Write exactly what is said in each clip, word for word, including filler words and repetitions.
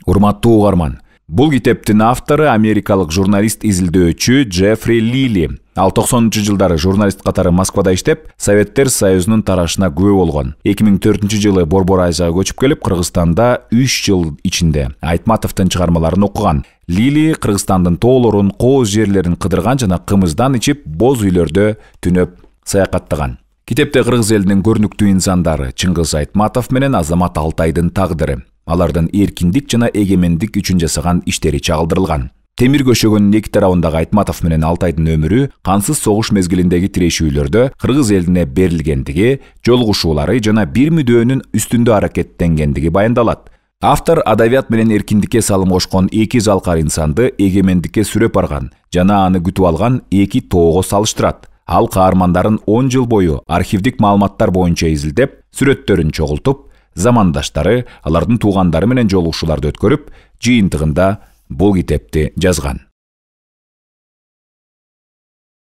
Урматтуу угарман, бул китептин автору америкалык журналист изилдөөчү Джеффри Лили. Ал токсонунчу жылдары журналист катары Москвада иштеп, Советтер Союзунун тарашына күбө болгон. эки миң төртүнчү жылы Борбор Азияга көчүп келип, Кыргызстанда үч жыл ичинде Айтматовдун чыгармаларын окуган. Лили Кыргызстандын тоолорун, кооз жерлерин кыдырган жана кымыздан ичип, боз үйлөрдө түнөп саякаттаган. Китепте кыргыз элинин көрүнүктүү инсандары Чыңгыз Айтматов менен Азамат Алтайдын тагдыры, алардын эркиндик жана эгемендик үчүн жасаган иштери чагылдырылган. Темир көшөгөнүн эки тарабындагы Айтматов менен Алтайдын өмүрү кансыз согуш мезгилиндеги тирешүүлөрдө кыргыз элине берилгендиги, жолугушуулары жана бир мүдөөнүн үстүндө аракеттенгендиги баяндалат. Автор адабият менен эркиндикке салым кошкон эки залкар инсанды эгемендикке сүрөп барган жана аны күтүп алган эки тоого салыштырат. Ал каармандарын он жыл бою архивдик маалыматтар боюнча изилдеп, сүрөттөрүн чогултуп, замандаштары, алардын туугандары менен жолугушууларды өткөрүп, жыйынтыгында бул китепти жазган.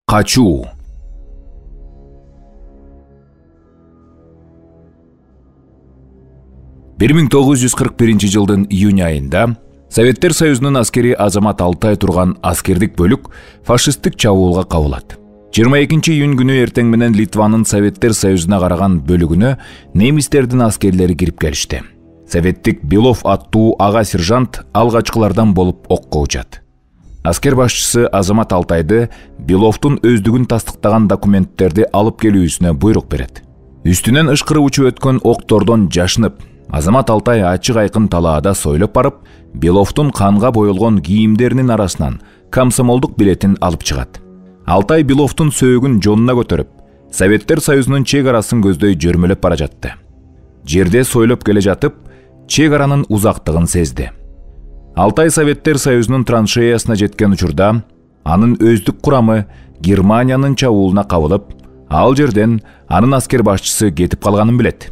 Качуу. бир миң тогуз жүз кырк биринчи жылдын июнь айында Советтер Союзунун аскери Азамат Алтай турган аскердик бөлүк фашисттик чабуулга кабылат. жыйырма экинчи июнь күнү эртең менен Литванын Советтер Союзуна караган бөлүгүнө немистердин аскерлери кирип келишти. Советтик Белов аттуу ага сержант алгачкылардан болуп окко учат. Аскер башчысы Азамат Алтайды Беловдун өздүгүн тастыктаган документтерди алып келүүсүнө буйрук берет. Үстүнөн ышкырып учуп өткөн октордон жашынып, Азамат Алтай ачык айкын талаада сойлоп барып, Беловдун канга боелгон кийимдеринин арасынан комсомолдук билетин алып чыгат. Алтай Беловдун сөөгүн жонуна көтөрүп, Советтер Союзунун чек арасын көздөй жөрмөлөп бара жатты. Жерде сойлоп келе жатып, чек аранын узактыгын сезди. Алтай Советтер Союзунун траншеясына жеткен учурда, анын өздүк курамы Германиянын чабуулуна кабылып, ал жерден анын аскер башчысы кетип калганын билет.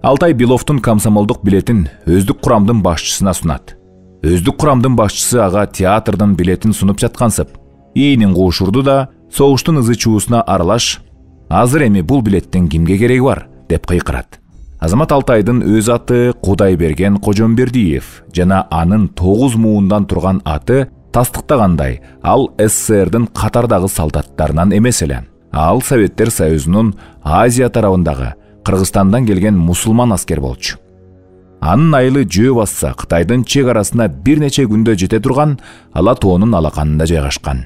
Алтай Беловдун комсомолдук билетин өздүк курамдын башчысына сунат. Өздүк курамдын башчысы ага театрдын билетин сунуп жаткансып, ийнин куушурду да согуштун ызы чуусуна аралаш, азыр эми бул билеттин кимге кереги бар деп кыйкырат. Азамат Алтайдын өз аты Кудайберген Кожомбердиев жана анын тогуз муундан турган аты тастыктагандай, ал СССРдин катардагы солдаттарынан эмес эле. Ал Советтер Союзунун Азия тарабындагы Кыргызстандан келген мусулман аскер болчу. Анын айылы жөө басса Кытайдын чек арасына бир нече күндө жете турган Ала тоонун алаканында жайгашкан.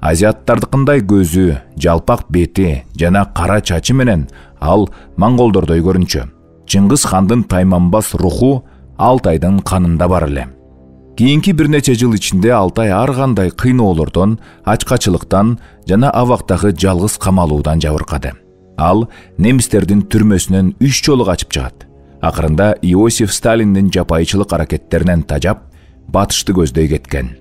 Азиаттардыкындай көзү, жалпак бети жана кара чачы менен ал монголдордой көрүнчү. Чыңгыз хандын тайманбас руху Алтайдын канында бар эле. Кийинки бир нече жыл ичинде Алтай ар кандай кыйноолордон, ачкачылыктан жана абактагы жалгыз камалуудан жабыркады. Ал немистердин түрмөсүнөн үч жолу качып чыгат. Акырында Иосиф Сталиндин жапайчылык аракеттеринен тажап, батышты көздөй кеткен.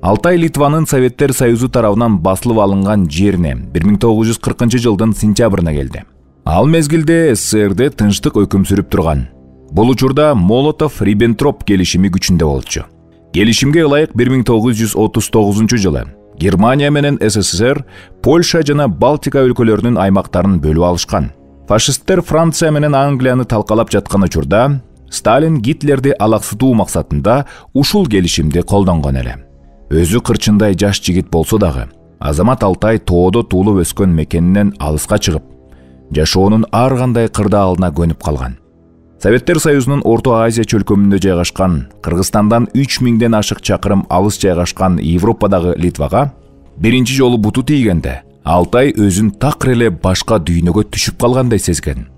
Алтай Литванын Советтер Союзу тарабынан басылып алынган жерине бир миң тогуз жүз кыркынчы жылдын сентябрына келди. Ал мезгилде СССРде тынчтык өкүм сүрүп турган. Бул учурда Молотов-Риббентроп келишими күчүндө болчу. Келишимге ылайык бир миң тогуз жүз отуз тогузунчу жылы Германия менен СССР Польша жана Балтика өлкөлөрүнүн аймактарын бөлүп алышкан. Фашисттер Франция менен Англияны талкалап жаткан учурда Сталин Гитлерди алаксытуу максатында ушул келишимди колдонгон эле. Өзү кырчындай жаш жигит болсо дагы, Азамат Алтай тоодо туулуп өскөн мекенинен алыска чыгып, жашоонун ар кандай кырдаалына көнүп калган. Советтер Союзунун Орто Азия чөлкөмүндө жайгашкан, Кыргызстандан үч миңден ашык чакырым алыс жайгашкан Европадагы Литвага биринчи жолу буту тийгенде, Алтай өзүн такыр эле башка дүйнөгө түшүп калгандай сезген.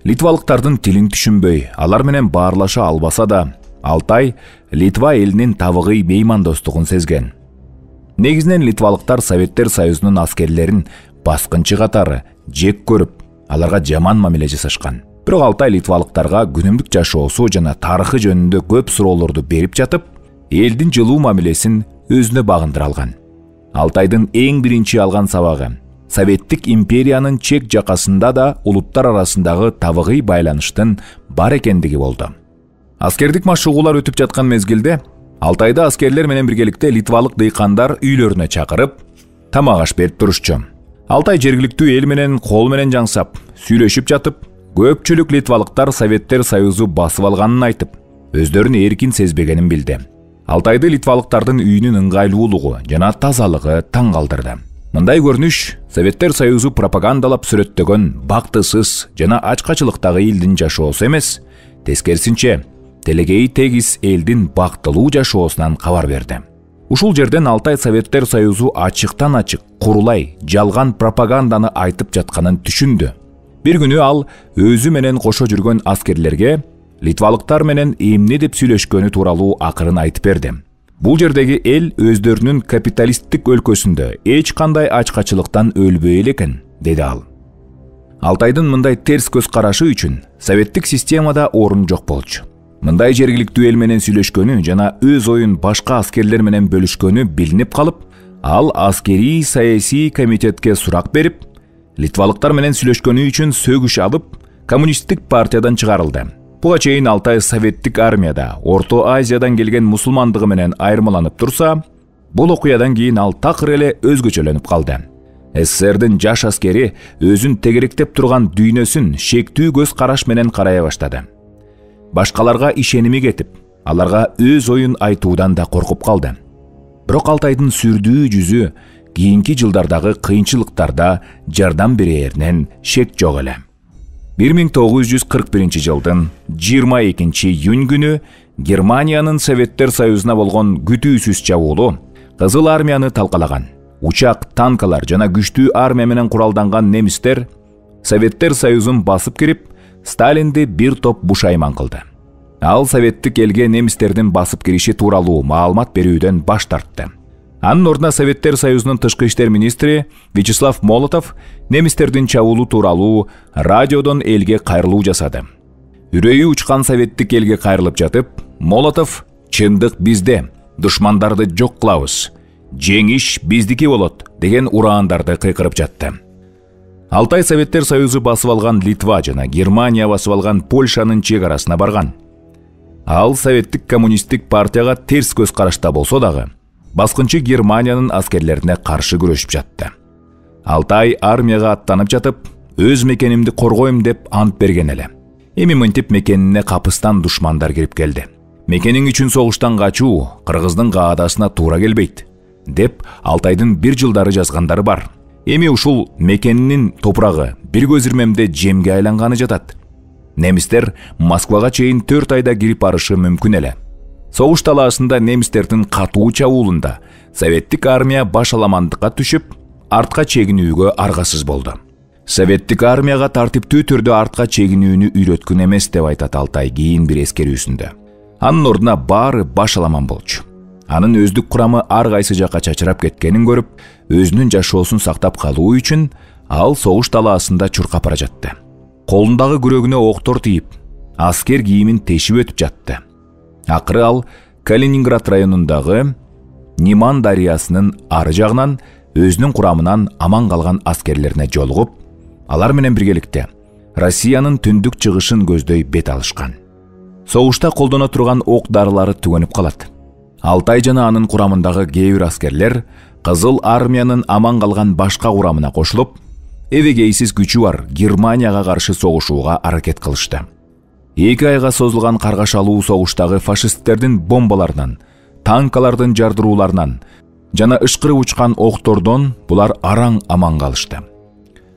Литвалыктардын тилин түшүнбөй, алар менен баарлаша албаса да, Алтай Литва элинин табыгый меймандостугун сезген. Негизинен литвалыктар Советтер Союзунун аскерлерин баскынчы катары жек көрүп, аларга жаман мамиле жасашкан. Бирок Алтай литвалыктарга күнүмдүк жашоосу жана тарыхы жөнүндө көп суроолорду берип жатып, элдин жылуу мамилесин өзүнө багындыра алган. Алтайдын эң биринчи алган сабагы Советтик империянын чек жакасында да улуттар арасындагы табыгый байланыштын бар экендиги болду. Аскердик машыгуулар өтүп жаткан мезгилде Алтайда аскерлер менен биргеликте литвалык дыйкандар үйлөрүнө чакырып, тамак аш берип турушчу. Алтай жергиликтүү эл менен кол менен жаңсап, сүйлөшүп жатып, көпчүлүк литвалыктар Советтер Союзу басып алганын айтып, өздөрүн эркин сезбегенин билди. Алтайды литвалыктардын үйүнүн ыңгайлуулугу жана тазалыгы таң калтырды. Мындай көрүнүш Советтер Союзу пропагандалап сүрөттөгөн бактысыз жана ачкачылыктагы элдин жашоосу эмес, тескерисинче телегейи тегиз элдин бактылуу жашоосунан кабар берди. Ушул жерден Алтай Советтер Союзу ачыктан ачык курулай жалган пропаганданы айтып жатканын түшүндү. Бир күнү ал өзү менен кошо жүргөн аскерлерге литвалыктар менен эмне деп сүйлөшкөнү тууралуу акырын айтып берди. Бул жердеги эл өздөрүнүн капиталисттик өлкөсүндө эч кандай ачкачылыктан өлбөй элекен, деди ал. Алтайдын мындай терс көз карашы үчүн советтик системада орун жок болчу. Мындай жергиликтүү эл менен сүйлөшкөнү жана өз оюн башка аскерлер менен бөлүшкөнү билинип калып, ал аскерий саясий комитетке сурак берип, литвалыктар менен сүйлөшкөнү үчүн сөгүш алып, коммунисттик партиядан чыгарылды. Буга чейин Алтай советтик армияда Орто Азиядан келген мусулмандыгы менен айырмаланып турса, бул окуядан кийин ал такыр эле өзгөчөлөнүп калды. СССРдин жаш аскери өзүн тегеректеп турган дүйнөсүн шектүү көз караш менен карай баштады. Башкаларга ишеними кетип, аларга өз оюн айтуудан да коркуп калды. Бирок Алтайдын сүрдүү жүзү кийинки жылдардагы кыйынчылыктарда жардам берээринен шек жок эле. бир миң тогуз жүз кырк биринчи жылдын жыйырма экинчи июнь күнү Германиянын Советтер Союзуна болгон күтүүсүз чабуулу Кызыл армияны талкалаган. Учак, танкалар жана күчтүү армия менен куралданган немистер Советтер Союзун басып кирип, Сталинди бир топ бушайман кылды. Ал советтик элге немистердин басып кириши тууралуу маалымат берүүдөн баш тартты. Анын ордуна Советтер Союзунун тышкы иштер министри Вячеслав Молотов немистердин чабуулу тууралуу радиодон элге кайрылуу жасады. Үрөйү учкан советтик элге кайрылып жатып, Молотов «Чындык бизде, душмандарды жок кылабыз, жеңиш биздики болот» деген ураандарды кыйкырып жатты. Алтай Советтер Союзу басып алган Литва жана Германия басып алган Польшанын чек арасына барган. Ал советтик коммунисттик партияга терс көз карашта болсо дагы, баскынчы Германиянын аскерлерине каршы күрөшүп жатты. Алтай армияга аттанып жатып, өз мекенимди коргойм деп ант берген эле. Эми мынтип мекенине капыстан душмандар кирип келди. Мекениң үчүн согуштан качуу кыргыздын каадасына туура келбейт, деп Алтайдын бир жылдары жазгандары бар. Эми ушул мекенинин топурагы бир көз ирмемде жемге айланганы жатат. Немистер Москвага чейин төрт айда кирип барышы мүмкүн эле. Согуш талаасында немистердин катуу чабуулунда советтик армия баш аламандыкка түшүп, артка чегинүүгө аргасыз болду. Советтик армияга тартиптүү түрдө артка чегинүүнү үйрөткөн эмес деп айтат Алтай кийин бир эскерүүсүндө. Анын ордуна баары баш аламан болчу. Анын өздүк курамы ар кайсы жакка чачырап кеткенин көрүп, өзүнүн жашоосун сактап калуу үчүн ал согуш талаасында чуркап бара жатты. Колундагы күрөгүнө октор тийип, аскер кийимин тешип өтүп жатты. Акыры ал Калининград районундагы Неман дарыясынын ары жагынан өзүнүн курамынан аман калган аскерлерине жолугуп, алар менен биргеликте Россиянын түндүк чыгышын көздөй бет алышкан. Согушта колдоно турган ок дарылары түгөнүп калат. Алтай жана анын курамындагы кээ бир аскерлер Кызыл армиянын аман калган башка курамына кошулуп, эбегейсиз күчү бар Германияга каршы согушууга аракет кылышты. Эки айга созулган каргашалуу согуштагы фашисттердин бомбаларынан, танкалардын жардырууларынан жана ышкырып учкан октордон булар араң аман калышты.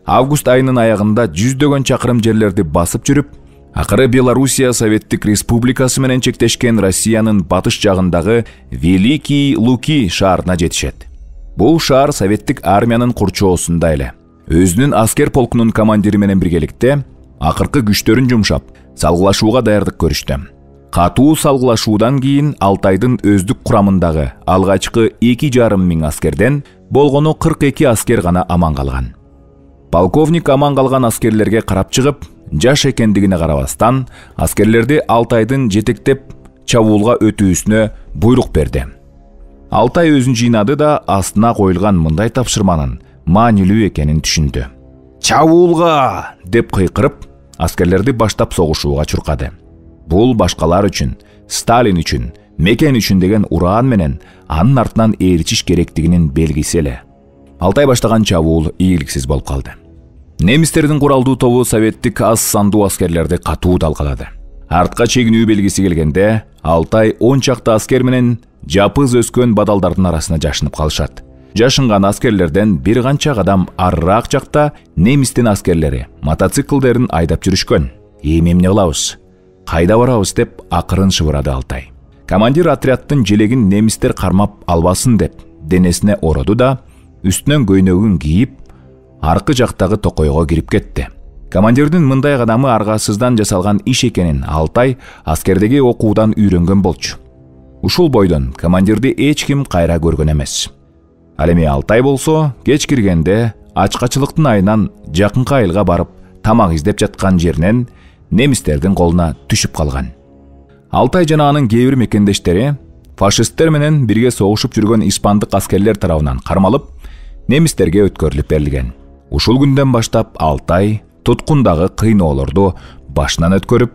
Август айынын аягында жүздөгөн чакырым жерлерди басып жүрүп, акыры Белоруссия Советтик Республикасы менен чектешкен Россиянын батыш жагындагы Великий Луки шаарына жетишет. Бул шаар советтик армиянын курчоосунда эле. Өзүнүн аскер полкунун командири менен биргеликте акыркы күчтөрүн жумшап, салгылашууга даярдык көрүштү. Катуу салгылашуудан кийин Алтайдын өздүк курамындагы алгачкы эки жарым миң аскерден болгону кырк эки аскер гана аман калган. Полковник аман калган аскерлерге карап чыгып, жаш экендигине карабастан, аскерлерди Алтайдын жетектеп чабуулга өтүүсүнө буйрук берди. Алтай өзүн жыйнады да астына коюлган мындай тапшырманын маанилүү экенин түшүндү. «Чабуулга!» деп кыйкырып, аскерлерди баштап согушууга чуркады. Бул башкалар үчүн, Сталин үчүн, мекен үчүн деген ураан менен анын артынан ээрчиш керектигинин белгиси эле. Алтай баштаган чабуул ийгиликсиз болуп калды. Немистердин куралдуу тобу советтик аз сандуу аскерлерди катуу талкалады. Артка чегинүү белгиси келгенде Алтай он чакты аскер менен жапыз өскөн бадалдардын арасына жашынып калышат. Жашынган аскерлерден бир канча кадам арыраак жакта немистин аскерлери мотоциклдерин айдап жүрүшкөн. Эми эмне кылабыз? Кайда барабыз деп акырын шыбырады Алтай. Командир отрядтын желегин немистер кармап албасын деп денесине ороду да үстүнөн көйнөгүн кийип аркы жактагы токойго кирип кетти. Командирдин мындай кадамы аргасыздан жасалган иш экенин Алтай аскердеги окуудан үйрөнгөн болчу. Ушул бойдон командирди эч ким кайра көргөн эмес. Ал эми Алтай болсо кеч киргенде ачкачылыктын айынан жакынкы айылга барып тамак издеп жаткан жеринен немистердин колуна түшүп калган. Алтай жана анын кээ бир мекендештери фашисттер менен бирге согушуп жүргөн испандык аскерлер тарабынан кармалып, немистерге өткөрүлүп берилген. Ушул күндөн баштап Алтай туткундагы кыйноолорду башынан өткөрүп,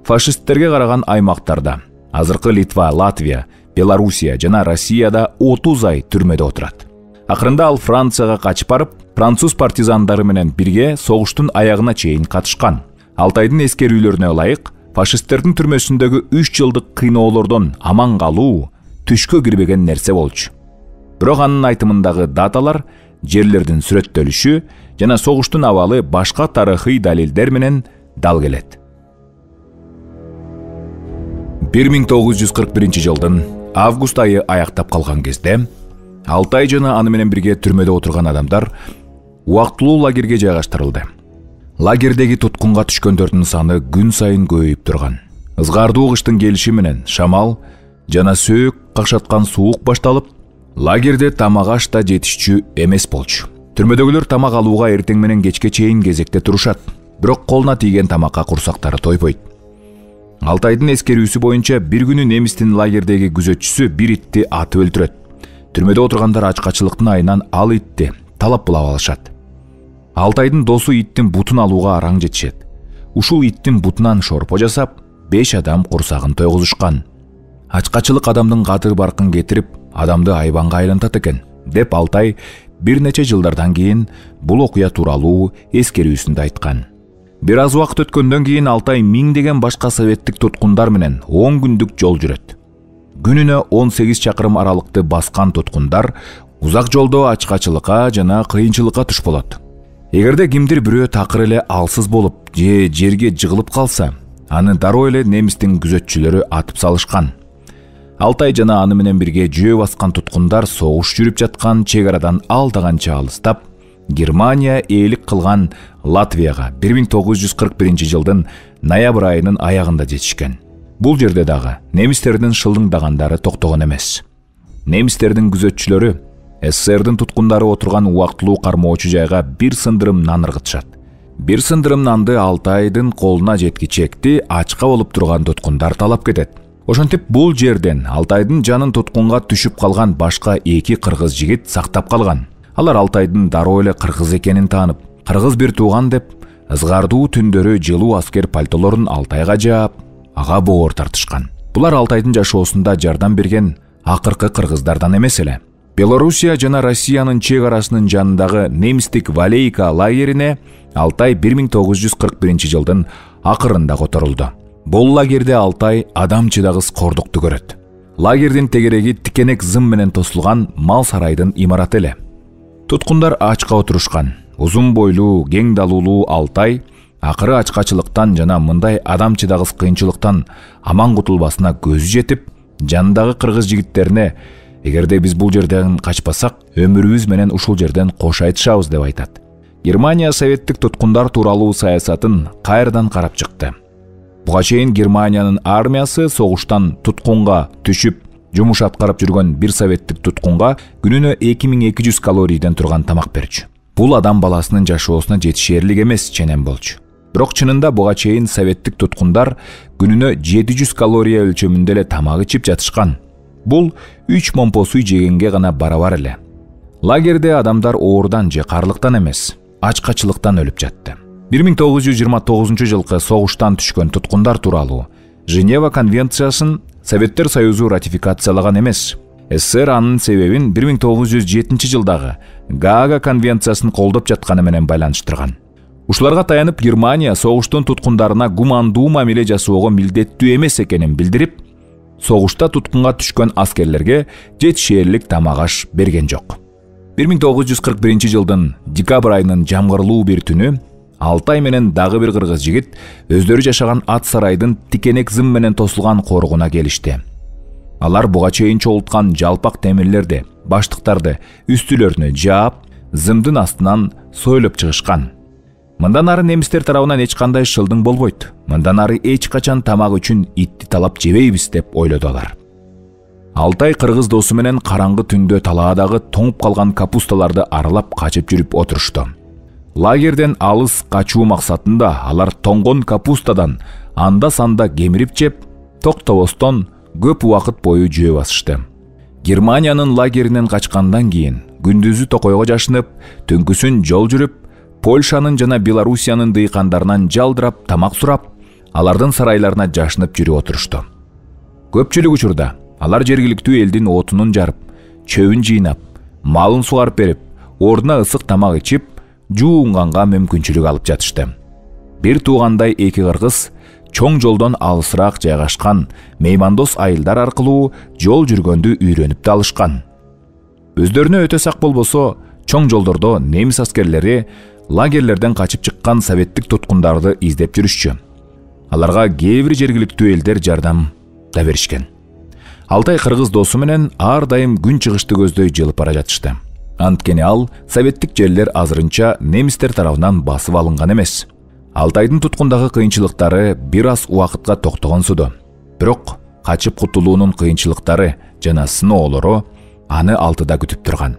фашисттерге караган аймактарда, азыркы Литва, Латвия, Белоруссия жана Россияда отуз ай түрмөдө отурат. Акырында ал Францияга качып барып, француз партизандары менен бирге согуштун аягына чейин катышкан. Алтайдын эскерүүлөрүнө ылайык, фашисттердин түрмөсүндөгү үч жылдык кыйноолордон аман калуу түшкө кирбеген нерсе болчу. Бирок анын айтымындагы даталар, жерлердин сүрөттөлүшү жана согуштун абалы башка тарыхый далилдер менен дал келет. бир миң тогуз жүз кырк биринчи жылдын август айы аяктап калган кезде Алтай жана аны менен бирге түрмөдө отурган адамдар убактылуу лагерге жайгаштырылды. Лагердеги туткунга түшкөндөрдүн саны күн сайын көбөйүп турган. Ызгардуу кыштын келиши менен шамал жана сөөк какшаткан суук башталып, лагерде тамак аш да жетишчү эмес болчу. Түрмөдөгүлөр тамак алууга эртең менен кечке чейин кезекте турушат, бирок колуна тийген тамакка курсактары тойбойт. Алтайдын эскерүүсү боюнча бир күнү немистин лагердеги күзөтчүсү бир итти атып өлтүрөт. Түрмөдө отургандар ачкачылыктын айынан ал итти талап булап алышат. Алтайдын досу иттин бутун алууга араң жетишет. Ушул иттин бутунан шорпо жасап, беш адам курсагын тойгузушкан. Ачкачылык адамдын кадыр баркын кетирип, адамды айбанга айлантат экен, деп Алтай бир нече жылдардан кийин бул окуя тууралуу эскерүүсүндө айткан. Бир аз убакыт өткөндөн кийин Алтай миңдеген башка советтик туткундар менен он күндүк жол жүрөт. Күнүнө он сегиз чакырым аралыкты баскан туткундар узак жолдо ачкачылыкка жана кыйынчылыкка туш болот. Эгерде кимдир бирөө такыр эле алсыз болуп же жерге жыгылып калса, аны дароо эле немистин күзөтчүлөрү атып салышкан. Алтай жана аны менен бирге жөө баскан туткундар согуш жүрүп жаткан чек арадан алда канча алыстап, Германия ээлик кылган Латвияга бир миң тогуз жүз кырк биринчи жылдын ноябрь айынын аягында жетишкен. Бул жерде дагы немистердин шылдыңдагандары токтогон эмес. Немистердин күзөтчүлөрү СССРдин туткундары отурган убактылуу кармоочу жайга бир сындырым нан ыргытышат. Бир сындырым нанды Алтайдын колуна жеткичекти ачка болуп турган туткундар талап кетет. Ошентип бул жерден Алтайдын жанын туткунга түшүп калган башка эки кыргыз жигит сактап калган. Алар Алтайдын дароо эле кыргыз экенин таанып, кыргыз бир тууган деп, ызгардуу түндөрү жылуу аскер пальтолорун Алтайга жаап, ага боор тартышкан. Булар Алтайдын жашоосунда жардам берген акыркы кыргыздардан эмес эле. Белоруссия жана Россиянын чек арасынын жанындагы немистик Валейка лагерине Алтай бир миң тогуз жүз кырк биринчи жылдын акырында которулду. Бул лагерде Алтай адам чыдагыс кордукту көрөт. Лагердин тегереги тикенек зым менен тосулган мал сарайдын имараты эле. Туткундар ачка отурушкан. Узун бойлуу, кең далуулуу Алтай акыры ачкачылыктан жана мындай адам чыдагыс кыйынчылыктан аман кутулбасына көзү жетип, жанындагы кыргыз жигиттерине эгерде биз бул жерден качпасак, өмүрүбүз менен ушул жерден кош айтышабыз деп айтат. Германия советтик туткундар тууралуу саясатын кайрадан карап чыкты. Буга чейин Германиянын армиясы согуштан туткунга түшүп, жумуш аткарып жүргөн бир советтик туткунга күнүнө эки миң эки жүз калорийден турган тамак берчү. Бул адам баласынын жашоосуна жетишерлик эмес ченем болчу. Бирок чынында буга чейин советтик туткундар күнүнө жети жүз калория өлчөмүндө эле тамак ичип жатышкан. Бул үч момпо суу жегенге гана барабар эле. Лагерде адамдар оорудан же карлыктан эмес, ачкачылыктан өлүп жатты. бир миң тогуз жүз жыйырма тогузунчу жылкы согуштан түшкөн туткундар тууралуу Женева конвенциясын Советтер Союзу ратификациялаган эмес. СССР анын себебин бир миң тогуз жүз жетинчи жылдагы Гаага конвенциясын колдоп жатканы менен байланыштырган. Ушуларга таянып Германия согуштун туткундарына гумандуу мамиле жасоого милдеттүү эмес экенин билдирип, согушта туткунга түшкөн аскерлерге жетишээрлик тамак аш берген жок. бир миң тогуз жүз кырк биринчи жылдын декабрь айынын жамгырлуу бир түнү Алтай менен дагы бир кыргыз жигит өздөрү жашаган ат сарайдын тикенек зым менен тосулган коргуна келишти. Алар буга чейин чогулткан жалпак темирлерди, баштыктарды үстүлөрүнө жаап, зымдын астынан сойлоп чыгышкан. Мындан ары немистер тарабынан эч кандай шылдың болбойт. Мындан ары эч качан тамак үчүн итти талап жебейбиз деп ойлоду алар. Алтай кыргыз досу менен караңгы түндө талаадагы тоңуп калган капусталарды аралап качып жүрүп отурушту. Лагерден алыс качуу максатында алар тоңгон капустадан анда-санда кемирип жеп, токтобостон көп убакыт бою жөө басышты. Германиянын лагеринен качкандан кийин күндүзү токойго жашынып, түнкүсүн жол жүрүп, Польшанын жана Белоруссиянын дыйкандарынан жалдырап тамак сурап, алардын сарайларына жашынып жүрүп отурушту. Көпчүлүк учурда алар жергиликтүү элдин отунун жарып, чөбүн жыйнап, малын сугарып берип, ордуна ысык тамак ичип, жуунганга мүмкүнчүлүк алып жатышты. Бир туугандай эки кыргыз чоң жолдон алысыраак жайгашкан меймандос айылдар аркылуу жол жүргөндү үйрөнүп да алышкан. Өздөрүнө өтө сак болбосо, чоң жолдордо немис аскерлери лагерлерден качып чыккан советтик туткундарды издеп жүрүшчү. Аларга кээ бир жергиликтүү элдер жардам да беришкен. Алтай кыргыз досу менен ар дайым күн чыгышты көздөй жылып бара жатышты. Анткени ал советтик жерлер азырынча немистер тарабынан басып алынган эмес. Алтайдын туткундагы кыйынчылыктары бир аз убакытка токтогонсуду. Бирок качып кутулуунун кыйынчылыктары жана сыноолору аны алтыда күтүп турган.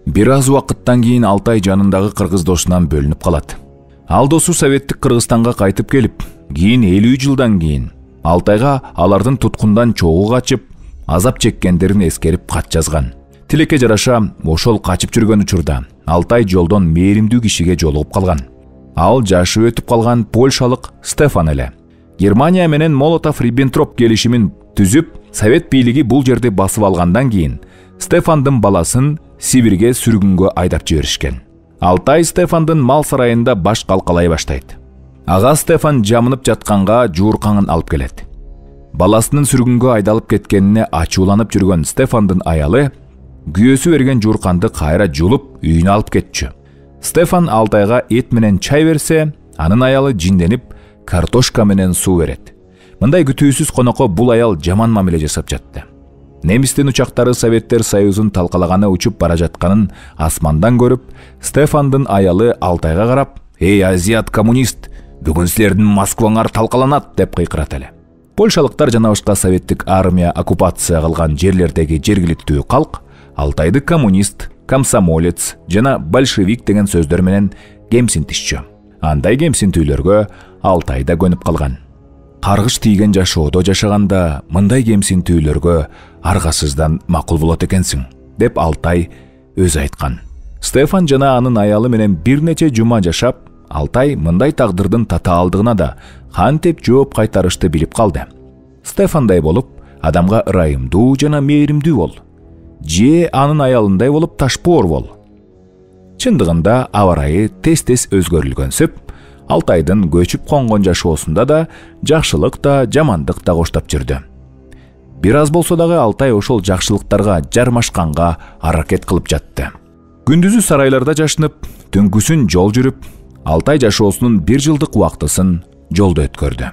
Бир аз убакыттан кийин Алтай жанындагы кыргыз досунан бөлүнүп калат. Ал досу советтик Кыргызстанга кайтып келип, кийин элүү жылдан кийин Алтайга алардын туткундан чогуу качып, азап чеккендерин эскерип кат жазган. Тилекке жараша, ошол качып жүргөн учурда Алтай жолдон мээримдүү кишиге жолугуп калган. Ал жашы өтүп калган польшалык Стефан эле. Германия менен Молотов-Риббентроп келишимин түзүп, совет бийлиги бул жерди басып алгандан кийин Стефандын баласын Сибирге сүргүнгө айдап жиберишкен. Алтай Стефандын мал сарайында баш калкалай баштайт. Ага Стефан жамынып жатканга жууркаңын алып келет. Баласынын сүргүнгө айдалып кеткенине ачууланып жүргөн Стефандын аялы күйөөсү берген жуурканды кайра жулуп үйүнө алып кетчү. Стефан Алтайга эт менен чай берсе, анын аялы жинденип картошка менен суу берет. Мындай күтүүсүз конокко бул аял жаман мамиле жасап жатты. Немистин учактары Советтер Союзун талкалаганы учуп бара жатканын асмандан көрүп, Стефандын аялы Алтайга карап: "Эй, азиат коммунист, бүгүн силердин Москваңар талкаланат" деп кыйкырат эле. Польшалыктар жана башка советтик армия оккупация кылган жерлердеги жергиликтүү калк Алтайды коммунист, комсомолец жана большевик деген сөздөр менен кемсинтишчү. Андай кемсинтүүлөргө Алтай да көнүп калган. Каргыш тийген жашоодо жашаганда мындай кемсинтүүлөргө аргасыздан макул болот экенсиң, деп Алтай өзү айткан. Стефан жана анын аялы менен бир нече жума жашап, Алтай мындай тагдырдын татаалдыгына да кантип жооп кайтарышты билип калды. Стефандай болуп, адамга ырайымдуу жана мээримдүү бол. Же анын аялындай болуп ташпоор бол. Чындыгында аба ырайы тез-тез өзгөрүлгөнсүп, Алтайдын көчүп конгон жашоосунда да жакшылык да, жамандык да коштоп жүрдү. Бир аз болсо дагы Алтай ошол жакшылыктарга жармашканга аракет кылып жатты. Күндүзү сарайларда жашынып, түнкүсүн жол жүрүп, Алтай жашоосунун бир жылдык убактысын жолдо өткөрдү.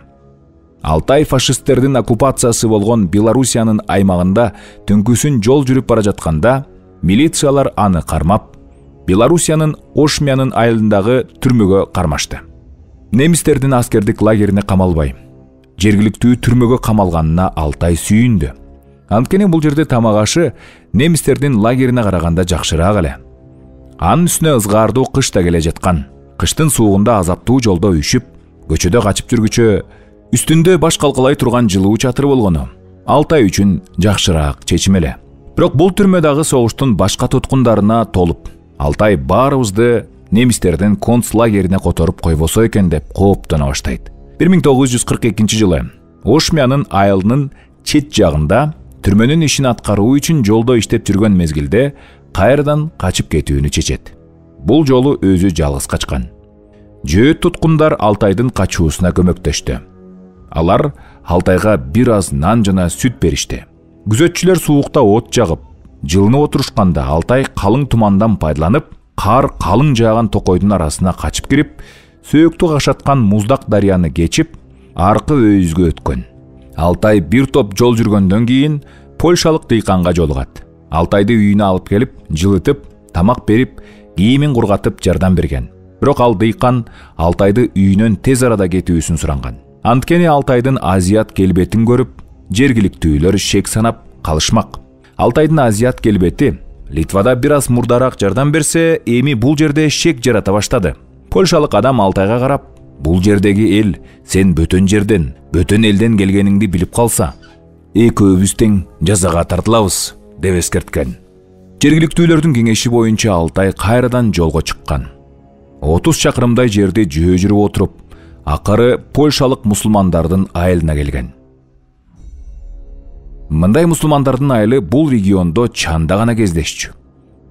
Алтай фашисттердин оккупациясы болгон Белоруссиянын аймагында түнкүсүн жол жүрүп бара жатканда, милициялар аны кармап, Белоруссиянын Ошмянын айылындагы түрмөгө кармашты. Немистердин аскердик лагерине камалбай, жергиликтүү түрмөгө камалганына Алтай сүйүндү. Анткени бул жерде тамак ашы немистердин лагерине караганда жакшыраак эле. Анын үстүнө ызгаардуу кыш да келе жаткан. Кыштын суугунда азаптуу жолдо үшүп, көчөдө качып жүргүчө үстүндө баш калкалай турган жылуу чатыр болгону Алтай үчүн жакшыраак чечим эле. Бирок бул түрмө дагы согуштун башка туткундарына толуп, Алтай баарыбызды немистердин концлагерине которуп койбосо экен деп кооптоно баштайт. бир миң тогуз жүз кырк экинчи жылы Ошмянын айылынын чет жагында түрмөнүн ишин аткаруу үчүн жолдо иштеп жүргөн мезгилде кайрадан качып кетүүнү чечет. Бул жолу өзү жалгыз качкан. Жөөт туткундар Алтайдын качуусуна көмөктөштү. Алар Алтайга бир аз нан жана сүт беришти. Күзөтчүлөр суукта от жагып, жылынып отурушканда Алтай калың тумандан пайдаланып, кар калың жааган токойдун арасына качып кирип, сөөктү кашаткан муздак дарыяны кечип, аркы өйүзгө өткөн. Алтай бир топ жол жүргөндөн кийин польшалык дыйканга жолугат. Алтайды үйүнө алып келип, жылытып, тамак берип, кийимин кургатып жардам берген. Бирок ал дыйкан Алтайды үйүнөн тез арада кетүүсүн суранган. Анткени Алтайдын азият келбетин көрүп, жергиликтүүлөр шек санап калышмак. Алтайдын азият келбети Литвада бир аз мурдараак жардам берсе, эми бул жерде шек жарата баштады. Польшалык адам Алтайга карап, бул жердеги эл сен бөтөн жерден, бөтөн элден келгениңди билип калса, экөөбүз тең жазага тартылабыз деп эскерткен. Жергиликтүүлөрдүн кеңеши боюнча Алтай кайрадан жолго чыккан. отуз чакырымдай жерди жөө жүрүп отуруп, акыры польшалык мусулмандардын айылына келген. Мындай мусулмандардын айылы бул региондо чанда гана кездешчү.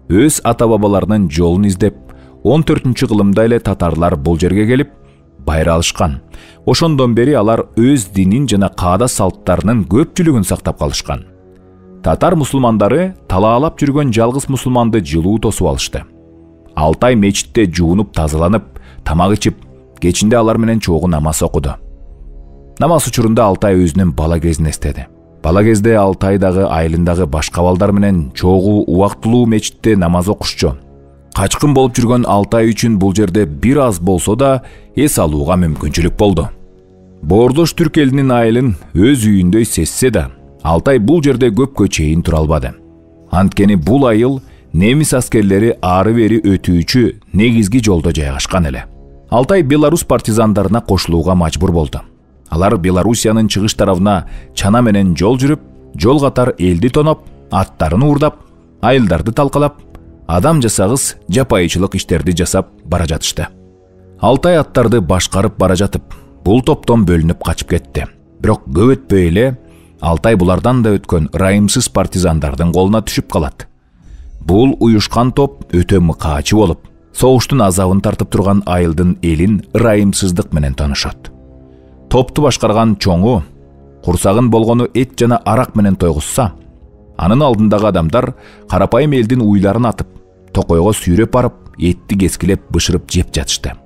Өз ата-бабаларынын жолун издеп, он төртүнчү кылымда эле татарлар бул жерге келип, байра алышкан. Ошондон бери алар өз динин жана каада салттарынын көпчүлүгүн сактап калышкан. Татар мусулмандары талаалап жүргөн жалгыз мусулманды жылуу тосуп алышты. Алтай мечитте жуунуп тазаланып, тамак ичип, кечинде алар менен чогуу намаз окуду. Намаз учурунда Алтай өзүнүн бала кезин эстеди. Бала кезде Алтайдагы айылындагы башка балдар менен чогуу убактылуу мечитте намаз окушчу. Качкын болуп жүргөн Алтай үчүн бул жерде бир аз болсо да эс алууга мүмкүнчүлүк болду. Боордош түрк элинин айылын өз үйүндөй сезсе да, Алтай бул жерде көпкө чейин тура албады. Анткени бул айыл немис аскерлери ары бери өтүүчү негизги жолдо жайгашкан эле. Алтай Беларусь партизандарына кошулууга мажбур болду. Алар Белоруссиянын чыгыш тарабына чана менен жол жүрүп, жол катар элди тоноп, аттарын уурдап, айылдарды талкалап, адам жасагыс жапайычылык иштерди жасап бара жатышты. Алтай аттарды башкарып бара жатып, бул топтон бөлүнүп качып кетти. Бирок көп өтпөй эле Алтай булардан да өткөн ырайымсыз партизандардын колуна түшүп калат. Бул уюшкан топ өтө мыкаачы болуп, согуштун азабын тартып турган айылдын элин ырайымсыздык менен таанышат. Топту башкарган чоңу курсагын болгону эт жана арак менен тойгузса, анын алдындагы адамдар карапайым элдин уйларын атып, токойго сүйрөп барып, этти кескилеп бышырып жеп жатышты.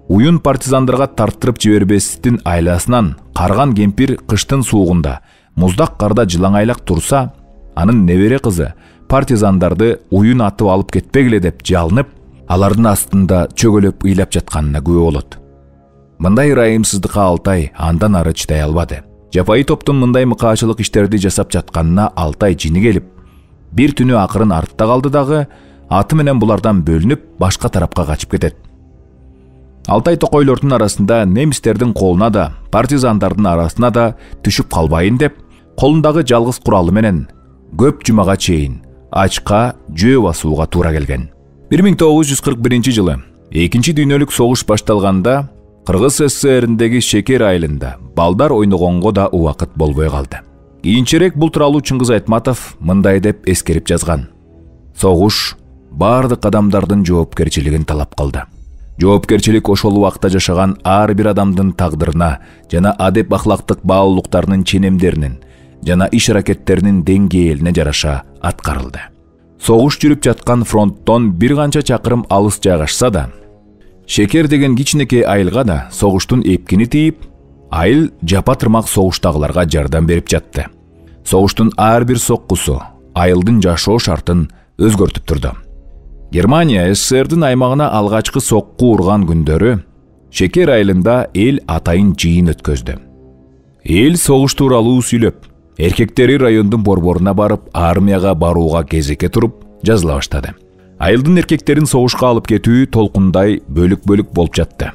Уюн партизандарга тарттырып жибербестин айласынан карган кемпир кыштын суугунда муздак карда жылаңайлак турса, анын небере кызы партизандарды уюн атып алып кетпегиле деп жалынып, алардын астында чөгөлөп ыйлап жатканына күбө болот. Мындай ырайымсыздыкка Алтай андан ары чыдай албады. Жапайы топтун мындай мыкаачылык иштерди жасап жатканына Алтай жини келип, бир түнү акырын артта калды дагы, аты менен булардан бөлүнүп, башка тарапка качып кетет. Алтай токойлордун арасында немистердин колуна да, партизандардын арасына да түшүп калбайын деп, колундагы жалгыз куралы менен көп жумага чейин ачка жөө басууга туура келген. бир миң тогуз жүз кырк биринчи жылы экинчи дүйнөлүк согуш башталганда Кыргыз СССРиндеги Шекер айылында балдар ойногонго да убакыт болбой калды. Кийинчерээк бул тууралуу Чыңгыз Айтматов мындай деп эскерип жазган: согуш бардык адамдардын жоопкерчилигин талап кылды. Жоопкерчилик ошол убакта жашаган ар бир адамдын тагдырына жана адеп ахлактык баалуулуктарынын ченемдеринин жана иш аракеттеринин деңгээлине жараша аткарылды. Согуш жүрүп жаткан фронттон бир канча чакырым алыс жайгашса да, Шекер деген кичинекей айылга да согуштун эпкини тийип, айыл жапа тырмак согуштагыларга жардам берип жатты. Согуштун ар бир соккусу айылдын жашоо шартын өзгөртүп турду. Германия СССРдин аймагына алгачкы сокку урган күндөрү Шекер айылында эл атайын жыйын өткөздү. Эл согуш тууралуу сүйлөп, эркектери райондун борборуна барып, армияга барууга кезекке туруп жазыла баштады. Айылдын эркектерин согушка алып кетүү толкундай бөлүк-бөлүк болуп жатты.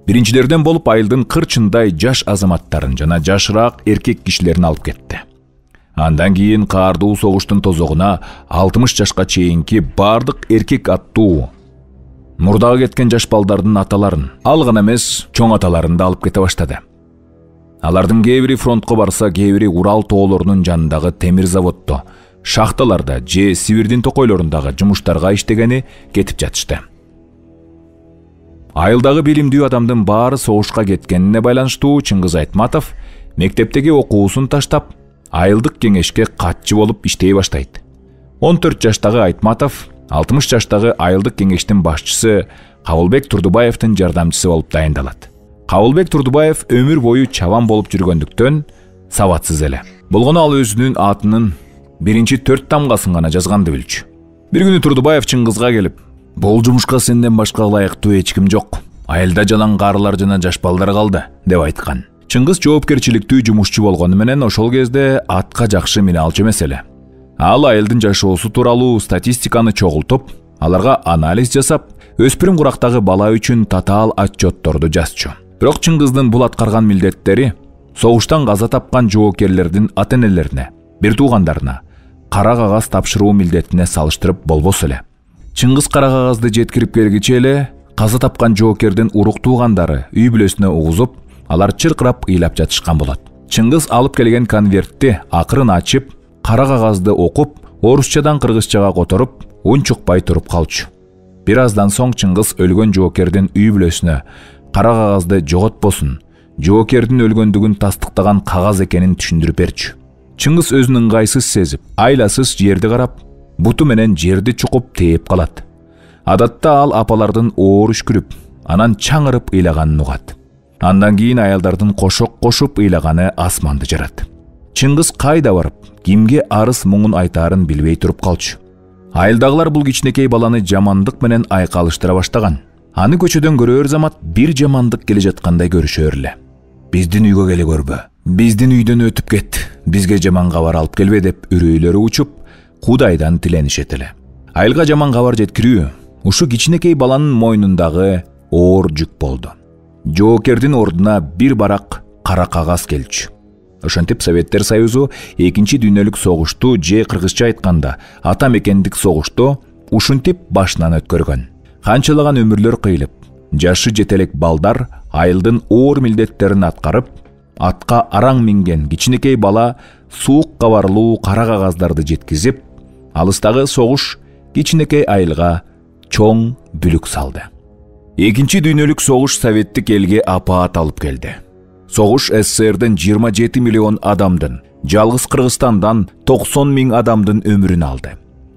Биринчилерден болуп айылдын кырчындай жаш азаматтарын жана жашыраак эркек кишилерин алып кетти. Андан кийин каардуу согуштун тозогуна алтымыш жашка чейинки бардык эркек аттуу мурдага кеткен жаш балдардын аталарын, ал гана эмес, чоң аталарын да алып кете баштады. Алардын кээ бири фронтко барса, кээ бири Урал тоолорунун жанындагы темир заводдо, шахталарда же Сибирдин токойлорундагы жумуштарга иштегени кетип жатышты. Айылдагы билимдүү адамдын баары согушка кеткенине байланыштуу Чыңгыз Айтматов мектептеги окуусун таштап, айылдык кеңешке катчы болуп иштей баштайт. он төрт жаштагы Айтматов алтымыш жаштагы айылдык кеңештин башчысы Кабылбек Турдубаевдин жардамчысы болуп дайындалат. Кабылбек Турдубаев өмүр бою чабан болуп жүргөндүктөн сабатсыз эле. Болгону ал өзүнүн атынын биринчи төрт тамгасын гана жазганды билчү. Бир күнү Турдубаев Чыңгызга келип: "Бул жумушка сенден башка ылайыктуу эч ким жок. Айылда жалаң карылар жана жаш балдар калды", деп айткан. Чыңгыз жоопкерчиликтүү жумушчу болгону менен ошол кезде атка жакшы мине алчу эмес эле. Ал айылдын жашоосу тууралуу статистиканы чогултуп, аларга анализ жасап, өспүрүм курактагы бала үчүн татаал отчетторду жазчу. Бирок Чыңгыздын бул аткарган милдеттери согуштан каза тапкан жоокерлердин ата-энелерине, бир туугандарына кара кагаз тапшыруу милдетине салыштырып болбосо эле. Чыңгыз кара кагазды жеткирип келгиче эле каза тапкан жоокердин урук туугандары үй бүлөсүнө угузуп, алар чыркырап ыйлап жатышкан болот. Чыңгыз алып келген конвертти акырын ачып, кара кагазды окуп, орусчадан кыргызчага которуп, унчукпай туруп калчу. Бир аздан соң Чыңгыз өлгөн жоокердин үй бүлөсүнө кара кагазды жоготпосун, жоокердин өлгөндүгүн тастыктаган кагаз экенин түшүндүрүп берчү. Чыңгыз өзүн ыңгайсыз сезип, айласыз жерди карап, буту менен жерди чукуп тээп калат. Адатта ал апалардын оор үшкүрүп, анан чаңырып ыйлаганын угат. Андан кийин аялдардын кошок кошуп ыйлаганы асманды жарат. Чыңгыз кайда барып, кимге арыз муңун айтаарын билбей туруп калчу. Айылдагылар бул кичинекей баланы жамандык менен айкалыштыра баштаган. Аны көчөдөн көрөөр замат бир жамандык келе жаткандай көрүшөр эле. "Биздин үйгө келе көрбө, биздин үйдөн өтүп кет, бизге жаман кабар алып келбе" деп үрөйлөрү учуп, Кудайдан тиленишет эле. Айылга жаман кабар жеткирүү ушу кичинекей баланын мойнундагы оор жүк болду. Жоокердин ордуна бир барак кара кагаз келчү. Ошентип Советтер Союзу экинчи дүйнөлүк согушту, же кыргызча айтканда ата мекендик согушту ушинтип башынан өткөргөн. Канчалаган өмүрлөр кыйылып, жашы жетелек балдар айылдын оор милдеттерин аткарып, атка араң минген кичинекей бала суук кабарлуу кара кагаздарды жеткизип, алыстагы согуш кичинекей айылга чоң бүлүк салды. Экинчи дүйнөлүк согуш советтик элге апаат алып келди. Согуш СССРдин жыйырма жети миллион адамдын, жалгыз Кыргызстандан токсон миң адамдын өмүрүн алды.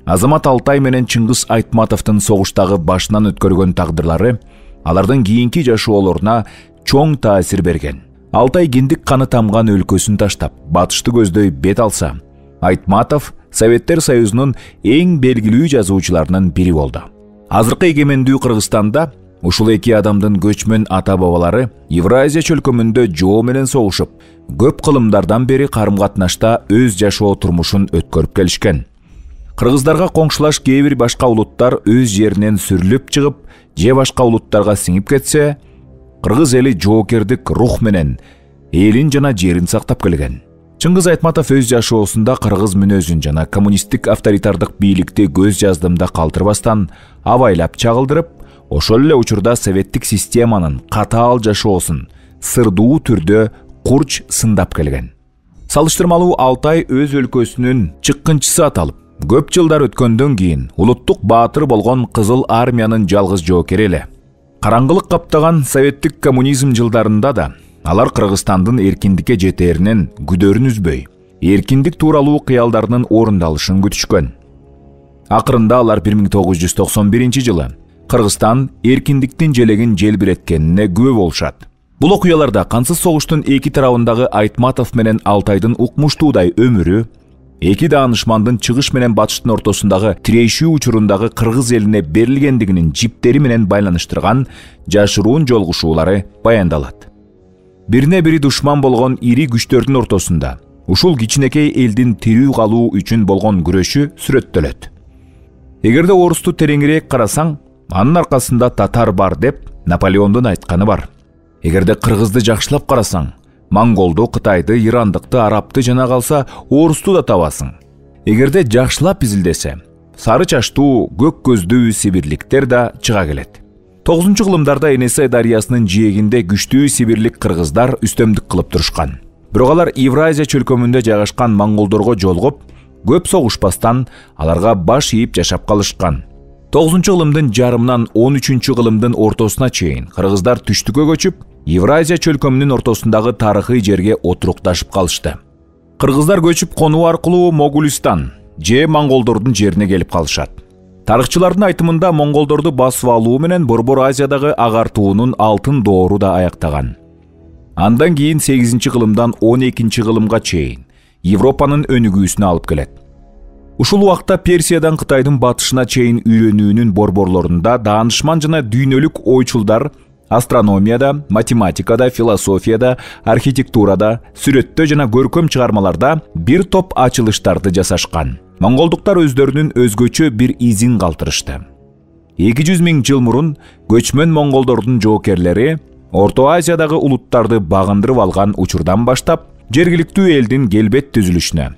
Азамат Алтай менен Чыңгыз Айтматовдун согуштагы башынан өткөргөн тагдырлары алардын кийинки жашоолоруна чоң таасир берген. Алтай киндик каны тамган өлкөсүн таштап, батышты көздөй бет алса, Айтматов Советтер Союзунун эң белгилүү жазуучуларынын бири болду. Азыркы эгемендүү Кыргызстанда ушул эки адамдын көчмөн ата-бабалары Евразия чөлкөмүндө жоо менен согушуп, көп кылымдардан бери карым-катнашта өз жашоо турмушун өткөрүп келишкен. Кыргыздарга коңшулаш кээ бир башка улуттар өз жеринен сүрүлүп чыгып, же башка улуттарга сиңип кетсе, кыргыз эли жоокердик рух менен элин жана жерин сактап келген. Чыңгыз Айтматов өз жашоосунда кыргыз мүнөзүн жана коммунисттик авторитардык бийликти көз жаздымда калтырбастан абайлап чагылдырып, ошол эле учурда советтик системанын катаал жашоосун сырдуу түрдө курч сындап келген. Салыштырмалуу Алтай өз өлкөсүнүн чыккынчысы аталып, көп жылдар өткөндөн кийин улуттук баатыр болгон Кызыл армиянын жалгыз жоокери эле. Караңгылык каптаган советтик коммунизм жылдарында да алар Кыргызстандын эркиндикке жетээринен күдөрүн үзбөй, эркиндик тууралуу кыялдарынын орундалышын күтүшкөн. Акырында алар бир миң тогуз жүз токсон биринчи жылы Кыргызстан эркиндиктин желегин желбиреткенине күбө болушат. Бул окуяларда кансыз согуштун эки тарабындагы Айтматов менен Алтайдын укмуштуудай өмүрү, эки даанышмандын чыгыш менен батыштын ортосундагы тирешүү учурундагы кыргыз элине берилгендигинин жиптери менен байланыштырган жашыруун жолугушуулары баяндалат. Бирине бири душман болгон ири күчтөрдүн ортосунда ушул кичинекей элдин тирүү калуу үчүн болгон күрөшү сүрөттөлөт. Эгерде орусту тереңирээк карасаң, анын аркасында татар бар деп Наполеондун айтканы бар. Эгерде кыргызды жакшылап карасаң, монголду, кытайды, ирандыкты, арабты жана калса орусту да табасың. Эгерде жакшылап изилдесе, сары чачтуу, көк көздүү сибирликтер да чыга келет. тогузунчу кылымдарда Энесей дарыясынын жээгинде күчтүү сибирлик кыргыздар үстөмдүк кылып турушкан. Бирок алар Евразия чөлкөмүндө жайгашкан монголдорго жолугуп, көп согушпастан аларга баш ийип жашап калышкан. тогузунчу кылымдын жарымынан он үчүнчү кылымдын ортосуна чейин кыргыздар түштүккө көчүп, Евразия чөлкөмүнүн ортосундагы тарыхый жерге отурукташып калышты. Кыргыздар көчүп конуу аркылуу Могулистан же монголдордун жерине келип калышат. Тарыхчылардын айтымында монголдорду басып алуу менен Борбор Азиядагы агартуунун алтын доору да аяктаган. Андан кийин сегизинчи кылымдан он экинчи кылымга чейин Европанын өнүгүүсүнө алып келет. Ушул убакта Персиядан Кытайдын батышына чейин үйрөнүүнүн борборлорунда даанышман жана дүйнөлүк ойчулдар астрономияда, математикада, философияда, архитектурада, сүрөттө жана көркөм чыгармаларда бир топ ачылыштарды жасашкан. Монголдуктар өздөрүнүн өзгөчө бир изин калтырышты. эки жүз миң жыл мурун көчмөн монголдордун жоокерлери Орто Азиядагы улуттарды багындырып алган учурдан баштап жергиликтүү элдин келбет түзүлүшүнө,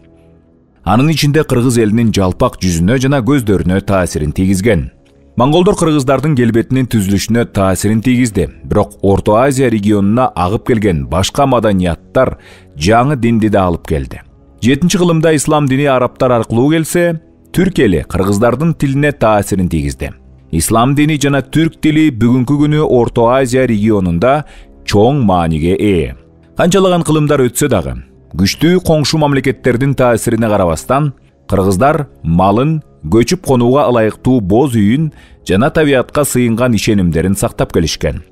анын ичинде кыргыз элинин жалпак жүзүнө жана көздөрүнө таасирин тийгизген. Монголдор кыргыздардын келбетинин түзүлүшүнө таасирин тийгизди, бирок Орто Азия регионуна агып келген башка маданияттар жаңы динди да алып келди. жетинчи кылымда ислам дини арабтар аркылуу келсе, түрк эли кыргыздардын тилине таасирин тийгизди. Ислам дини жана түрк тили бүгүнкү күнү Орто Азия регионунда чоң мааниге ээ. Канчалаган кылымдар өтсө дагы, күчтүү коңшу мамлекеттердин таасирине карабастан, кыргыздар малын, көчүп конууга ылайыктуу боз үйүн жана табиятка сыйынган ишенимдерин сактап келишкен.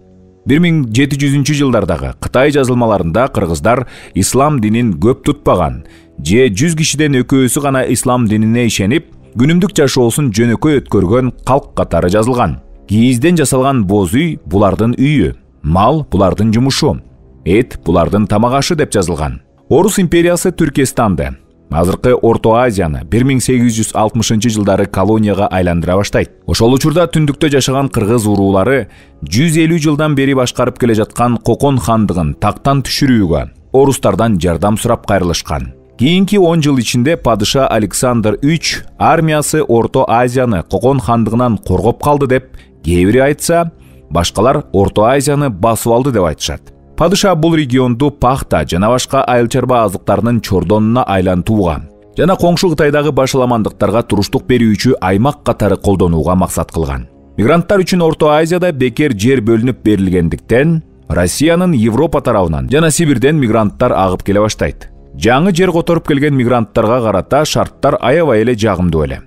бир миң жети жүзүнчү жылдардагы Кытай жазылмаларында кыргыздар ислам динин көп тутпаган же жүз кишиден экөөсү гана ислам динине ишенип, күнүмдүк жашоосун жөнөкөй өткөргөн калк катары жазылган. Кийизден жасалган боз үй булардын үйү, мал булардын жумушу, эт булардын тамак ашы деп жазылган. Орус империясы Түркестанды, азыркы Орто Азияны бир миң сегиз жүз алтымышынчы жылдары колонияга айландыра баштайт. Ошол учурда түндүктө жашаган кыргыз уруулары жүз элүү жылдан бери башкарып келе жаткан Кокон хандыгын тактан түшүрүүгө орустардан жардам сурап кайрылышкан. Кийинки он жыл ичинде падыша Александр үч армиясы Орто Азияны Кокон хандыгынан коргоп калды деп кээ бири айтса, башкалар Орто Азияны басып алды деп айтышат. Падыша бул регионду пахта жана башка айыл чарба азыктарынын чордонуна айлантууга жана коңшу Кытайдагы башаламандыктарга туруштук берүүчү аймак катары колдонууга максат кылган. Мигранттар үчүн Орто Азияда бекер жер бөлүнүп берилгендиктен, Россиянын Европа тарабынан жана Сибирден мигранттар агып келе баштайт. Жаңы жер которуп келген мигранттарга карата шарттар аябай эле жагымдуу эле.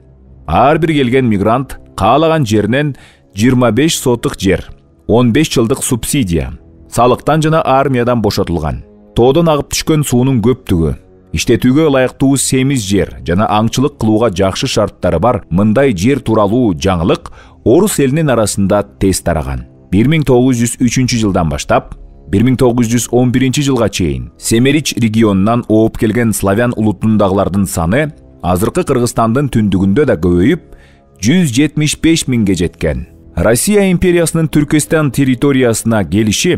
Ар бир келген мигрант каалаган жеринен жыйырма беш сотык жер, он беш жылдык субсидия, салыктан жана армиядан бошотулган. Тоодон агып түшкөн суунун көптүгү, иштетүүгө ылайыктуу семиз жер жана аңчылык кылууга жакшы шарттары бар мындай жер тууралуу жаңылык орус элинин арасында тез тараган. бир миң тогуз жүз үчүнчү жылдан баштап бир миң тогуз жүз он биринчи жылга чейин Семерич регионунан ооп келген славян улутундагылардын саны азыркы Кыргызстандын түндүгүндө да көбөйүп жүз жетимиш беш миңге жеткен. Россия империясынын Түркестан территориясына келиши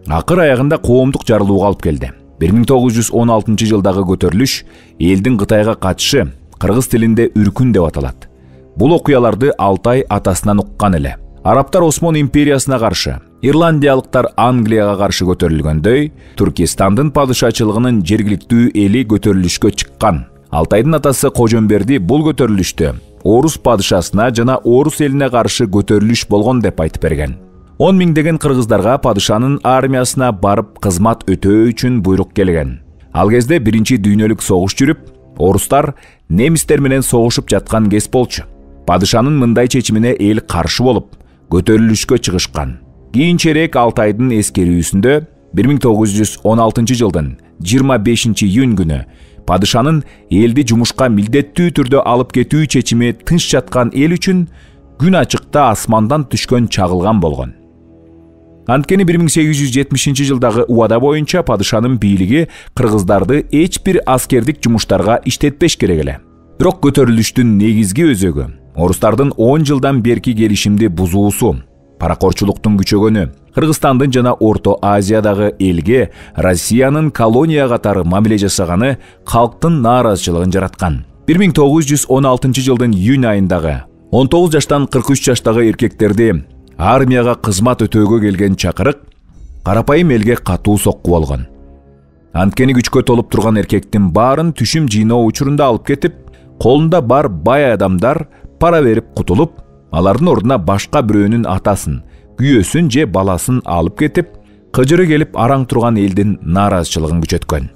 акыр аягында коомдук жарылууга алып келди. бир миң тогуз жүз он алтынчы жылдагы көтөрүлүш элдин Кытайга катышы кыргыз тилинде үркүн деп аталат. Бул окуяларды Алтай атасынан уккан эле. Арабтар Осмон империясына каршы, ирландиялыктар Англияга каршы көтөрүлгөндөй, Түркистандын падышачылыгынын жергиликтүү эли көтөрүлүшкө чыккан. Алтайдын атасы Кожомберди бул көтөрүлүштү орус падышасына жана орус элине каршы көтөрүлүш болгон деп айтып берген. он миңдеген кыргыздарга падышанын армиясына барып кызмат өтөө үчүн буйрук келген. Ал кезде биринчи дүйнөлүк согуш жүрүп, орустар немистер менен согушуп жаткан кез болчу. Падышанын мындай чечимине эл каршы болуп, көтөрүлүшкө чыгышкан. Кийинчерээк Алтайдын эскерүүсүндө бир миң тогуз жүз он алтынчы жылдын жыйырма бешинчи июнь күнү падышанын элди жумушка милдеттүү түрдө алып кетүү чечими тынч жаткан эл үчүн күн ачыкта асмандан түшкөн чагылган болгон. Анткени бир миң сегиз жүз жетимишинчи жылдагы убада боюнча падышанын бийлиги кыргыздарды эч бир аскердик жумуштарга иштетпеш керек эле. Бирок көтөрүлүштүн негизги өзөгү орустардын он жылдан берки келишимди бузуусу, паракорчулуктун күчөгөнү, Кыргызстандын жана Орто Азиядагы элге Россиянын колония катары мамиле жасаганы калктын нааразычылыгын жараткан. бир миң тогуз жүз он алтынчы жылдын июнь айындагы он тогуз жаштан кырк үч жаштагы эркектерди армияга кызмат өтөөгө келген чакырык карапайым элге катуу сокку болгон. Анткени күчкө толуп турган эркектин баарын түшүм жыйноо учурунда алып кетип, колунда бар бай адамдар пара берип кутулуп, алардын ордуна башка бирөөнүн атасын, күйөөсүн же баласын алып кетип, кыжыры келип араң турган элдин нааразычылыгын күчөткөн.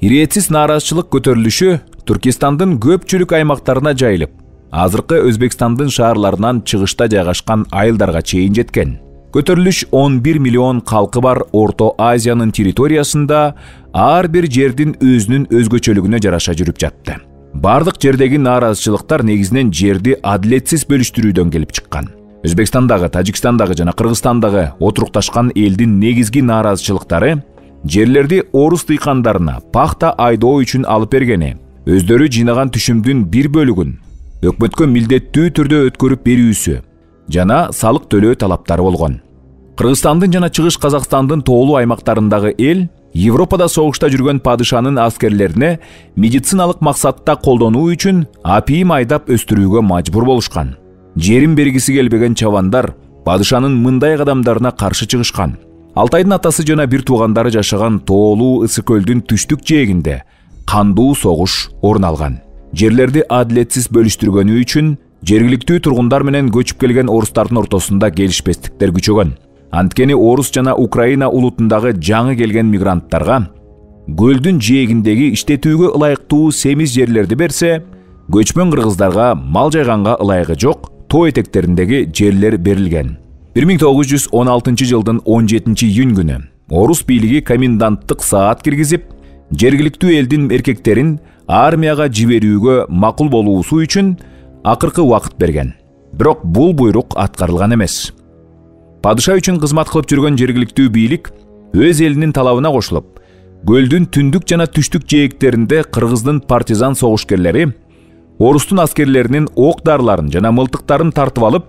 Иретсиз нааразычылык көтөрүлүшү Түркистандын көпчүлүк аймактарына жайылып, азыркы Өзбекстандын шаарларынан чыгышта жайгашкан айылдарга чейин жеткен. Көтөрүлүш он бир миллион калкы бар Орто Азиянын территориясында ар бир жердин өзүнүн өзгөчөлүгүнө жараша жүрүп жатты. Бардык жердеги нааразычылыктар негизинен жерди адилетсиз бөлүштүрүүдөн келип чыккан. Өзбекстандагы, Тажикстандагы жана Кыргызстандагы отурукташкан элдин негизги нааразычылыктары жерлерди орус дыйкандарына пахта айдоо үчүн алып бергени, өздөрү жыйнаган түшүмдүн бир бөлүгүн өкмөткө милдеттүү түрдө өткөрүп берүүсү жана салык төлөө талаптары болгон. Кыргызстандын жана Чыгыш Казакстандын тоолуу аймактарындагы эл Европада согушта жүргөн падышанын аскерлерине медициналык максатта колдонуу үчүн апийим айдап өстүрүүгө мажбур болушкан. Жерин бергиси келбеген чабандар падышанын мындай кадамдарына каршы чыгышкан. Алтайдын атасы жана бир туугандары жашаган тоолуу Ысык көлдүн түштүк жээгинде кандуу согуш орун алган. Жерлерди адилетсиз бөлүштүргөнү үчүн жергиликтүү тургундар менен көчүп келген орустардын ортосунда келишпестиктер күчөгөн. Анткени орус жана Украина улутундагы жаңы келген мигранттарга көлдүн жээгиндеги иштетүүгө ылайыктуу семиз жерлерди берсе, көчмөн кыргыздарга мал жайганга ылайыгы жок тоо этектериндеги жерлер берилген. бир миң тогуз жүз он алтынчы жылдын он жетинчи июнь күнү орус бийлиги коменданттык саат киргизип, жергиликтүү элдин эркектерин армияга жиберүүгө макул болуусу үчүн акыркы убакыт берген. Бирок бул буйрук аткарылган эмес. Падыша үчүн кызмат кылып жүргөн жергиликтүү бийлик өз элинин талабына кошулуп, көлдүн түндүк жана түштүк жээктеринде кыргыздын партизан согушкерлери орустун аскерлеринин ок дарларын жана мылтыктарын тартып алып,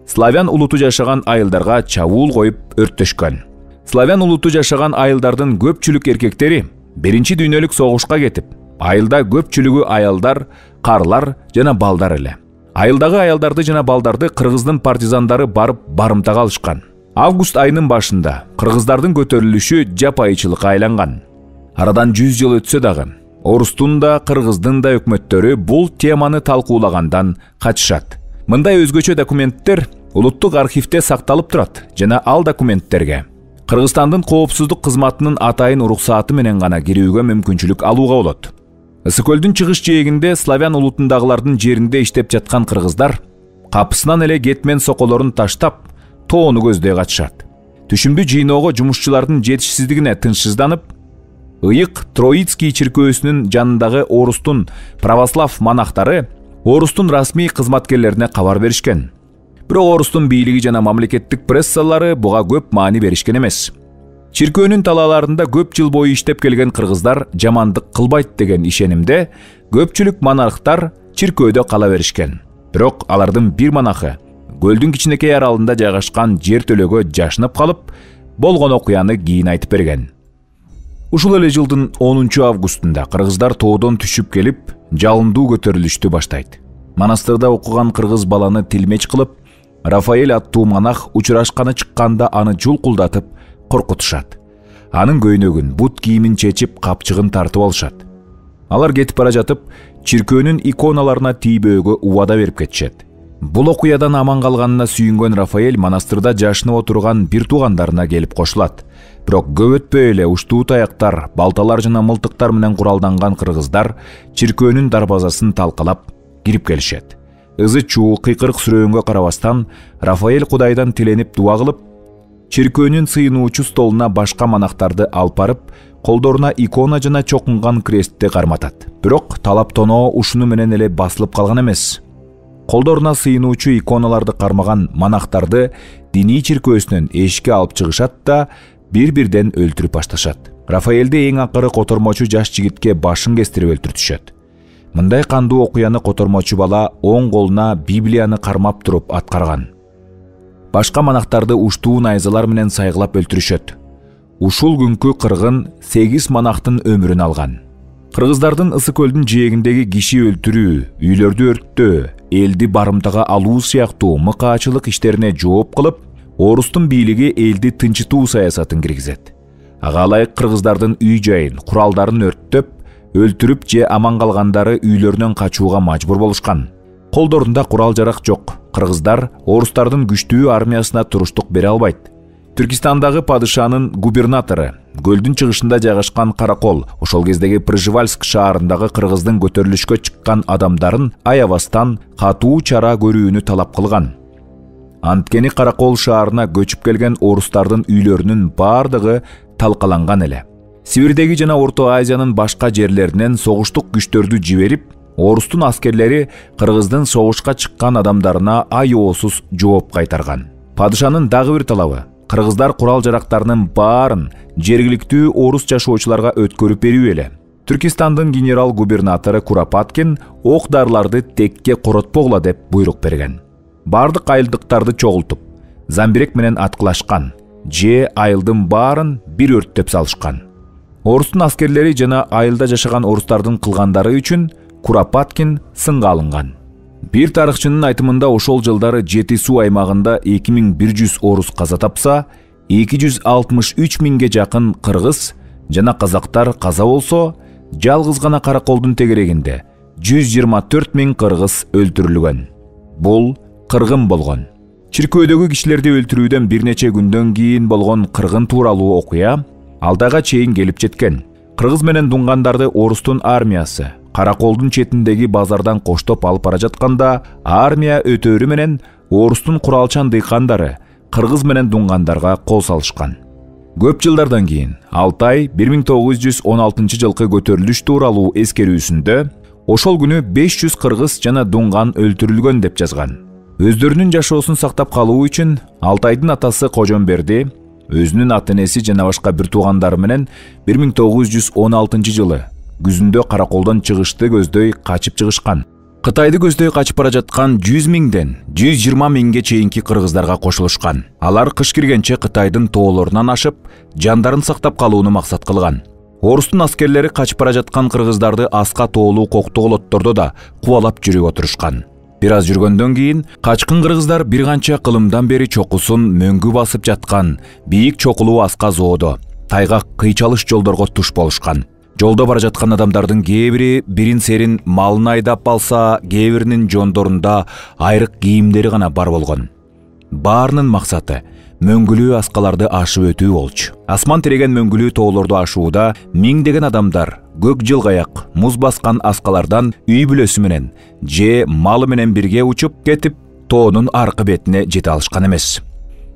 славян улуту жашаган айылдарга чабуул коюп өрттөшкөн. Славян улуту жашаган айылдардын көпчүлүк эркектери биринчи дүйнөлүк согушка кетип, айылда көпчүлүгү аялдар, карлар жана балдар эле. Айылдагы аялдарды жана балдарды кыргыздын партизандары барып барымтага алышкан. Август айынын башында кыргыздардын көтөрүлүшү жапайычылыкка айланган. Арадан жүз жыл өтсө дагы, орустун да кыргыздын да өкмөттөрү бул теманы талкуулагандан качышат. Мындай өзгөчө документтер улуттук архивде сакталып турат жана ал документтерге Кыргызстандын коопсуздук кызматынын атайын уруксааты менен гана кирүүгө мүмкүнчүлүк алууга болот. Ысык көлдүн чыгыш жээгинде славян улутундагылардын жеринде иштеп жаткан кыргыздар капысынан эле кетмен соколорун таштап, тоону көздөй качышат. Түшүмдү жыйноого жумушчулардын жетишсиздигине тынчсызданып, Ыйык Троицкий чиркөөсүнүн жанындагы орустун православ монахтары орустун расмий кызматкерлерине кабар беришкен. Бирок орустун бийлиги жана мамлекеттик прессалары буга көп маани беришкен эмес. Чиркөөнүн талааларында көп жыл бою иштеп келген кыргыздар жамандык кылбайт деген ишенимде көпчүлүк монархтар чиркөөдө кала беришкен. Бирок алардын бир монахы көлдүн кичинекей аралында жайгашкан жер төлөгө жашынып калып, болгон окуяны кийин айтып берген. Ушул эле жылдын онунчу августунда кыргыздар тоодон түшүп келип, жалындуу көтөрүлүштү баштайт. Монастырда окуган кыргыз баланы тилмеч кылып, Рафаэль аттуу монах учурашканы чыкканда аны жулкулдатып коркутушат. Анын көйнөгүн, бут кийимин чечип, капчыгын тартып алышат. Алар кетип бара жатып, чиркөөнүн иконаларына тийбөөгө убада берип кетишет. Бул окуядан аман калганына сүйүнгөн Рафаэль монастырда жашынып отурган бир туугандарына келип кошулат. Бирок көп өтпөй эле уштуу таяктар, балталар жана мылтыктар менен куралданган кыргыздар чиркөөнүн дарбазасын талкалап кирип келишет. Ызы чуу, кыйкырык сүрөөнгө карабастан, Рафаэль Кудайдан тиленип дуа кылып, чиркөөнүн сыйынуучу столуна башка монахтарды алып барып, колдоруна икона жана чокунган крестти карматат. Бирок талап тоноо ушуну менен эле басылып калган эмес. Колдоруна сыйынуучу иконаларды кармаган монахтарды диний чиркөөсүнөн эшикке алып чыгышат да бир-бирден өлтүрүп башташат. Рафаэлди эң акыры котормочу жаш жигитке башын кестирип өлтүртүшөт. Мындай кандуу окуяны котормочу бала оң колуна Библияны кармап туруп аткарган. Башка монахтарды уштуу найзалар менен сайгылап өлтүрүшөт. Ушул күнкү кыргын сегиз монахтын өмүрүн алган. Кыргыздардын Ысык көлдүн жээгиндеги киши өлтүрүү, үйлөрдү өрттөө, элди барымтага алуу сыяктуу мыкаачылык иштерине жооп кылып, орустун бийлиги элди тынчытуу саясатын киргизет. Ага ылайык кыргыздардын үй жайын, куралдарын өрттөп, өлтүрүп же аман калгандары үйлөрүнөн качууга мажбур болушкан. Колдорунда курал жарак жок. Кыргыздар орустардын күчтүү армиясына туруштук бере албайт. Түркистандагы падышанын губернатору, көлдүн чыгышында жайгашкан Каракол, ошол кездеги Пржевальск шаарындагы кыргыздын көтөрүлүшкө чыккан адамдарын аябастан катуу чара көрүүнү талап кылган. Анткени Каракол шаарына көчүп келген орустардын үйлөрүнүн бардыгы талкаланган эле. Сибирдеги жана Орто Азиянын башка жерлеринен согуштук күчтөрдү жиберип, орустун аскерлери кыргыздын согушка чыккан адамдарына айоосуз жооп кайтарган. Падышанын дагы бир талабы кыргыздар курал жарактарынын баарын жергиликтүү орус жашоочуларга өткөрүп берүү эле. Түркистандын генерал-губернатору Куропаткин ок-дарыларды текке коротпогула деп буйрук берген. Бардык айылдыктарды чогултуп, замбирек менен аткылашкан, же айылдын баарын бир өрттөп салышкан. Орустун аскерлери жана айылда жашаган орустардын кылгандары үчүн Куропаткин сынга алынган. Бир тарыхчынын айтымында ошол жылдары Жети суу аймагында эки миң бир жүз орус каза тапса, эки жүз алтымыш үч миңге жакын кыргыз жана казактар каза болсо, жалгыз гана Караколдун тегерегинде жүз жыйырма төрт миң кыргыз өлтүрүлгөн. Бул кыргын болгон. Чиркөөдөгү кишилерди өлтүрүүдөн бир нече күндөн кийин болгон кыргын тууралуу окуя алдайга чейин келип жеткен. Кыргыз менен дунгандарды орустун армиясы Караколдун четиндеги базардан коштоп алып бара жатканда, армия өтөрү менен орустун куралчан дыйкандары кыргыз менен дунгандарга кол салышкан. Көп жылдардан кийин Алтай бир миң тогуз жүз он алтынчы жылкы көтөрүлүш тууралуу эскерүүсүндө ошол күнү беш жүз кыргыз жана дунган өлтүрүлгөн деп жазган. Өздөрүнүн жашоосун сактап калуу үчүн Алтайдын атасы Кожомберди өзүнүн ата-энеси жана башка бир туугандары менен бир миң тогуз жүз он алтынчы жылы күзүндө Караколдон чыгышты көздөй качып чыгышкан. Кытайды көздөй качып бара жаткан жүз миңден жүз жыйырма миңге чейинки кыргыздарга кошулушкан. Алар кыш киргенче Кытайдын тоолорунан ашып, жандарын сактап калууну максат кылган. Орустун аскерлери качып бара жаткан кыргыздарды аска тоолуу коктоголоттордо да кубалап жүрүп отурушкан. Бир аз жүргөндөн кийин качкын кыргыздар бир канча кылымдан бери чокусун мөңгү басып жаткан бийик чокулуу аска зоодо, тайгак кыйчалыш жолдорго туш болушкан. Жолдо бара жаткан адамдардын кээ бири бирин серин малын айдап алса, кээ биринин жондорунда айрык кийимдери гана бар болгон. Баарынын максаты мөңгүлүү аскаларды ашып өтүү болчу. Асман тиреген мөңгүлүү тоолорду ашууда миңдеген адамдар көк жылгаяк, муз баскан аскалардан үй бүлөсү менен же малы менен бирге учуп кетип, тоонун аркы бетине жете алышкан эмес.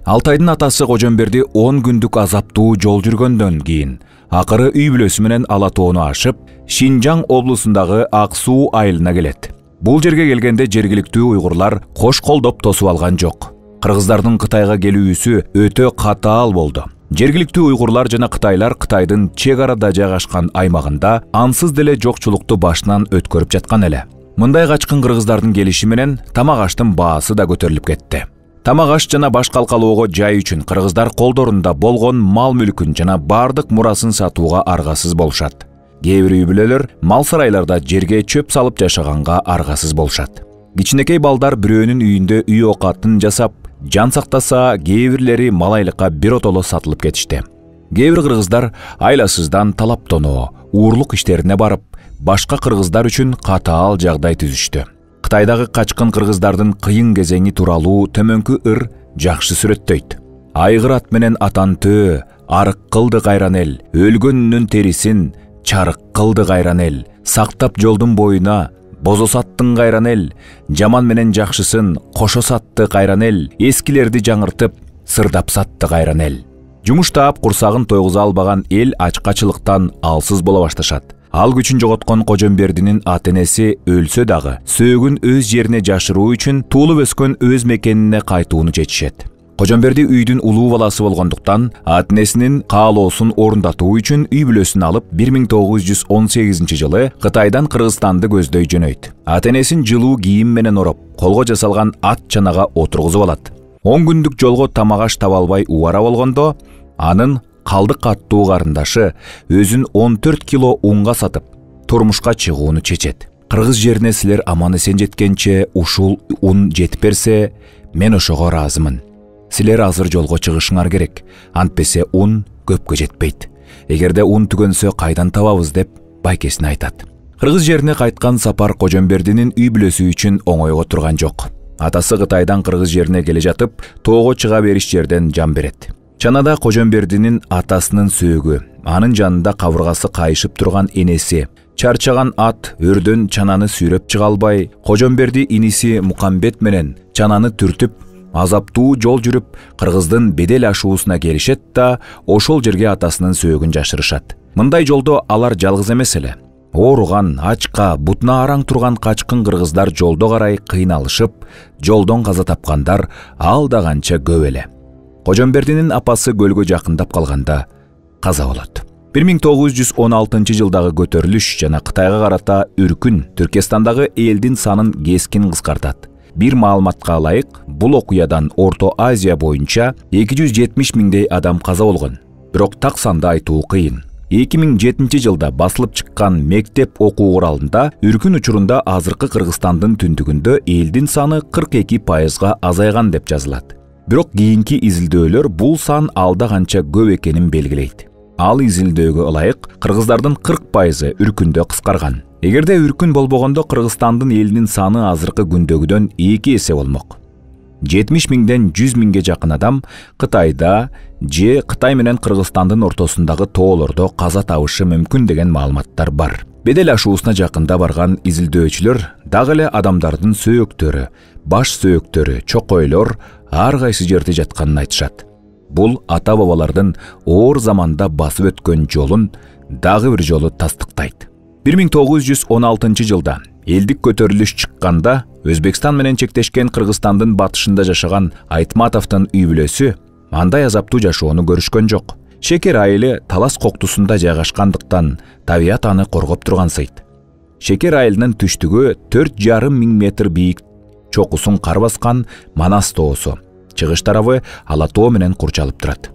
Алтайдын атасы Кожомберди он күндүк азаптуу жол жүргөндөн кийин акыры үй бүлөсү менен ала тоону ашып, Шинжаң облусундагы Ак суу айылына келет. Бул жерге келгенде жергиликтүү уйгурлар кош колдоп тосуп алган жок. Кыргыздардын Кытайга келүүсү өтө катаал болду. Жергиликтүү уйгурлар жана кытайлар Кытайдын чек арада жайгашкан аймагында ансыз деле жокчулукту башынан өткөрүп жаткан эле. Мындай качкын кыргыздардын келиши менен тамак аштын баасы да көтөрүлүп кетти. Тамак аш жана баш калкалоого жай үчүн кыргыздар колдорунда болгон мал мүлкүн жана бардык мурасын сатууга аргасыз болушат. Кээ бир үй бүлөлөр мал сарайларда жерге чөп салып жашаганга аргасыз болушат. Кичинекей балдар бирөөнүн үйүндө үй окатын жасап, жан сактаса, кээ бирлери малайлыкка биротоло сатылып кетишти. Кээ бир кыргыздар айласыздан талаптоноо, уурлук иштерине барып, башка кыргыздар үчүн катаал жагдай түзүштү. Кытайдагы качкын кыргыздардын кыйын кезеңи тууралуу төмөнкү ыр жакшы сүрөттөйт. Айгыр ат менен атан төө, арык кылды кайран эл, өлгөнүнүн терисин чарык кылды кайран эл, сактап жолдун боюна бозо саттың кайран эл, жаман менен жакшысын кошо сатты кайран эл, эскилерди жаңыртып, сырдап сатты кайран эл. Жумуш таап курсагын тойгуза албаган эл ачкачылыктан алсыз боло башташат. Ал күчүн жоготкон Кожомбердинин ата-энеси өлсө дагы, сөөгүн өз жерине жашыруу үчүн туулуп өскөн өз мекенине кайтууну чечишет. Кожомберди үйдүн улуу баласы болгондуктан, ата-энесинин каалоосун орундатуу үчүн үй бүлөсүн алып бир миң тогуз жүз он сегизинчи жылы Кытайдан Кыргызстанды көздөй жөнөйт. Ата-энесин жылуу кийим менен ороп, колго жасалган ат чанага отургузуп алат. он күндүк жолго тамак аш таба албай убара болгондо, анын калдык аттуу карындашы өзүн он төрт кило унга сатып, турмушка чыгууну чечет. Кыргыз жерине силер аман эсен жеткенче ушул ун жетип берсе, мен ошого ыраазымын. Силер азыр жолго чыгышыңар керек, антпесе ун көпкө жетпейт. Эгерде ун түгөнсө кайдан табабыз деп байкесине айтат. Кыргыз жерине кайткан Сапар Кожомбердинин үй бүлөсү үчүн оңойго турган жок. Атасы Кытайдан Кыргыз жерине келе жатып, тоого чыга бериш жерден жан берет. Чанада Кожомбердинин атасынын сөөгү, анын жанында кабыргасы кайышып турган энеси, чарчаган ат өрдөн чананы сүйрөп чыга албай, Кожомберди иниси Мукамбет менен чананы түртүп, азаптуу жол жүрүп, Кыргыздын бедел ашуусуна келишет да, ошол жерге атасынын сөөгүн жашырышат. Мындай жолдо алар жалгыз эмес эле. Ооруган, ачка, бутуна араң турган качкын кыргыздар жолдо карай кыйналышып, жолдон каза тапкандар ал да канча көп эле. Кожомбердинин апасы көлгө жакындап калганда каза болот. бир миң тогуз жүз он алтынчы жылдагы көтөрүлүш жана Кытайга карата үркүн Түркестандагы элдин санын кескин кыскартат. Бир маалыматка ылайык, бул окуядан Орто Азия боюнча эки жүз жетимиш миңдей адам каза болгон. Бирок так санды айтуу кыйын. эки миң жетинчи жылда басылып чыккан мектеп окуу куралында үркүн учурунда азыркы Кыргызстандын түндүгүндө элдин саны кырк эки пайызга азайган деп жазылат. Бирок кийинки изилдөөлөр бул сан алда канча көп экенин белгилейт. Ал изилдөөгө ылайык, кыргыздардын кырк пайызы үркүндө кыскарган. Эгерде үркүн болбогондо Кыргызстандын элинин саны азыркы күндөгүдөн эки эсе болмок. жетимиш миңден жүз миңге жакын адам Кытайда же Кытай менен Кыргызстандын ортосундагы тоолордо каза табышы мүмкүн деген маалыматтар бар. Бедел ашуусуна жакында барган изилдөөчүлөр дагы эле адамдардын сөөктөрү, баш сөөктөрү, чокойлор ар кайсы жерде жатканын айтышат. Бул ата-бабалардын оор заманда басып өткөн жолун дагы бир жолу тастыктайт. бир миң тогуз жүз он алтынчы жылда элдик көтөрүлүш чыкканда Өзбекстан менен чектешкен Кыргызстандын батышында жашаган Айтматовдун үй бүлөсү андай азаптуу жашоону көрүшкөн жок. Шекер айылы талас коктусунда жайгашкандыктан табият аны коргоп тургансыйт. Шекер айылынын түштүгү төрт жарым миң метр бийик чокусун кар баскан Манас тоосу. Чыгыш тарабы Ала тоо менен курчалып турат.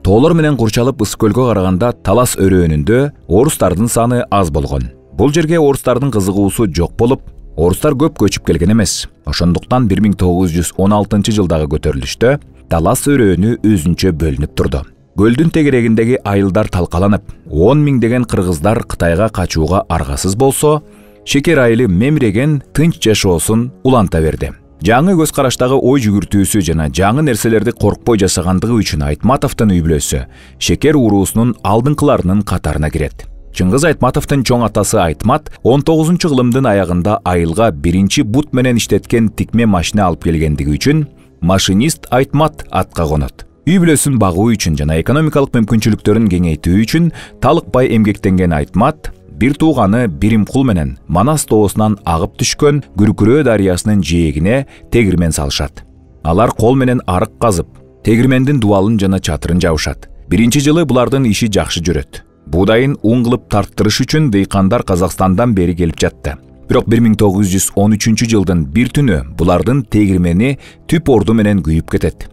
Тоолор менен курчалып Ысык көлгө караганда талас өрөөнүндө орустардын саны аз болгон. Бул жерге орустардын кызыгуусу жок болуп, орустар көп көчүп келген эмес. Ошондуктан бир миң тогуз жүз он алтынчы жылдагы көтөрүлүштө талас өрөөнү өзүнчө бөлүнүп турду. Көлдүн тегерегиндеги айылдар талкаланып, он миңдеген кыргыздар Кытайга качууга аргасыз болсо, Шекер айылы мемиреген тынч жашоосун уланта берди. Жаңы көз караштагы ой жүгүртүүсү жана жаңы нерселерди коркпой жашагандыгы үчүн Айтматовдун үй бүлөсү Шекер уруусунун алдыңкыларынын катарына кирет. Чыңгыз Айтматовдун чоң атасы Айтмат он тогузунчу кылымдын аягында айылга биринчи бут менен иштеткен тикме машина алып келгендиги үчүн машинист Айтмат атка конот. Үй бүлөсүн багуу үчүн жана экономикалык мүмкүнчүлүктөрүн кеңейтүү үчүн талыкпай эмгектенген Айтмат бир тууганы Биримкул менен Манас тоосунан агып түшкөн Күркүрөө дарыясынын жээгине тегирмен салышат. Алар кол менен арык казып, тегирмендин дубалын жана чатырын жабышат. Биринчи жылы булардын иши жакшы жүрөт. Буудайын ун кылып тарттырыш үчүн дыйкандар Казакстандан бери келип жатты. Бирок бир миң тогуз жүз он үчүнчү жылдын бир түнү булардын тегирмени түп орду менен күйүп кетет.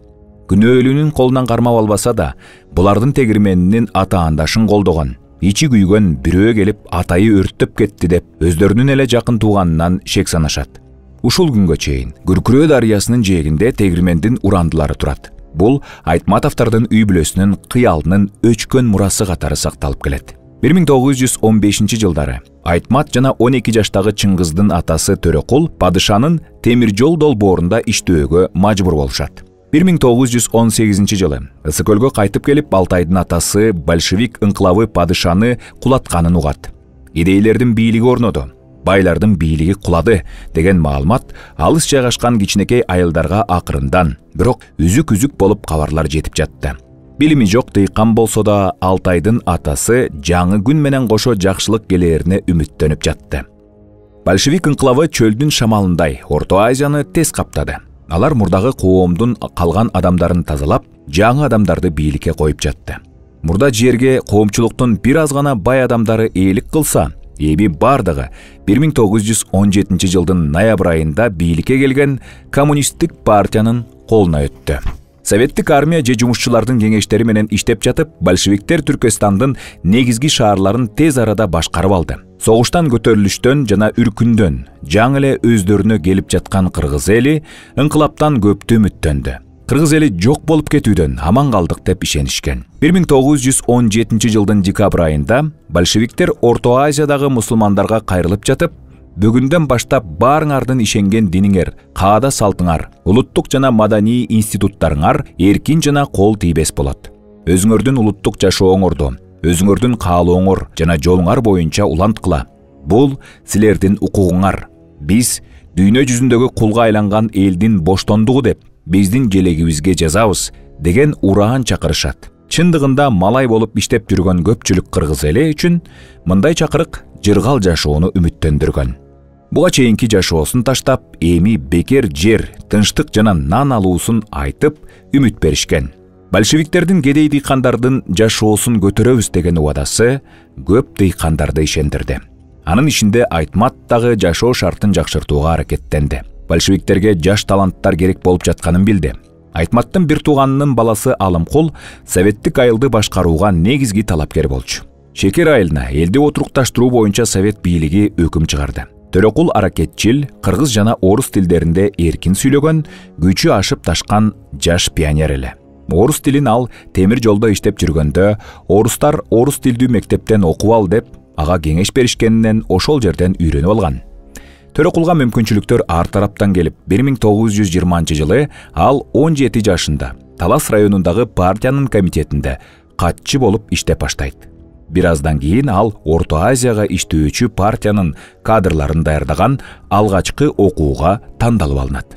Күнөөлүүнүн колунан кармап албаса да, булардын тегирменинин атаандашын колдогон, ичи күйгөн бирөө келип атайы өрттөп кетти деп өздөрүнүн эле жакын тууганынан шек санашат. Ушул күнгө чейин Күркүрөө дарыясынын жээгинде тегирмендин урандылары турат. Бул Айтматовдордун үй бүлөсүнүн кыялынын өчкөн мурасы катары сакталып келет. бир миң тогуз жүз он бешинчи жылдары Айтмат жана он эки жаштагы Чыңгыздын атасы Төрөкул падышанын темир жол долбоорунда иштөөгө мажбур болушат. бир миң тогуз жүз он сегизинчи жылы Ысык көлгө кайтып келип Алтайдын атасы большевик ыңкылабы падышаны кулатканын угат. Идейлердин бийлиги орноду, байлардын бийлиги кулады деген маалымат алыс жайгашкан кичинекей айылдарга акырындан, бирок үзүк-үзүк болуп кабарлар жетип жатты. Билими жок дыйкан болсо да Алтайдын атасы жаңы күн менен кошо жакшылык келээрине үмүттөнүп жатты. Большевик ыңкылабы чөлдүн шамалындай Орто Азияны тез каптады. Алар мурдагы коомдун калган адамдарын тазалап, жаңы адамдарды бийликке коюп жатты. Мурда жерге коомчулуктун бир аз гана бай адамдары ээлик кылса, эми бардыгы бир миң тогуз жүз он жетинчи жылдын ноябрь айында бийликке келген коммунисттик партиянын колуна өттү. Советтик армия же жумушчулардын кеңештери менен иштеп жатып, большевиктер Түркестандын негизги шаарларын тез арада башкарып алды. Согуштан, көтөрүлүштөн жана үркүндөн жаңы эле өздөрүнө келип жаткан кыргыз эли ыңкылаптан көптү үмүттөндү. кыргыз эли жок болуп кетүүдөн аман калдык деп ишенишкен. бир миң тогуз жүз он жетинчи жылдын декабрь айында большевиктер Орто Азиядагы мусулмандарга кайрылып жатып, бүгүндөн баштап баарыңардын ишенген диниңер, каада салтыңар, улуттук жана маданий институттарыңар эркин жана кол тийбес болот. Өзүңөрдүн улуттук жашооңорду, өзүңөрдүн каалооңор жана жолуңар боюнча уланткыла. Бул силердин укугуңар. Биз дүйнө жүзүндөгү кулга айланган элдин боштондугу деп биздин желегибизге жазабыз деген ураан чакырышат. Чындыгында малай болуп иштеп жүргөн көпчүлүк кыргыз эли үчүн мындай чакырык жыргал жашоону үмүттөндүргөн. Буга чейинки жашоосун таштап, эми бекер жер, тынчтык жана нан алуусун айтып, үмүт беришкен. Большевиктердин кедей дыйкандардын жашоосун көтөрөбүз деген убадасы көп дыйкандарды ишендирди. Анын ичинде Айтмат дагы жашоо шартын жакшыртууга аракеттенди. Большевиктерге жаш таланттар керек болуп жатканын билди. Айтматтын бир тууганынын баласы Алымкул советтик айылды башкарууга негизги талапкер болчу. Шекер айылына элди отурукташтыруу боюнча совет бийлиги өкүм чыгарды. Төрөкул аракетчил, кыргыз жана орус тилдеринде эркин сүйлөгөн, күчү ашып ташкан жаш пионер эле. Орус тилин ал темир жолдо иштеп жүргөндө, орустар орус тилдүү мектептен окуп ал деп ага кеңеш беришкенинен ошол жерден үйрөнүп алган. Төрөкулга мүмкүнчүлүктөр ар тараптан келип, бир миң тогуз жүз жыйырманчы жылы ал он жети жашында Талас районундагы партиянын комитетинде катчы болуп иштеп баштайт. Бир аздан кийин ал Орто Азияга иштөөчү партиянын кадрларын даярдаган алгачкы окууга тандалып алынат.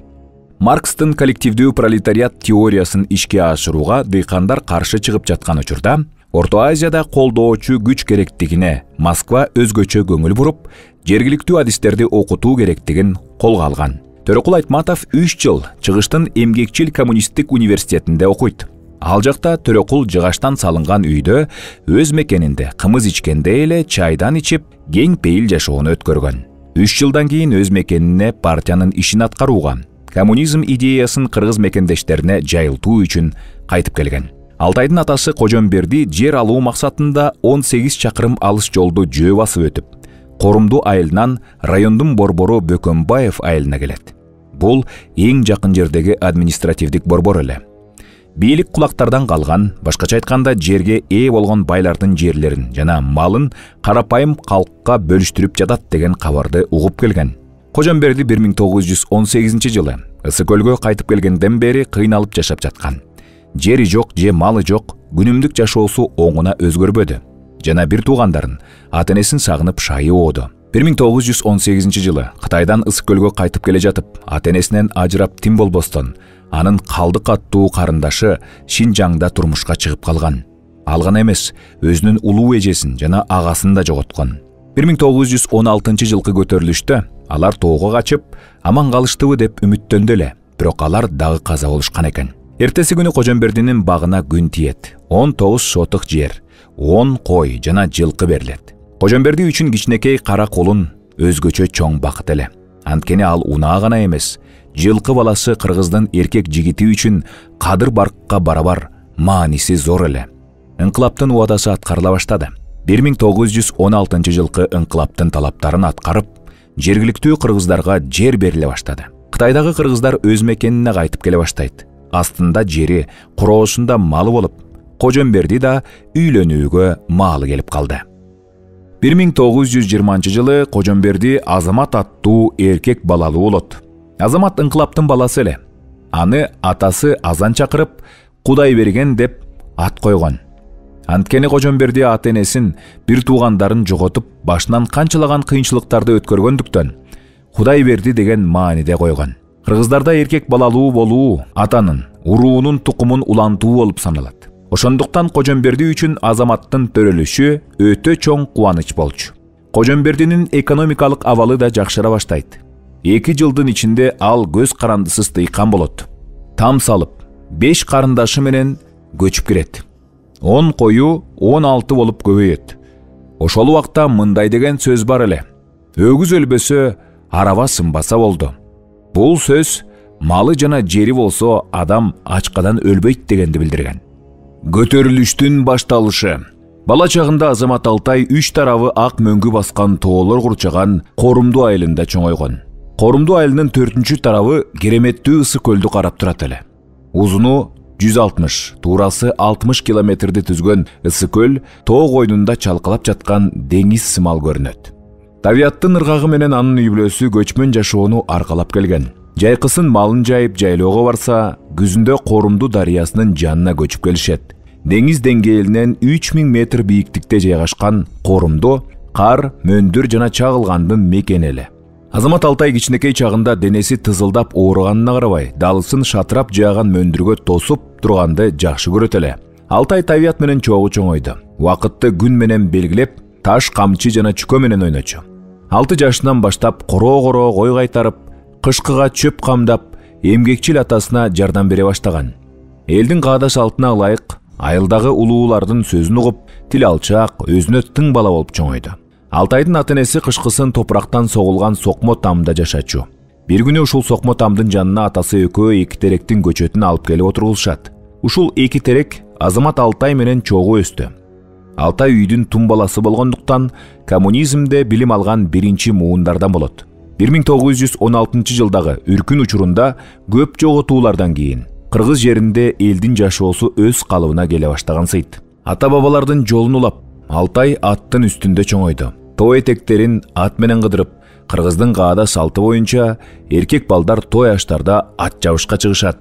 Маркстын коллективдүү пролетариат теориясын ишке ашырууга дыйкандар каршы чыгып жаткан учурда, Орто Азияда колдоочу күч керектигине Москва өзгөчө көңүл буруп, жергиликтүү адистерди окутуу керектигин колго алган. Төрөкул Айтматов үч жыл чыгыштын эмгекчил коммунисттик университетинде окуйт. Ал жакта Төрөкул жыгаштан салынган үйдө өз мекенинде кымыз ичкенде эле чайдан ичип, кең пейил жашоону өткөргөн. Үч жылдан кийин өз мекенине партиянын ишин аткарууга, коммунизм идеясын кыргыз мекендештерине жайылтуу үчүн кайтып келген. Алтайдын атасы Кожомберди жер алуу максатында он сегиз чакырым алыс жолду жөө басып өтүп, Корумду айылынан райондун борбору Бөкөнбаев айылына келет. Бул эң жакын жердеги административдик борбор эле. Бийлик кулактардан калган, башкача айтканда жерге ээ болгон байлардын жерлерин жана малын карапайым калкка бөлүштүрүп жатат деген кабарды угуп келген. Кожомберди бир миң тогуз жүз он сегизинчи жылы Ысык көлгө кайтып келгенден бери кыйналып жашап жаткан. Жери жок же малы жок, күнүмдүк жашоосу оңуна өзгөрбөдү. Жана бир туугандарын, ата-энесин сагынып шайы ооду. бир миң тогуз жүз он сегизинчи жылы Кытайдан Ысык көлгө кайтып келе жатып, ата-энесинен ажырап тим болбостон, анын Калдык аттуу карындашы Шинжаңда турмушка чыгып калган. Ал гана эмес, өзүнүн улуу эжесин жана агасын да жоготкон. бир миң тогуз жүз он алтынчы жылкы көтөрүлүштө алар тоого качып, аман калыштыбы деп үмүттөндү эле, бирок алар дагы каза болушкан экен. Эртеси күнү Кожомбердинин багына күн тиет. он тогуз сотык жер, он кой жана жылкы берилет. Кожомберди үчүн кичинекей кара кулун өзгөчө чоң бакыт эле. Анткени ал унаа гана эмес, жылкы баласы кыргыздын эркек жигити үчүн кадыр баркка барабар мааниси зор эле. Инкылаптын убадасы аткарыла баштады. бир миң тогуз жүз он алтынчы жылкы инкылаптын талаптарын аткарып, жергиликтүү кыргыздарга жер бериле баштады. Кытайдагы кыргыздар өз мекенине кайтып келе баштайт. Астында жери, куроосунда малы болуп, Кожомберди да үйлөнүүгө маалы келип калды. бир миң тогуз жүз жыйырманчы жылы Кожомберди Азамат аттуу эркек балалуу болот. Азамат инкылаптын баласы эле. Аны атасы азан чакырып, Кудай берген деп ат койгон. Анткени Кожомберди ата-энесин, бир туугандарын жоготуп, башынан канчалаган кыйынчылыктарды өткөргөндүктөн Кудай берди деген мааниде койгон. Кыргыздарда эркек балалуу болуу атанын, уруунун тукумун улантуу болуп саналат. Ошондуктан Кожомберди үчүн Азаматтын төрөлүшү өтө чоң кубаныч болчу. Кожомбердинин экономикалык абалы да жакшыра баштайт. Эки жылдын ичинде ал көз карандысыз дыйкан болот. Там салып, беш карындашы менен көчүп кирет. он кою он алты болуп көбөйөт. Ошол убакта мындай деген сөз бар эле. Өгүз өлбөсө, араба сынбаса болду. Бул сөз малы жана жери болсо адам ачкадан өлбөйт дегенди билдирген. Көтөрүлүштүн башталышы. Бала чагында Азамат Алтай үч тарабы ак мөңгү баскан тоолор курчаган Корумду айылында чоңойгон. Корумду айылынын төртүнчү тарабы кереметтүү Ысык көлдү карап турат эле. узуну жүз алтымыш, туурасы алтымыш километрди түзгөн ыссы көл тоо койнунда чалкалап жаткан деңиз сымал көрүнөт. Табиаттын ыргагы менен анын үй бүлөсү көчмөн жашоону аркалап келген. Жайкысын малын жайып жайлоого барса, күзүндө Корумду дарыясынын жанына көчүп келишет. Деңиз деңгээлинен үч миң метр бийиктикте жайгашкан Корумду кар, мөндүр жана чагылгандын мекени эле. Азамат Алтай кичинекей чагында денеси тызылдап ооруганына карабай, далысын шатырап жааган мөндүргө тосуп турганды жакшы көрөт эле. Алтай табият менен чогуу чоңойду. Убакытты күн менен белгилеп, таш, камчы жана чүкө менен ойночу. алты жашынан баштап короо-короо кой кайтарып, кышкыга чөп камдап, эмгекчил атасына жардам бере баштаган. Элдин каада салтына ылайык айылдагы улуулардын сөзүн угуп, тил алчак, өзүнө тың бала болуп чоңойду. Алтайдын ата-энеси кышкысын топурактан согулган сокмо тамда жашачу. Бир күнү ушул сокмо тамдын жанына атасы экөө эки теректин көчөтүн алып келип отургулушат. Ушул эки терек Азамат Алтай менен чогуу өстү. Алтай үйдүн тум баласы болгондуктан коммунизмде билим алган биринчи муундардан болот. бир миң тогуз жүз он алтынчы жылдагы үркүн учурунда көп жоготуулардан кийин кыргыз жеринде элдин жашоосу өз калыбына келе баштагансыйт. Ата-бабалардын жолун улап, Алтай аттын үстүндө чоңойду. Тоо этектерин ат менен кыдырып, кыргыздын каада салты боюнча эркек балдар той аштарда ат жабышка чыгышат.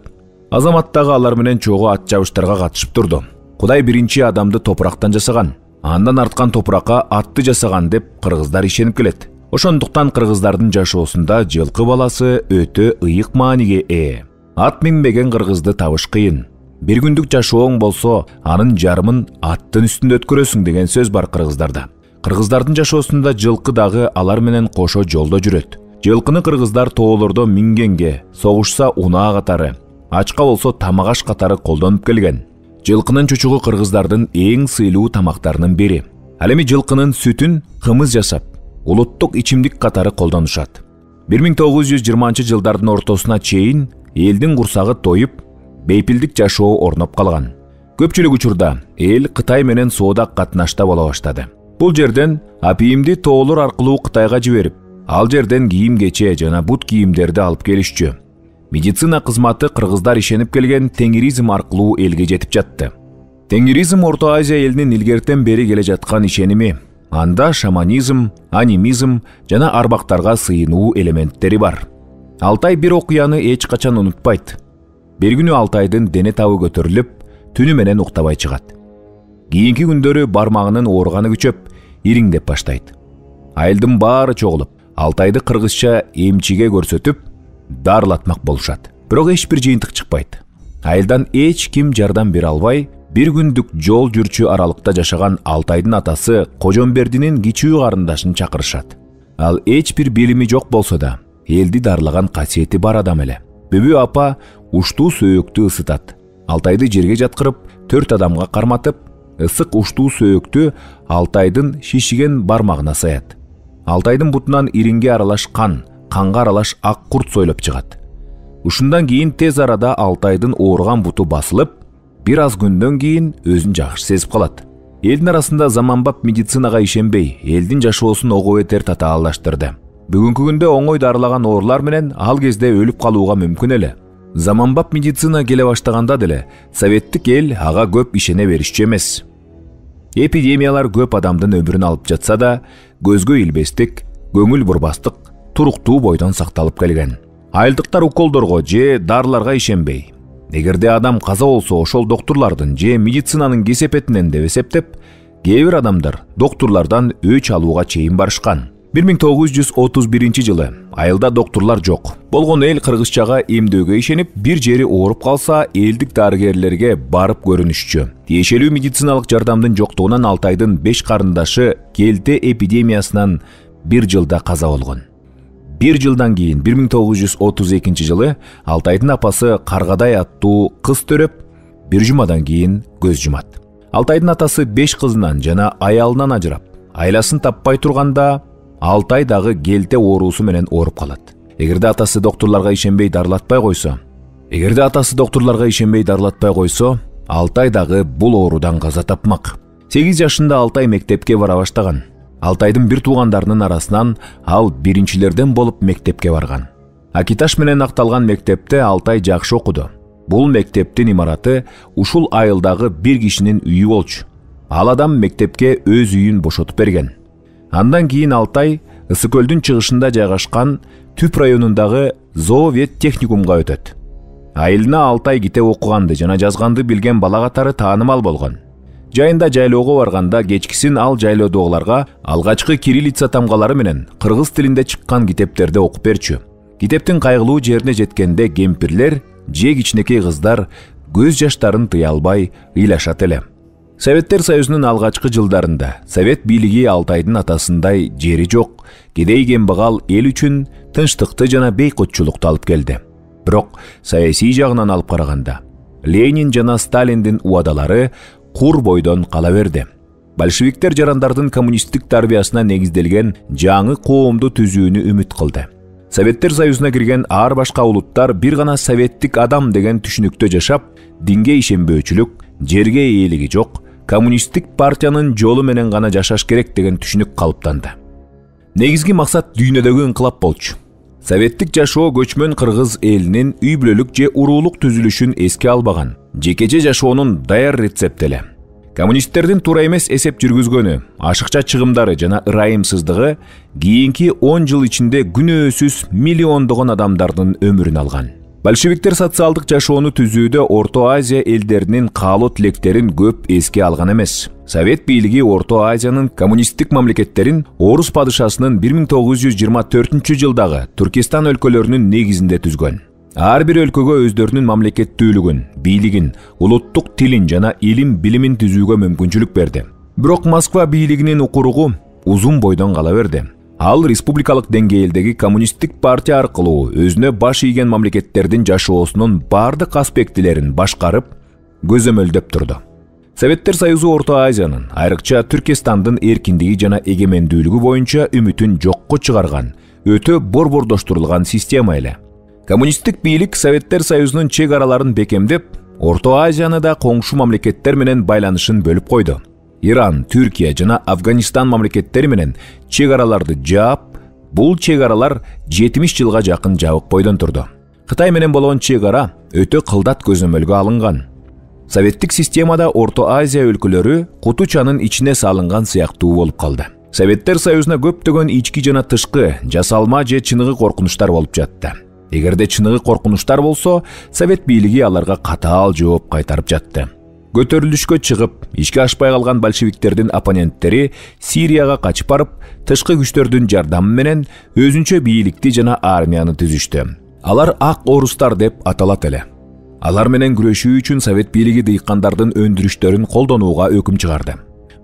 Азамат дагы алар менен чогуу ат жабыштарга катышып турду. Кудай биринчи адамды топурактан жасаган, андан арткан топуракка атты жасаган деп кыргыздар ишенип келет. Ошондуктан кыргыздардын жашоосунда жылкы баласы өтө ыйык мааниге ээ. Ат минбеген кыргызды табыш кыйын. Бир күндүк жашооң болсо, анын жарымын аттын үстүндө өткөрөсүң деген сөз бар кыргыздарда. Кыргыздардын жашоосунда жылкы дагы алар менен кошо жолдо жүрөт. Жылкыны кыргыздар тоолордо мингенге, согушса унаа катары, ачка болсо тамагаш катары колдонуп келген. Жылкынын чучугу кыргыздардын эң сыйлуу тамактарынын бири. Ал эми жылкынын сүтүн кымыз жасап, улуттук ичимдик катары колдонушат. бир миң тогуз жүз жыйырманчы жылдардын ортосуна чейин элдин курсагы тоюп, бейпилдик жашоо орноп калган. Көпчүлүк учурда эл Кытай менен соода катнашта боло баштады. Бул жерден апийимди тоолор аркылуу Кытайга жиберип, ал жерден кийим-кече жана бут кийимдерди алып келишчү. Медицина кызматы кыргыздар ишенип келген теңиризм аркылуу элге жетип жатты. Теңиризм Орто Азия элинин илгертен бери келе жаткан ишеними. Анда шаманизм, анимизм жана арбактарга сыйынуу элементтери бар. Алтай бир окуяны эч качан унутпайт. Бир күнү Алтайдын дене табы көтөрүлүп, түнү менен уктабай чыгат. Кийинки күндөрү бармагынын ооруганы күчөп, ириңдеп баштайт. Айылдын баары чогулуп, Алтайды кыргызча эмчиге көрсөтүп, дарылатмак болушат. Бирок эч бир жыйынтык чыкпайт. Айылдан эч ким жардам бере албай, бир күндүк жол жүрчү аралыкта жашаган Алтайдын атасы Кожомбердинин кичүү карындашын чакырышат. Ал эч бир билими жок болсо да, элди дарылаган касиети бар адам эле. Бүбү апа уштуу сөөктү ысытат. Алтайды жерге жаткырып, төрт адамга карматып, ысык уштуу сөөктү Алтайдын шишиген бармагына саят. Алтайдын бутунан иринге аралаш кан, канга аралаш ак курт сойлоп чыгат. Ушундан кийин тез арада Алтайдын ооруган буту басылып, бир аз күндөн кийин өзүн жакшы сезип калат. Элдин арасында заманбап медицинага ишенбей, элдин жашоосун ого бетер татаалдаштырды. Бүгүнкү күндө оңой дарылаган оорулар менен ал кезде өлүп калууга мүмкүн эле. Заманбап медицина келе баштаганда деле советтик эл ага көп ишене беришчү эмес. Эпидемиялар көп адамдын өмүрүн алып жатса да, көзгө илбестик, көңүл бурбастык туруктуу бойдон сакталып келген. Айылдыктар уколдорго же дарыларга ишенбей, эгерде адам каза болсо ошол доктурлардын же медицинанын кесепетинен деп эсептеп, кээ бир адамдар доктурлардан өч алууга чейин барышкан. бир миң тогуз жүз отуз биринчи жылы айылда доктурлар жок. Болгон эл кыргызчага эмдөөгө ишенип, бир жери ооруп калса, элдик дарыгерлерге барып көрүнүшчү. Тиешелүү медициналык жардамдын жоктугунан Алтайдын беш карындашы келте эпидемиясынан бир жылда каза болгон. Бир жылдан кийин бир миң тогуз жүз отуз экинчи жылы Алтайдын апасы Каргадай аттуу кыз төрөп, бир жумадан кийин көз жумат. Алтайдын атасы беш кызынан жана аялынан ажырап, айласын таппай турганда Алтай дагы келте оорусу менен ооруп калат. Эгерде атасы доктурларга ишенбей дарылатпай койсо, эгерде атасы доктурларга ишенбей дарылатпай койсо, Алтай дагы бул оорудан каза тапмак. сегиз жашында Алтай мектепке бара баштаган. Алтайдын бир туугандарынын арасынан ал биринчилерден болуп мектепке барган. Акиташ менен акталган мектепте Алтай жакшы окуду. Бул мектептин имараты ушул айылдагы бир кишинин үйү болчу. Ал адам мектепке өз үйүн бошотуп берген. Андан кийин Алтай Ысык көлдүн чыгышында жайгашкан Түп районундагы Зоовет техникумга өтөт. Айылына Алтай китеп окуганды жана жазганды билген бала катары таанымал болгон. Жайында жайлоого барганда кечкисин ал жайлоодогуларга алгачкы кириллица тамгалары менен кыргыз тилинде чыккан китептерди окуп берчү. Китептин кайгылуу жерине жеткенде кемпирлер же кичинекей кыздар көз жаштарын тыя албай ыйлашат эле. Советтер Союзунун алгачкы жылдарында Совет бийлиги Алтайдын атасындай жери жок, кедей кембагал эл үчүн тынчтыкты жана бейкотчулукту алып келди. Бирок саясий жагынан алып караганда Ленин жана Сталиндин убадалары кур бойдон кала берди. Большевиктер жарандардын коммунисттик тарбиясына негизделген жаңы коомду түзүүнү үмүт кылды. Советтер Союзуна кирген ар башка улуттар бир гана советтик адам деген түшүнүктө жашап, динге ишенбөөчүлүк, жерге ээлиги жок, коммунисттик партиянын жолу менен гана жашаш керек деген түшүнүк калыптанды. Негизги максат дүйнөдөгү инкылап болчу. Советтик жашоо көчмөн кыргыз элинин үй бүлөлүк же уруулук түзүлүшүн эске албаган, жекече жашоонун даяр рецепти эле. Коммунисттердин туура эмес эсеп жүргүзгөнү, ашыкча чыгымдары жана ырайымсыздыгы кийинки он жыл ичинде күнөөсүз миллиондогон адамдардын өмүрүн алган. Большевиктер социалдык жашоону түзүүдө Орто Азия элдеринин каалоо тилектерин көп эске алган эмес. Совет бийлиги Орто Азиянын коммунисттик мамлекеттерин Орус падышасынын бир миң тогуз жүз жыйырма төртүнчү жылдагы Түркистан өлкөлөрүнүн негизинде түзгөн. Ар бир өлкөгө өздөрүнүн мамлекеттүүлүгүн, бийлигин, улуттук тилин жана илим билимин түзүүгө мүмкүнчүлүк берди. Бирок Москва бийлигинин укуругу узун бойдон кала берди. Ал республикалык деңгээлдеги коммунисттик партия аркылуу өзүнө баш ийген мамлекеттердин жашоосунун бардык аспектилерин башкарып, көзөмөлдөп турду. Советтер Союзу Орто Азиянын, айрыкча Түркистандын эркиндиги жана эгемендүүлүгү боюнча үмүтүн жокко чыгарган, өтө борбордоштурулган система эле. Коммунисттик бийлик Советтер Союзунун чек араларын бекемдеп, Орто Азияны да коңшу мамлекеттер менен байланышын бөлүп койду. Иран, Түркия жана Афганистан мамлекеттери менен чек араларды жаап, бул чек аралар жетимиш жылга жакын жабык бойдон турду. Кытай менен болгон чек ара өтө кылдат көзөмөлгө алынган. Советтик системада Орто Азия өлкөлөрү кутучанын ичине салынган сыяктуу болуп калды. Советтер Союзуна көптөгөн ички жана тышкы, жасалма же чыныгы коркунучтар болуп жатты. Эгерде чыныгы коркунучтар болсо, Совет бийлиги аларга катаал жооп кайтарып жатты. Көтөрүлүшкө чыгып, ишке ашпай калган большевиктердин оппоненттери Сирияга качып барып, тышкы күчтөрдүн жардамы менен өзүнчө бийликти жана армияны түзүштү. Алар ак орустар деп аталат эле. Алар менен күрөшүү үчүн Совет бийлиги дыйкандардын өндүрүштөрүн колдонууга өкүм чыгарды.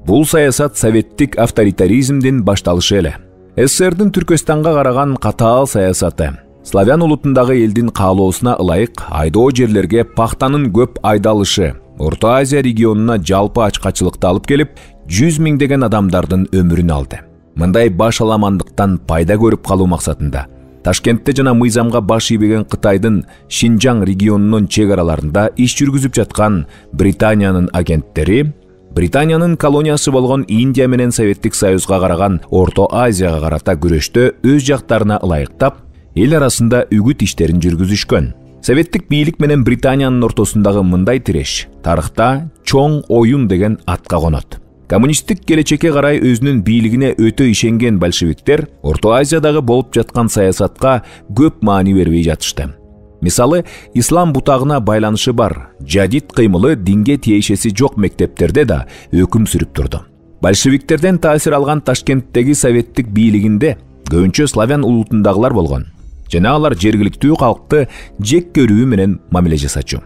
Бул саясат советтик авторитаризмдин башталышы эле. СССРдин Түркөстанга караган катаал саясаты, славян улутундагы элдин каалоосуна ылайык айдоо жерлерге пахтанын көп айдалышы Орто Азия регионуна жалпы ачкачылыкты алып келип, жүз миңдеген адамдардын өмүрүн алды. Мындай баш аламандыктан пайда көрүп калуу максатында Ташкентте жана Мыйзамга баш ийбеген Кытайдын Шинжаң регионунун чек араларында иш жүргүзүп жаткан Британиянын агенттери Британиянын колониясы болгон Индия менен Советтик Союзга караган Орто Азияга карата күрөштө өз жактарына ылайыктап, эл арасында үгүт иштерин жүргүзүшкөн. Советтик бийлик менен Британиянын ортосундагы мындай тиреш тарыхта чоң оюн деген атка конот. Коммунисттик келечекке карай өзүнүн бийлигине өтө ишенген большевиктер Орто Азиядагы болуп жаткан саясатка көп маани бербей жатышты. Мисалы, ислам бутагына байланышы бар, жадид кыймылы динге тиешеси жок мектептерде да өкүм сүрүп турду. Большевиктерден таасир алган Ташкенттеги советтик бийлигинде көбүнчө славян улутундагылар болгон. Жана алар жергиликтүү калкты жек көрүү менен мамиле жасачу.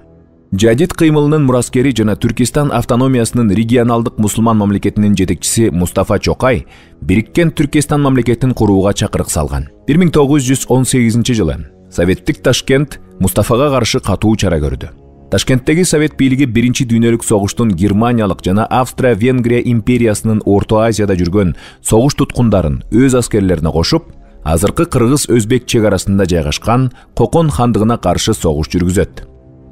Жадид кыймылынын мураскери жана Түркистан автономиясынын регионалдык мусулман мамлекетинин жетекчиси Мустафа Чокай бириккен Түркистан мамлекетин курууга чакырык салган. бир миң тогуз жүз он сегизинчи жылы Советтик Ташкент Мустафага каршы катуу чара көрдү. Ташкенттеги Совет бийлиги биринчи дүйнөлүк согуштун Германиялык жана Австро-Венгрия империясынын Орто Азияда жүргөн согуш туткундарын өз аскерлерине кошуп, азыркы кыргыз-өзбек чек арасында жайгашкан Кокон хандыгына каршы согуш жүргүзөт.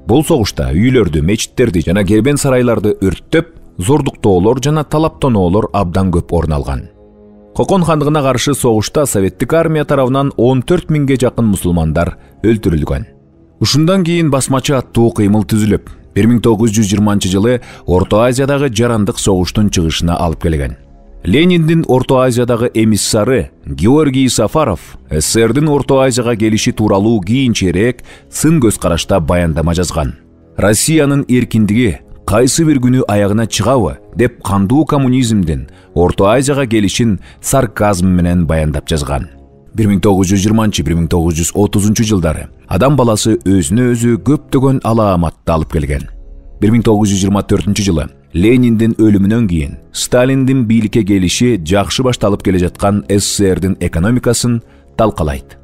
Бул согушта үйлөрдү, мечиттерди жана кербен сарайларды өрттөп, зордуктоолор жана талаптоноолор абдан көп орун алган. Кокон хандыгына каршы согушта советтик армия тарабынан он төрт миңге жакын мусулмандар өлтүрүлгөн. Ушундан кийин басмачы аттуу кыймыл түзүлүп, бир миң тогуз жүз жыйырманчы жылы Орто Азиядагы жарандык согуштун чыгышына алып келген. Лениндин Орто Азиядагы эмиссары Георгий Сафаров СССРдин Орто Азияга келиши тууралуу кийинчерээк сын көз карашта баяндама жазган. Россиянын эркиндиги кайсы бир күнү аягына чыгабы деп кандуу коммунизмдин Орто Азияга келишин сарказм менен баяндап жазган. бир миң тогуз жүз жыйырманчы — бир миң тогуз жүз отузунчу жылдары адам баласы өзүнө өзү көптөгөн алааматты алып келген. бир миң тогуз жүз жыйырма төртүнчү жылы Лениндин өлүмүнөн кийин Сталиндин бийликке келиши жакшы башталып келе жаткан СССРдин экономикасын талкалайт.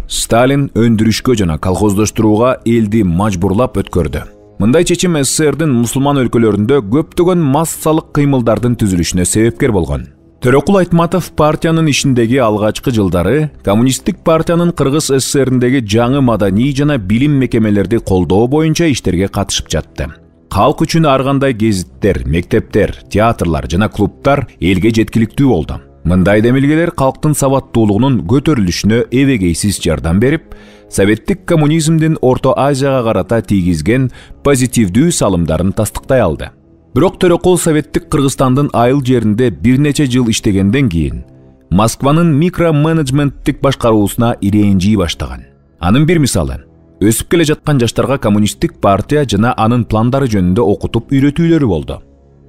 Сталин өндүрүшкө жана колхоздоштурууга элди мажбурлап өткөрдү. Мындай чечим СССРдин мусулман өлкөлөрүндө көптөгөн массалык кыймылдардын түзүлүшүнө себепкер болгон. Төрөкул Айтматов партиянын ишиндеги алгачкы жылдары Коммунисттик партиянын Кыргыз СССРиндеги жаңы маданий жана билим мекемелерди колдоо боюнча иштерге катышып жатты. Калк үчүн ар кандай гезиттер, мектептер, театрлар жана клубтар элге жеткиликтүү болду. Мындай демилгелер калктын сабаттуулугунун көтөрүлүшүнө эбегейсиз жардам берип, советтик коммунизмдин Орто Азияга карата тийгизген позитивдүү салымдарын тастыктай алды. Бирок Төрөкул советтик Кыргызстандын айыл жеринде бир нече жыл иштегенден кийин Москванын микроменеджменттик башкаруусуна ирэнжий баштаган. Анын бир мисалы, өсүп келе жаткан жаштарга коммунисттик партия жана анын пландары жөнүндө окутуп үйрөтүүлөрү болду.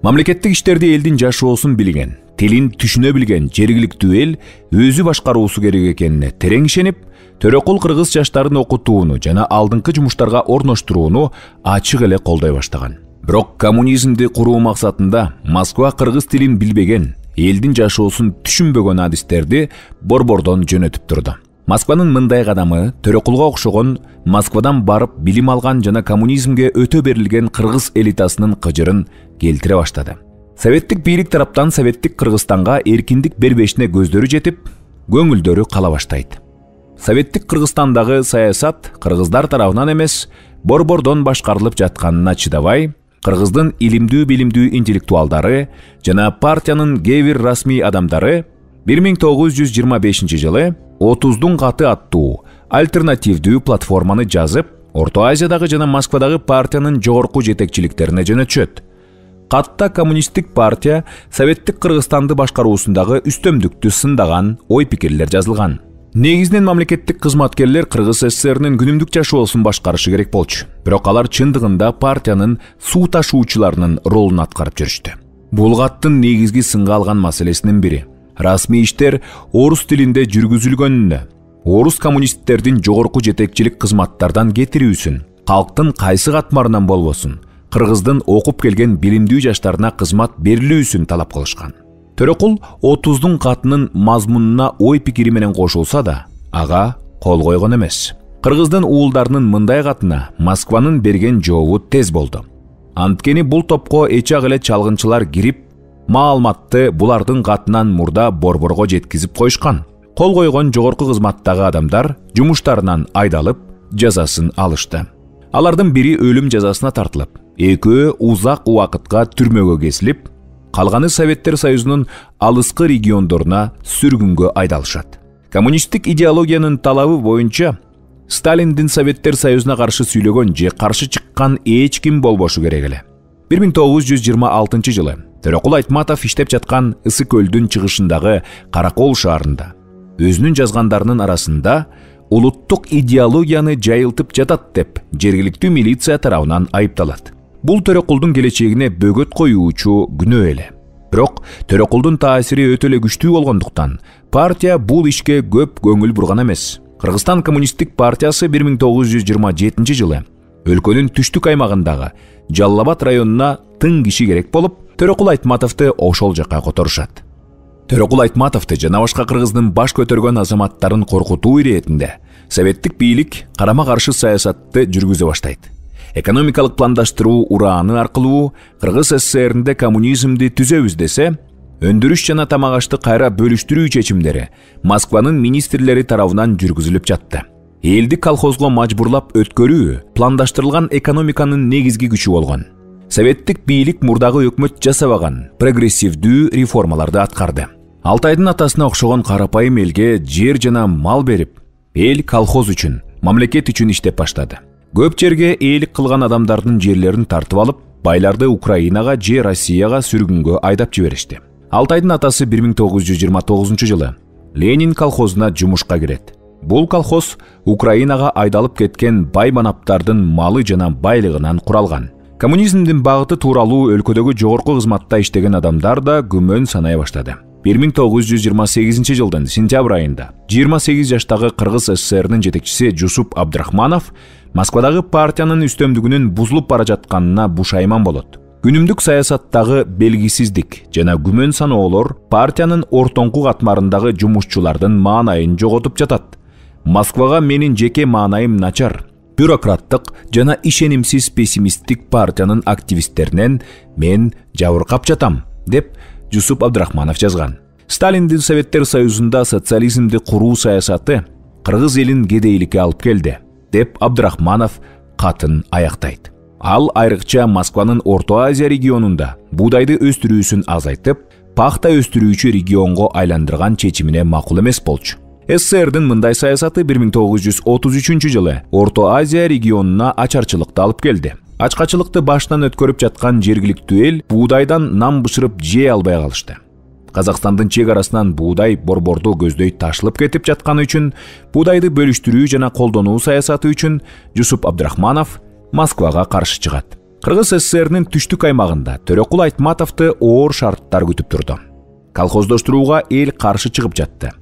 Мамлекеттик иштерди элдин жашоосун билген, тилин түшүнө билген жергиликтүү эл өзү башкаруусу керек экенине терең ишенип, Төрөкул кыргыз жаштарын окутууну жана алдыңкы жумуштарга орноштурууну ачык эле колдой баштаган. Бирок коммунизмди куруу максатында Москва кыргыз тилин билбеген, элдин жашоосун түшүнбөгөн адистерди борбордон жөнөтүп турду. Москванын мындай кадамы Төрөкулга окшогон Москвадан барып билим алган жана коммунизмге өтө берилген кыргыз элитасынын кыжырын келтире баштады. Советтик бийлик тараптан советтик Кыргызстанга эркиндик бербешине көздөрү жетип, көңүлдөрү кала баштайт. Советтик Кыргызстандагы саясат кыргыздар тарабынан эмес, борбордон башкарылып жатканына чыдабай, Кыргыздын илимдүү билимдүү интеллектуалдары жана партиянын кээ бир расмий адамдары бир миң тогуз жүз жыйырма бешинчи жылы отуздун каты аттуу альтернативдүү платформаны жазып, Орто Азиядагы жана Москвадагы партиянын жогорку жетекчиликтерине жөнөтүшөт. Катта коммунисттик партия советтик Кыргызстанды башкаруусундагы үстөмдүктү сындаган ой-пикирлер жазылган. Негизинен мамлекеттик кызматкерлер Кыргыз СССРинин күнүмдүк жашоосун башкарышы керек болчу. Бирок алар чындыгында партиянын суу ташуучуларынын ролун аткарып жүрүштү. Бул каттын негизги сынга алган маселесинин бири расмий иштер орус тилинде жүргүзүлгөнүнө, орус коммунисттердин жогорку жетекчилик кызматтардан кетирүүсүн, калктын кайсы катмарынан болбосун, Кыргыздын окуп келген билимдүү жаштарына кызмат берилүүсүн талап кылышкан. Төрөкул отуздун катынын мазмунуна ой пикири менен кошулса да, ага кол койгон эмес. Кыргыздын уулдарынын мындай катына Москванын берген жообу тез болду. Анткени бул топко эчак эле чалгынчылар кирип, маалыматты булардын катынан мурда борборго жеткизип коюшкан. Кол койгон жогорку кызматтагы адамдар жумуштарынан айдалып, жазасын алышты. Алардын бири өлүм жазасына тартылып, экөө узак убакытка түрмөгө кесилип, калганы Советтер Союзунун алыскы региондоруна сүргүнгө айдалышат. Коммунисттик идеологиянын талабы боюнча Сталиндин Советтер Союзуна каршы сүйлөгөн же каршы чыккан эч ким болбошу керек эле. бир миң тогуз жүз жыйырма алтынчы жылы Төрөкул Айтматов иштеп жаткан Ысык көлдүн чыгышындагы Каракол шаарында өзүнүн жазгандарынын арасында улуттук идеологияны жайылтып жатат деп жергиликтүү милиция тарабынан айыпталат. Бул Төрөкулдун келечегине бөгөт коюучу күнөө эле. Бирок Төрөкулдун таасири өтө эле күчтүү болгондуктан партия бул ишке көп көңүл бурган эмес. Кыргызстан коммунисттик партиясы бир миң тогуз жүз жыйырма жетинчи жылы өлкөнүн түштүк аймагындагы Жалал Абад районуна тың киши керек болуп, Төрөкул Айтматовду ошол жакка которушат. Төрөкул Айтматовду жана башка Кыргыздын баш көтөргөн азаматтарын коркутуу иретинде советтик бийлик карама-каршы саясатты жүргүзө баштайт. Экономикалык пландаштыруу урааны аркылуу Кыргыз СССРинде коммунизмди түзөбүз десе, өндүрүш жана тамак ашты кайра бөлүштүрүү чечимдери Москванын министрлери тарабынан жүргүзүлүп жатты. Элди колхозго мажбурлап өткөрүү пландаштырылган экономиканын негизги күчү болгон. Советтик бийлик мурдагы өкмөт жасабаган прогрессивдүү реформаларды аткарды. Алтайдын атасына окшогон карапайым элге жер жана мал берип, эл колхоз үчүн, мамлекет үчүн иштеп баштады. Көп жерге ээлик кылган адамдардын жерлерин тартып алып, байларды Украинага же Россияга сүргүнгө айдап жиберишти. Алтайдын атасы бир миң тогуз жүз жыйырма тогузунчу жылы Ленин колхозуна жумушка кирет. Бул колхоз Украинага айдалып кеткен бай манаптардын малы жана байлыгынан куралган. Коммунизмдин багыты тууралуу өлкөдөгү жогорку кызматта иштеген адамдар да күмөн санай баштады. бир миң тогуз жүз жыйырма сегизинчи жылдын сентябрь айында жыйырма сегиз жаштагы Кыргыз СССРнын жетекчиси Жусуп Абдрахманов Москвадагы партиянын үстөмдүгүнүн бузулуп бара жатканына бушайман болот. Күнүмдүк саясаттагы белгисиздик жана күмөн саноолор партиянын ортоңку катмарындагы жумушчулардын маанайын жоготуп жатат. Москвага менин жеке маанайым начар, бюрократтык жана ишенимсиз пессимисттик партиянын активисттеринен мен жабыркап жатам, деп Жусуп Абдрахманов жазган. Сталиндин Советтер Союзунда социализмди куруу саясаты кыргыз элин кедейликке алып келди, деп Абдрахманов катын аяктайт. Ал айрыкча Москванын Орто Азия регионунда буудайды өстүрүүсүн азайтып, пахта өстүрүүчү регионго айландырган чечимине макул эмес болчу. СССРдин мындай саясаты бир миң тогуз жүз отуз үчүнчү жылы Орто Азия регионуна ачарчылыкты алып келди. Ачкачылыкты баштан өткөрүп жаткан жергиликтүү эл буудайдан нам бышырып жей албай калышты. Казакстандын чек арасынан буудай борборду көздөй ташылып кетип жатканы үчүн буудайды бөлүштүрүү жана колдонуу саясаты үчүн Жусуп Абдрахманов Москвага каршы чыгат. Кыргыз СССРнин түштүк аймагында Төрөкул Айтматовду оор шарттар күтүп турду. Колхоздоштурууга эл каршы чыгып жатты.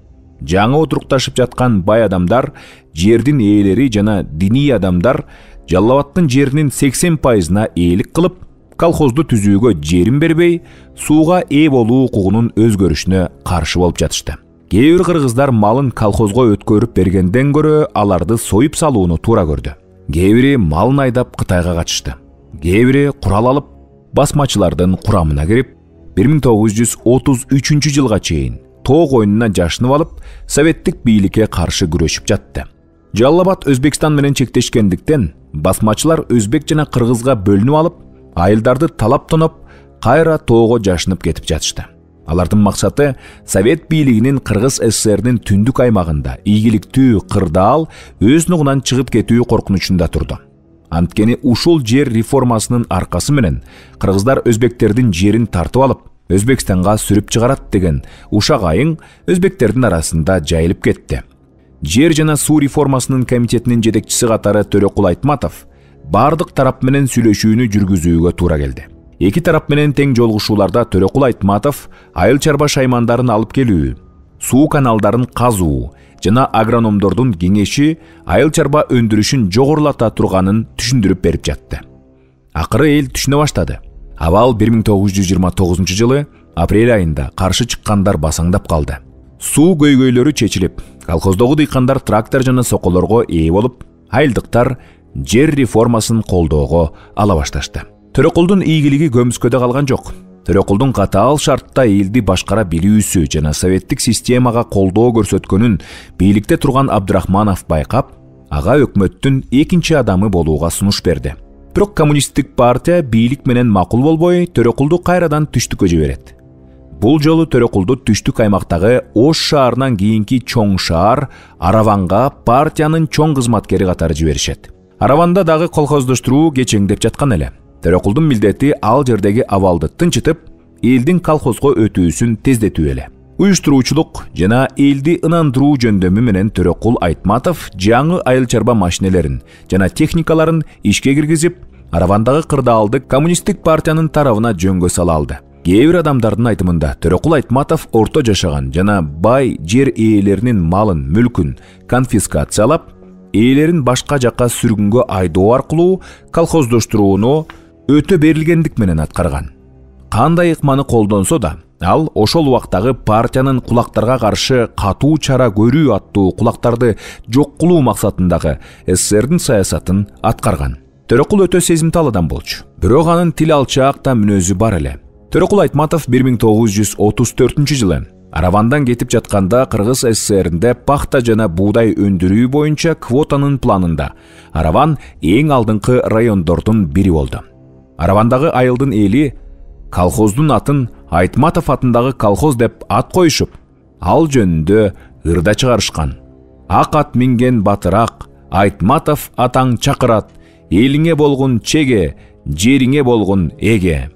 Жаңы отурукташып жаткан бай адамдар, жердин ээлери жана диний адамдар Жалал Абадтын жеринин сексен пайызына ээлик кылып, колхозду түзүүгө жерин бербей, сууга ээ болуу укугунун өзгөрүшүнө каршы болуп жатышты. Кээ бир кыргыздар малын колхозго өткөрүп бергенден көрө аларды союп салууну туура көрдү. Кээ бири малын айдап Кытайга качышты. Кээ бири курал алып, басмачылардын курамына кирип, бир миң тогуз жүз отуз үчүнчү жылга чейин тоо коюнуна жашынып алып, советтик бийликке каршы күрөшүп жатты. Жалал Абад Өзбекстан менен чектешкендиктен басмачылар өзбек жана кыргызга бөлүнүп алып, айылдарды талап тоноп, кайра тоого жашынып кетип жатышты. Алардын максаты Совет бийлигинин Кыргыз СССРнин түндүк аймагында ийгиликтүү кырдаал өз нугунан чыгып кетүү коркунучунда турду. Анткени ушул жер реформасынын аркасы менен кыргыздар өзбектердин жерин тартып алып, Өзбекстанга сүрүп чыгарат деген ушак айың өзбектердин арасында жайылып кетти. Жер жана суу реформасынын комитетинин жетекчиси катары Төрөкул Айтматов бардык тарап менен сүйлөшүүнү жүргүзүүгө туура келди. Эки тарап менен тең жолугушууларда Төрөкул Айтматов айыл чарба шаймандарын алып келүү, суу каналдарын казуу жана агрономдордун кеңеши айыл чарба өндүрүшүн жогорулата турганын түшүндүрүп берип жатты. Акыры эл түшүнө баштады. Абал бир миң тогуз жүз жыйырма тогузунчу жылы апрель айында каршы чыккандар басаңдап калды. Суу көйгөйлөрү чечилип, колхоздогу дыйкандар трактор жана соколорго ээ болуп, айылдыктар жер реформасын колдоого ала башташты. Төрөкулдун ийгилиги көмүскөдө калган жок. Төрөкулдун катаал шартта элди башкара билүүсү жана советтик системага колдоо көрсөткөнүн бийликте турган Абдрахманов байкап, ага өкмөттүн экинчи адамы болууга сунуш берди. Бирок коммунисттик партия бийлик менен макул болбой, Төрөкулду кайрадан түштүккө жиберет. Бул жолу Төрөкулду түштүк аймактагы Ош шаарынан кийинки чоң шаар Араванга партиянын чоң кызматкери катары жиберишет. Араванда дагы колхоздоштуруу кечеңдеп жаткан эле. Төрөкулдун милдети ал жердеги абалды тынчытып, элдин колхозго өтүүсүн тездетүү эле. Уюштуруучулук жана элди ынандыруу жөндөмү менен Төрөкул Айтматов жаңы айыл чарба машинелерин жана техникаларын ишке киргизип, Аравандагы кырдаалды коммунисттик партиянын тарабына жөнгө сала алды. Кээ бир адамдардын айтымында Төрөкул Айтматов орто жашаган жана бай жер ээлеринин малын, мүлкүн конфискациялап, ээлерин башка жакка сүргүнгө айдоо аркылуу колхоздоштурууну өтө берилгендик менен аткарган. Кандай ыкманы колдонсо да, ал ошол убактагы партиянын кулактарга каршы катуу чара көрүү аттуу кулактарды жок кылуу максатындагы СССРдин саясатын аткарган. Төрөкул өтө сезимтал адам болчу. Бирок анын тил алчаак да мүнөзү бар эле. Төрөкул Айтматов бир миң тогуз жүз отуз төртүнчү жылы Аравандан кетип жатканда Кыргыз СССРинде пахта жана буудай өндүрүү боюнча квотанын планында Араван эң алдыңкы райондордун бири болду. Аравандагы айылдын эли колхоздун атын Айтматов атындагы колхоз деп ат коюшуп, ал жөнүндө ырда чыгарышкан. Ак ат минген батыраак, Айтматов атаң чакырат, элиңе болгон чеге, жериңе болгон эге.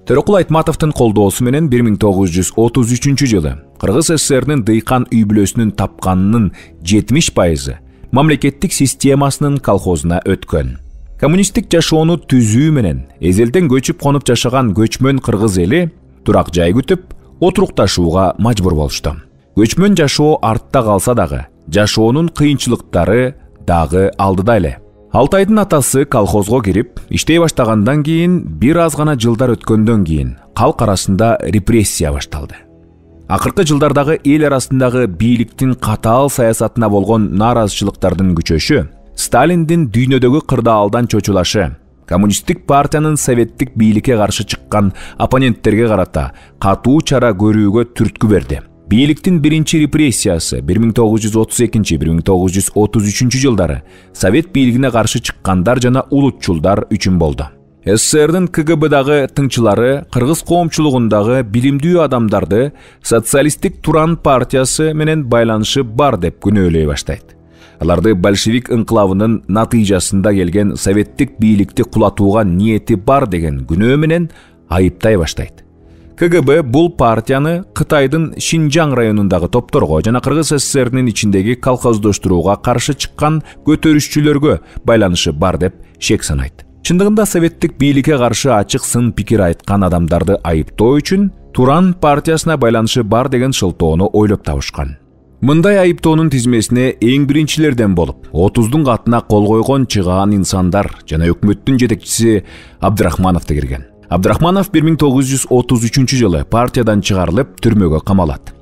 Төрөкул Айтматовдун колдоосу менен бир миң тогуз жүз отуз үчүнчү жылы Кыргыз ССРнин дыйкан үй бүлөсүнүн тапканынын жетимиш пайызы мамлекеттик системасынын колхозуна өткөн. Коммунисттик жашоону түзүү менен эзелден көчүп конуп жашаган көчмөн кыргыз эли турак жай күтүп, отурукташууга мажбур болушту. Көчмөн жашоо артта калса дагы, жашоонун кыйынчылыктары дагы алдыда эле. Алтайдын атасы колхозго кирип, иштей баштагандан кийин бир аз гана жылдар өткөндөн кийин калк арасында репрессия башталды. Акыркы жылдардагы эл арасындагы бийликтин катаал саясатына болгон нааразычылыктардын күчөшү, Сталиндин дүйнөдөгү кырдаалдан чочулашы, коммунисттик партиянын советтик бийликке каршы чыккан оппоненттерге карата катуу чара көрүүгө түрткү берди. Бийликтин биринчи репрессиясы бир миң тогуз жүз отуз экинчи — бир миң тогуз жүз отуз үчүнчү жылдары совет бийлигине каршы чыккандар жана улутчулдар үчүн болду. СССРдин КГБдагы тыңчылары кыргыз коомчулугундагы билимдүү адамдарды социалисттик Туран партиясы менен байланышы бар деп күнөөлөй баштайт. Аларды большевик инкылабынын натыйжасында келген советтик бийликти кулатууга ниети бар деген күнөө менен айыптай баштайт. КГБ бул партияны Кытайдын Шинжаң районундагы топторго жана Кыргыз СССРнин ичиндеги колхоздоштурууга каршы чыккан көтөрүшчүлөргө байланышы бар деп шек санайт. Чындыгында советтик бийликке каршы ачык сын пикир айткан адамдарды айыптоо үчүн Туран партиясына байланышы бар деген шылтоону ойлоп табышкан. Мындай айыптоонун тизмесине эң биринчилерден болуп, отуздун катына кол койгон чыгаан инсандар жана өкмөттүн жетекчиси Абдрахмановду кирген. Абдрахманов бир миң тогуз жүз отуз үчүнчү жылы партиядан чыгарылып, түрмөгө камалат.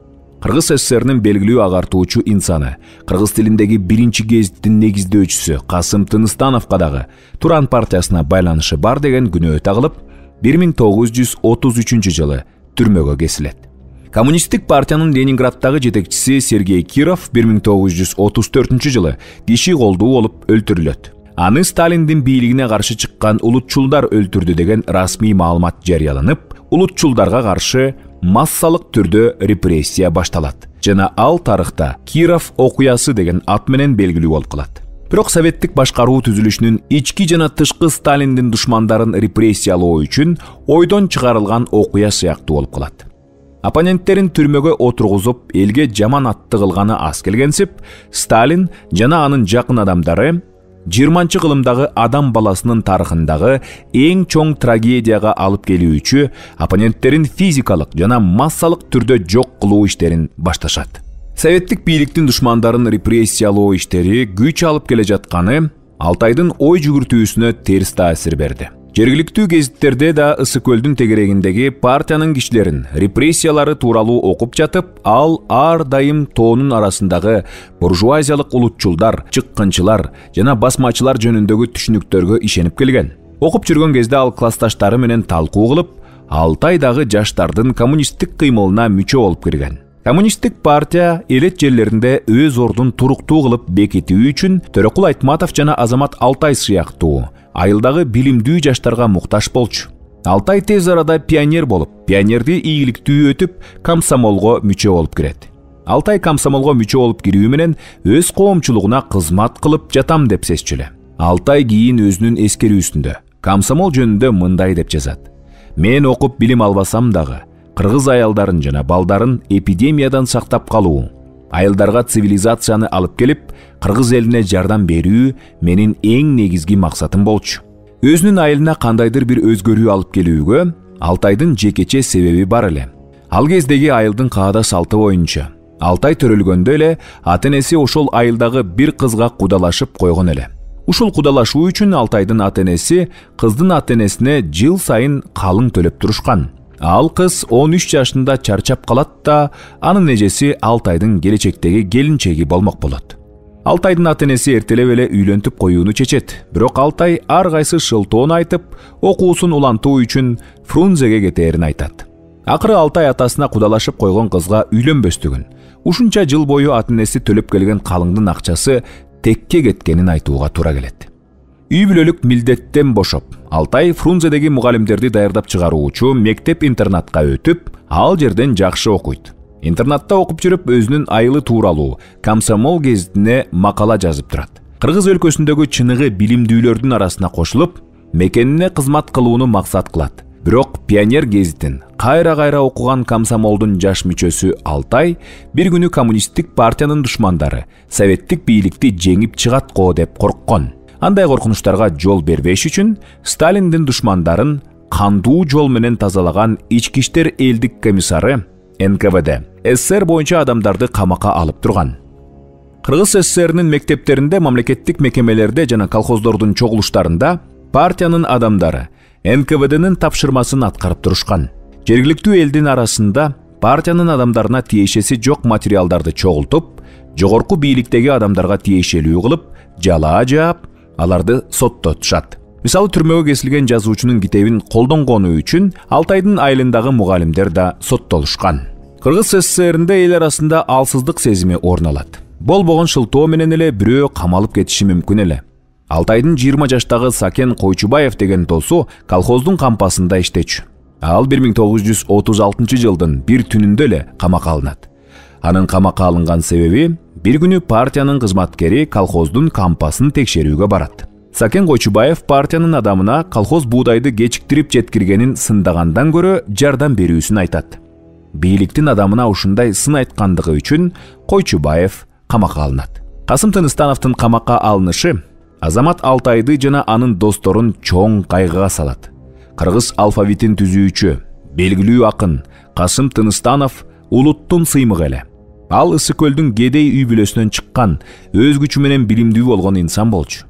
Кыргыз СССРнин белгилүү агартуучу инсаны, кыргыз тилиндеги биринчи гезиттин негиздөөчүсү Касым Тыныстановго дагы Туран партиясына байланышы бар деген күнөө тагылып, бир миң тогуз жүз отуз үчүнчү жылы түрмөгө кесилет. Коммунисттик партиянын Ленинграддагы жетекчиси Сергей Киров бир миң тогуз жүз отуз төртүнчү жылы киши колдуу болуп өлтүрүлөт. Аны Сталиндин бийлигине каршы чыккан улутчулдар өлтүрдү деген расмий маалымат жарыяланып, улутчулдарга каршы массалык түрдө репрессия башталат жана ал тарыхта Киров окуясы деген ат менен белгилүү болуп калат. Бирок советтик башкаруу түзүлүшүнүн ички жана тышкы Сталиндин душмандарын репрессиялоо үчүн ойдон чыгарылган окуя сыяктуу болуп калат. Оппоненттерин түрмөгө отургузуп, элге жаман атты кылганы аз келгенсип, Сталин жана анын жакын адамдары жыйырманчы кылымдагы адам баласынын тарыхындагы эң чоң трагедияга алып келүүчү оппоненттерин физикалык жана массалык түрдө жок кылуу иштерин башташат. Советтик бийликтин душмандарын репрессиялоо иштери күч алып келе жатканы Алтайдын ой жүгүртүүсүнө терс таасир берди. Жергиликтүү гезиттерде да Ысык көлдүн тегерегиндеги партиянын кишилерин репрессиялары тууралуу окуп жатып, ал ар дайым тоонун арасындагы буржуазиялык улутчулдар, чыккынчылар жана басмачылар жөнүндөгү түшүнүктөргө ишенип келген. Окуп жүргөн кезде ал классташтары менен талкуу кылып, Алтайдагы жаштардын коммунисттик кыймылына мүчө болуп кирген. Коммунисттик партия элет жерлеринде өз ордун туруктуу кылып бекитүү үчүн Төрөкул Айтматов жана Азамат Алтай сыяктуу айылдагы билимдүү жаштарга муктаж болчу. Алтай тез арада пионер болуп, пионерди ийгиликтүү өтүп, комсомолго мүчө болуп кирет. Алтай комсомолго мүчө болуп кирүү менен өз коомчулугуна кызмат кылып жатам деп сезчү. Алтай кийин өзүнүн эскерүүсүндө комсомол жөнүндө мындай деп жазат: "Мен окуп билим албасам дагы, кыргыз аялдарын жана балдарын эпидемиядан сактап калуу, айылдарга цивилизацияны алып келип, кыргыз элине жардам берүү менин эң негизги максатым болчу. Өзүнүн айылына кандайдыр бир өзгөрүү алып келүүгө Алтайдын жекече себеби бар эле. Ал кездеги айылдын каада салты боюнча Алтай төрөлгөндө эле ата-энеси ошол айылдагы бир кызга кудалашып койгон эле. Ушул кудалашуу үчүн Алтайдын ата-энеси кыздын ата-энесине жыл сайын калың төлөп турушкан. Ал кыз он үч жашында чарчап калат да, анын эжеси Алтайдын келечектеги келинчеги болмок болот. Алтайдын ата-энеси эртелеп эле үйлөнтүп коюуну чечет, бирок Алтай ар кайсы шылтоон айтып, окуусун улантуу үчүн Фрунзеге кетээрин айтат. Акыры Алтай атасына кудалашып койгон кызга үйлөнбөстүгүн, ушунча жыл бою ата-энеси төлөп келген калыңдын акчасы текке кеткенин айтууга туура келет. Үй бүлөлүк милдеттен бошоп, Алтай Фрунзедеги мугалимдерди даярдап чыгаруучу мектеп-интернатка өтүп, ал жерден жакшы окуйт. Интернатта окуп жүрүп өзүнүн айылы тууралуу Комсомол гезитине макала жазып турат. Кыргыз өлкөсүндөгү чыныгы билимдүүлөрдүн арасына кошулуп, мекенине кызмат кылууну максат кылат. Бирок Пионер гезитин кайра-кайра окуган комсомолдун жаш мүчөсү Алтай бир күнү коммунисттик партиянын душмандары советтик бийликти жеңип чыгат го деп корккон. Андай коркунучтарга жол бербеш үчүн Сталиндин душмандарын кандуу жол менен тазалаган ички иштер элдик комиссары эн ка вэ дэ СССР боюнча адамдарды камакка алып турган. Кыргыз СССРнин мектептеринде, мамлекеттик мекемелерде жана колхоздордун чогулуштарында партиянын адамдары эн ка вэ дэнин тапшырмасын аткарып турушкан. Жергиликтүү элдин арасында партиянын адамдарына тиешеси жок материалдарды чогултуп, жогорку бийликтеги адамдарга тиешелүү кылып, жалаа жаап, аларды соттотушат. Мисалы, түрмөгө кесилген жазуучунун китебин колдонгону үчүн Алтайдын айылындагы мугалимдер да соттолушкан. Кыргыз СССРинде эл арасында алсыздык сезими орун алат. Болбогон шылтоо менен эле бирөө камалып кетиши мүмкүн эле. Алтайдын жыйырма жаштагы Сакен Койчубаев деген досу колхоздун кампасында иштечү. Ал бир миң тогуз жүз отуз алтынчы жылдын бир түнүндө эле камакка алынат. Анын камакка алынган себеби бир күнү партиянын кызматкери колхоздун кампасын текшерүүгө барат. Сакен Койчубаев партиянын адамына колхоз буудайды кечиктирип жеткиргенин сындагандан көрө жардам берүүсүн айтат. Бийликтин адамына ушундай сын айткандыгы үчүн Койчубаев камакка алынат. Касым Тыныстановдун камакка алынышы Азамат Алтайды жана анын досторун чоң кайгыга салат. Кыргыз алфавитин түзүүчү, белгилүү акын Касым Тыныстанов улуттун сыймыгы эле. Ал Ысык көлдүн Кедей үй бүлөсүнөн чыккан, өз күчү менен билимдүү болгон инсан болчу.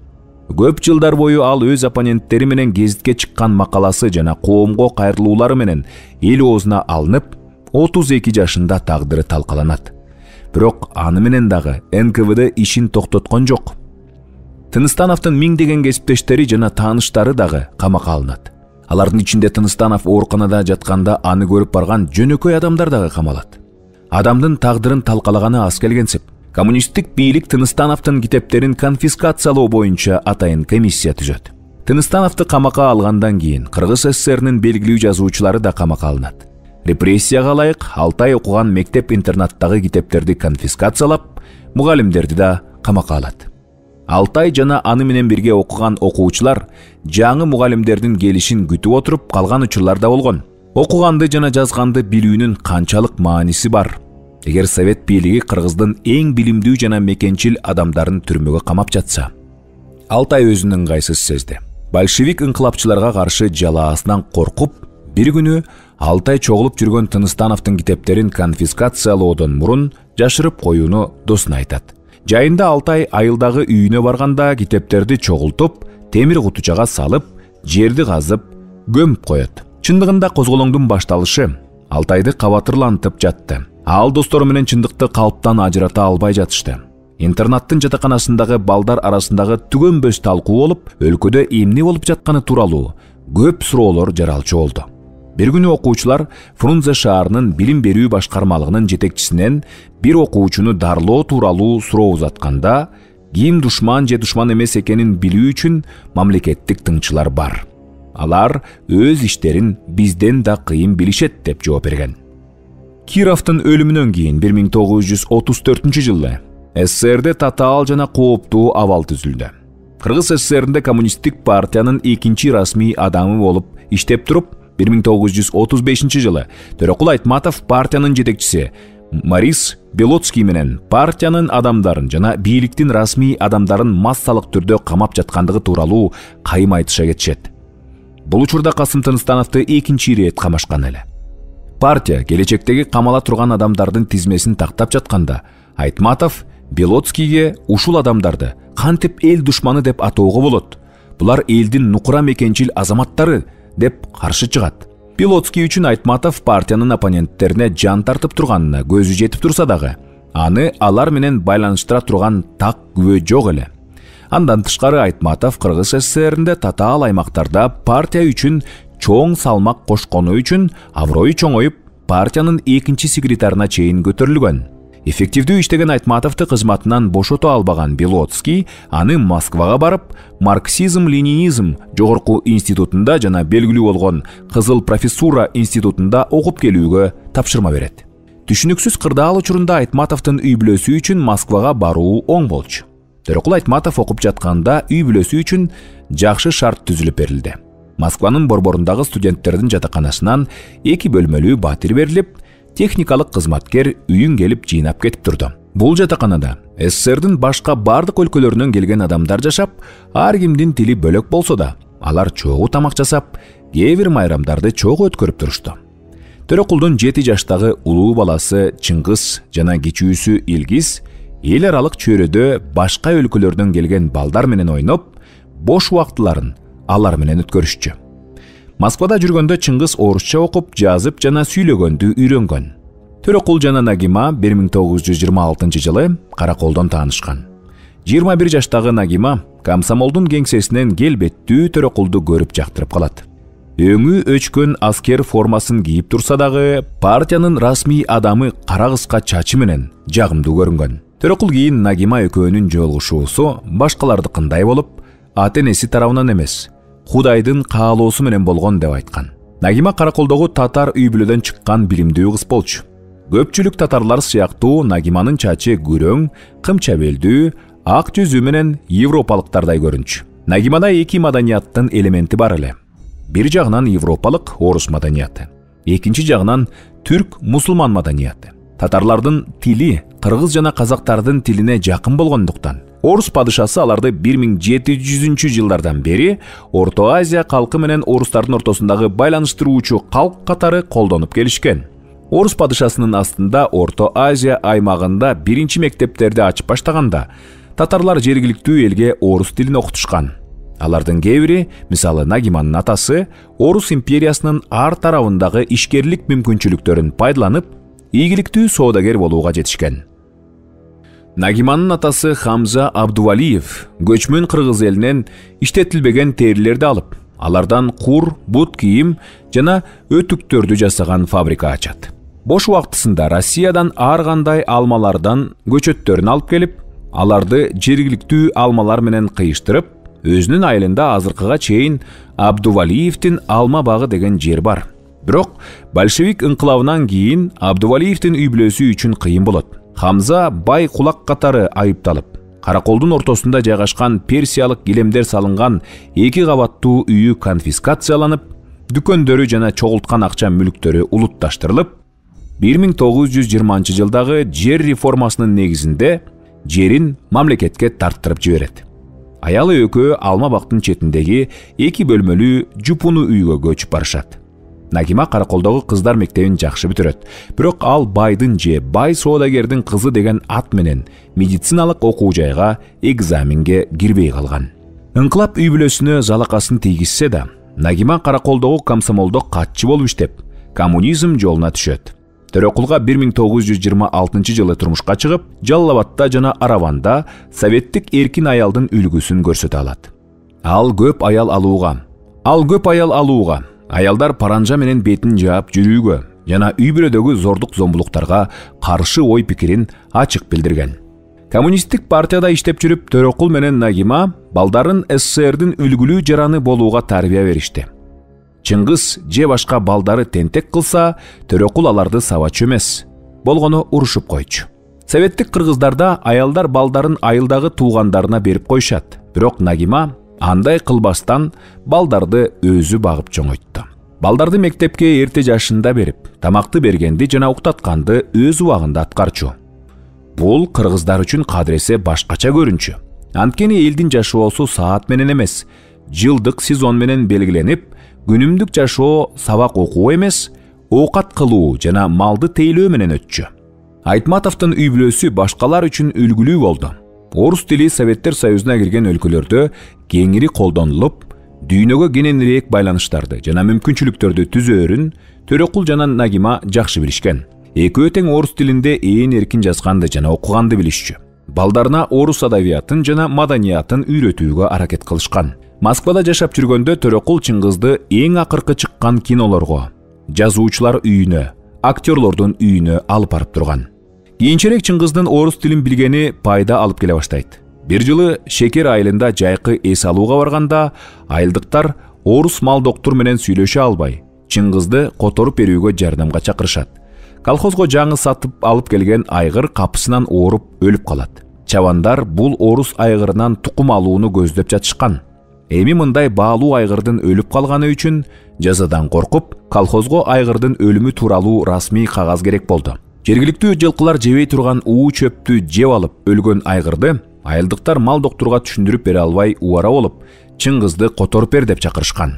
Көп жылдар бою ал өз оппоненттери менен гезитке чыккан макаласы жана коомго кайрылуулары менен эл оозуна алынып, отуз эки жашында тагдыры талкаланат. Бирок аны менен дагы эн ка вэ дэ ишин токтоткон жок. Тыныстановдун миңдеген кесиптештери жана тааныштары дагы камакка алынат. Алардын ичинде Тыныстанов ооруканада жатканда аны көрүп барган жөнөкөй адамдар дагы камалат. Адамдын тагдырын талкалаганы аз келгенсип, коммунисттик бийлик Тыныстановдун китептерин конфискациялоо боюнча атайын комиссия түзөт. Тыныстановду камакка алгандан кийин Кыргыз СССРнин белгилүү жазуучулары да камакка алынат. Репрессияга ылайык Алтай окуган мектеп-интернаттагы китептерди конфискациялап, мугалимдерди да камакка алат. Алтай жана аны менен бирге окуган окуучулар жаңы мугалимдердин келишин күтүп отуруп калган учурлар да болгон. Окуганды жана жазганды билүүнүн канчалык мааниси бар. Эгер совет бийлиги Кыргыздын эң билимдүү жана мекенчил адамдарын түрмөгө камап жатса, Алтай өзүнүн ыңгайсыз сезди. Большевик ыңкылапчыларга каршы жалаасынан коркуп, бир күнү Алтай чогулуп жүргөн Тыныстановдун китептерин конфискациялоодон мурун жашырып коюуну досуна айтат. Жайында Алтай айылдагы үйүнө барганда китептерди чогултуп, темир кутучага салып, жерди казып, көмүп коет. Чындыгында козголоңдун башталышы Алтайды кабатырлантып жатты. Ал достору менен чындыкты калыптан ажырата албай жатышты. Интернаттын жатаканасындагы балдар арасындагы түгөнбөс талкуу болуп, өлкөдө эмне болуп жатканы тууралуу көп суроолор жаралчу болду. Бир күнү окуучулар Фрунзе шаарынын билим берүү башкармалыгынын жетекчисинен бир окуучуну дарлоо тууралуу суроо узатканда, ким душман же душман эмес экенин билүү үчүн мамлекеттик тыңчылар бар. Алар өз иштерин бизден да кыйын билишет деп жооп берген. Кировдун өлүмүнөн кийин бир миң тогуз жүз отуз төртүнчү жылы СССРде татаал жана кооптуу абал түзүлдү. Кыргыз СССРинде коммунисттик партиянын экинчи расмий адамы болуп иштеп туруп, бир миң тогуз жүз отуз бешинчи жылы Төрөкул Айтматов партиянын жетекчиси Марис Белоцкий менен партиянын адамдарын жана бийликтин расмий адамдарын массалык түрдө камап жаткандыгы тууралуу кайым айтыша кетишет. Бул учурда Касым Тыныстановду экинчи ирет камашкан эле. Партия келечектеги камала турган адамдардын тизмесин тактап жатканда, Айтматов Белоцкийге ушул адамдарды кантип эл душманы деп атоого болот? Булар элдин нукура мекенчил азаматтары деп каршы чыгат. Белоцкий үчүн Айтматов партиянын оппоненттерине жан тартып турганына көзү жетип турса дагы, аны алар менен байланыштыра турган так күбө жок эле. Андан тышкары Айтматов Кыргыз СССРинде татаал аймактарда партия үчүн чоң салмак кошкону үчүн аброю чоңоюп, партиянын экинчи секретарына чейин көтөрүлгөн. Эффективдүү иштеген Айтматовду кызматынан бошото албаган Белоцкий аны Москвага барып, марксизм-ленинизм жогорку институтунда жана белгилүү болгон Кызыл профессура институтунда окуп келүүгө тапшырма берет. Түшүнүксүз кырдаал учурунда Айтматовдун үй бүлөсү үчүн Москвага баруу оң болчу. Төрөкул Айтматов окуп жатканда үй бүлөсү үчүн жакшы шарт түзүлүп берилди. Москванын борборундагы студенттердин жатаканасынан эки бөлмөлүү батир берилип, техникалык кызматкер үйүн келип жыйнап кетип турду. Бул жатаканада СССРдин башка бардык өлкөлөрүнөн келген адамдар жашап, ар кимдин тили бөлөк болсо да, алар чогуу тамак жасап, кээ бир майрамдарды чогуу өткөрүп турушту. Төрөкулдун жети жаштагы улуу баласы Чыңгыз жана кичүүсү Илгиз эл аралык чөйрөдө башка өлкөлөрдөн келген балдар менен ойноп, бош убактыларын алар менен өткөрүшчү. Москвада жүргөндө Чыңгыз орусча окуп, жазып жана сүйлөгөндү үйрөнгөн. Төрөкул жана Нагима бир миң тогуз жүз жыйырма алтынчы жылы Караколдон таанышкан. жыйырма бир жаштагы Нагима комсомолдун кеңсесинен келбеттүү Төрөкулду көрүп жактырып калат. Өңү өчкөн аскер формасын кийип турса дагы, партиянын расмий адамы кара кыска чачы менен жагымдуу көрүнгөн. Төрөкул кийин Нагима экөөнүн жолугушуусу башкалардыкындай болуп, ата-энеси тарабынан эмес, Кудайдын каалоосу менен болгон деп айткан. Нагима Караколдогу татар үй бүлөдөн чыккан билимдүү кыз болчу. Көпчүлүк татарлар сыяктуу Нагиманын чачы күрөң, кымча белдүү, ак жүзү менен европалыктардай көрүнчү. Нагимада эки маданияттын элементи бар эле. Бир жагынан европалык орус маданияты, экинчи жагынан түрк мусулман маданияты. Татарлардын тили кыргыз жана казактардын тилине жакын болгондуктан, орус падышасы аларды бир миң жети жүзүнчү жылдардан бери Орто Азия калкы менен орустардын ортосундагы байланыштыруучу калк катары колдонуп келишкен. Орус падышасынын астында Орто Азия аймагында биринчи мектептерди ачып баштаганда, татарлар жергиликтүү элге орус тилин окутушкан. Алардын кээ бири, мисалы Нагиманын атасы, Орус империясынын ар тарабындагы ишкерлик мүмкүнчүлүктөрүн пайдаланып, ийгиликтүү соодагер болууга жетишкен. Нагиманын атасы Хамза Абдувалиев көчмөн кыргыз элинен иштетилбеген терилерди алып, алардан кур, бут кийим жана өтүктөрдү жасаган фабрика ачат. Бош убактысында Россиядан ар кандай алмалардан көчөттөрүн алып келип, аларды жергиликтүү алмалар менен кыйыштырып, өзүнүн айылында азыркыга чейин Абдувалиевдин алма багы деген жер бар. Бирок большевик инкылабынан кийин Абдувалиевдин үй бүлөсү үчүн кыйын болот. Хамза бай кулак катары айыпталып, Караколдун ортосунда жайгашкан персиялык килемдер салынган эки кабаттуу үйү конфискацияланып, дүкөндөрү жана чогулткан акча мүлктөрү улутташтырылып, бир миң тогуз жүз жыйырманчы жылдагы жер реформасынын негизинде жерин мамлекетке тарттырып жиберет. Аялы экөө алма бактын четиндеги эки бөлмөлүү жупуну үйгө көчүп барышат. Нагима Караколдогу кыздар мектебин жакшы бүтүрөт, бирок ал байдын же бай соодагердин кызы деген ат менен медициналык окуу жайга экзаменге кирбей калган. Инкылап үй бүлөсүнө залакасын тийгизсе да, Нагима Караколдогу комсомолдо катчы болуп иштеп, коммунизм жолуна түшөт. Төрөкулга бир миң тогуз жүз жыйырма алтынчы жылы турмушка чыгып, Жалал Абадта жана Араванда советтик эркин аялдын үлгүсүн көрсөтө алат. Ал көп аял алууга, ал көп аял алууга, аялдар паранжа менен бетин жаап жүрүүгө жана үй бүлөдөгү зордук зомбулуктарга каршы ой пикирин ачык билдирген. Коммунисттик партияда иштеп жүрүп, Төрөкул менен Нагима балдарын СССРдин үлгүлүү жараны болууга тарбия беришти. Чыңгыз же башка балдары тентек кылса, Төрөкул аларды сабачу эмес, болгону урушуп койчу. Советтик кыргыздарда аялдар балдарын айылдагы туугандарына берип коюшат, бирок Нагима андай кылбастан балдарды өзү багып чоңойтты. Балдарды мектепке эрте жашында берип, тамакты бергенди жана уктатканды өз убагында аткарчу. Бул кыргыздар үчүн кадыресе башкача көрүнчү. Анткени элдин жашоосу саат менен эмес, жылдык сезон менен белгиленип, күнүмдүк жашоо сабак окуу эмес, оокат кылуу жана малды тейлөө менен өтчү. Айтматовдун үй бүлөсү башкалар үчүн үлгүлүү болду. Орус тили Советтер Союзуна кирген өлкөлөрдө кеңири колдонулуп, дүйнөгө кененирээк байланыштарды жана мүмкүнчүлүктөрдү түзөөрүн Төрөкул жана Нагима жакшы билишкен. Экөө тең орус тилинде ээн эркин жазганды жана окуганды билишчү. Балдарына орус адабиятын жана маданиятын үйрөтүүгө аракет кылышкан. Москвада жашап жүргөндө Төрөкул Чыңгызды эң акыркы чыккан кинолорго, жазуучулар үйүнө, актерлордун үйүнө алып барып турган. Кийинчерээк Чыңгыздын орус тилин билгени пайда алып келе баштайт. Бир жылы Шекер айылында жайкы эс алууга барганда, айылдыктар орус малдоктур менен сүйлөшө албай, Чыңгызды которуп берүүгө жардамга чакырышат. Колхозго жаңы сатып алып келген айгыр капысынан ооруп өлүп калат. чабандар бул орус айгырынан тукум алууну көздөп жатышкан. Эми мындай баалуу айгырдын өлүп калганы үчүн жазадан коркуп, колхозго айгырдын өлүмү тууралуу расмий кагаз керек болду. Жергиликтүү жылкылар жебей турган уу чөптү жеп алып өлгөн айгырды айылдыктар мал доктурга түшүндүрүп бере албай убара болуп, Чыңгызды которуп бер деп чакырышкан.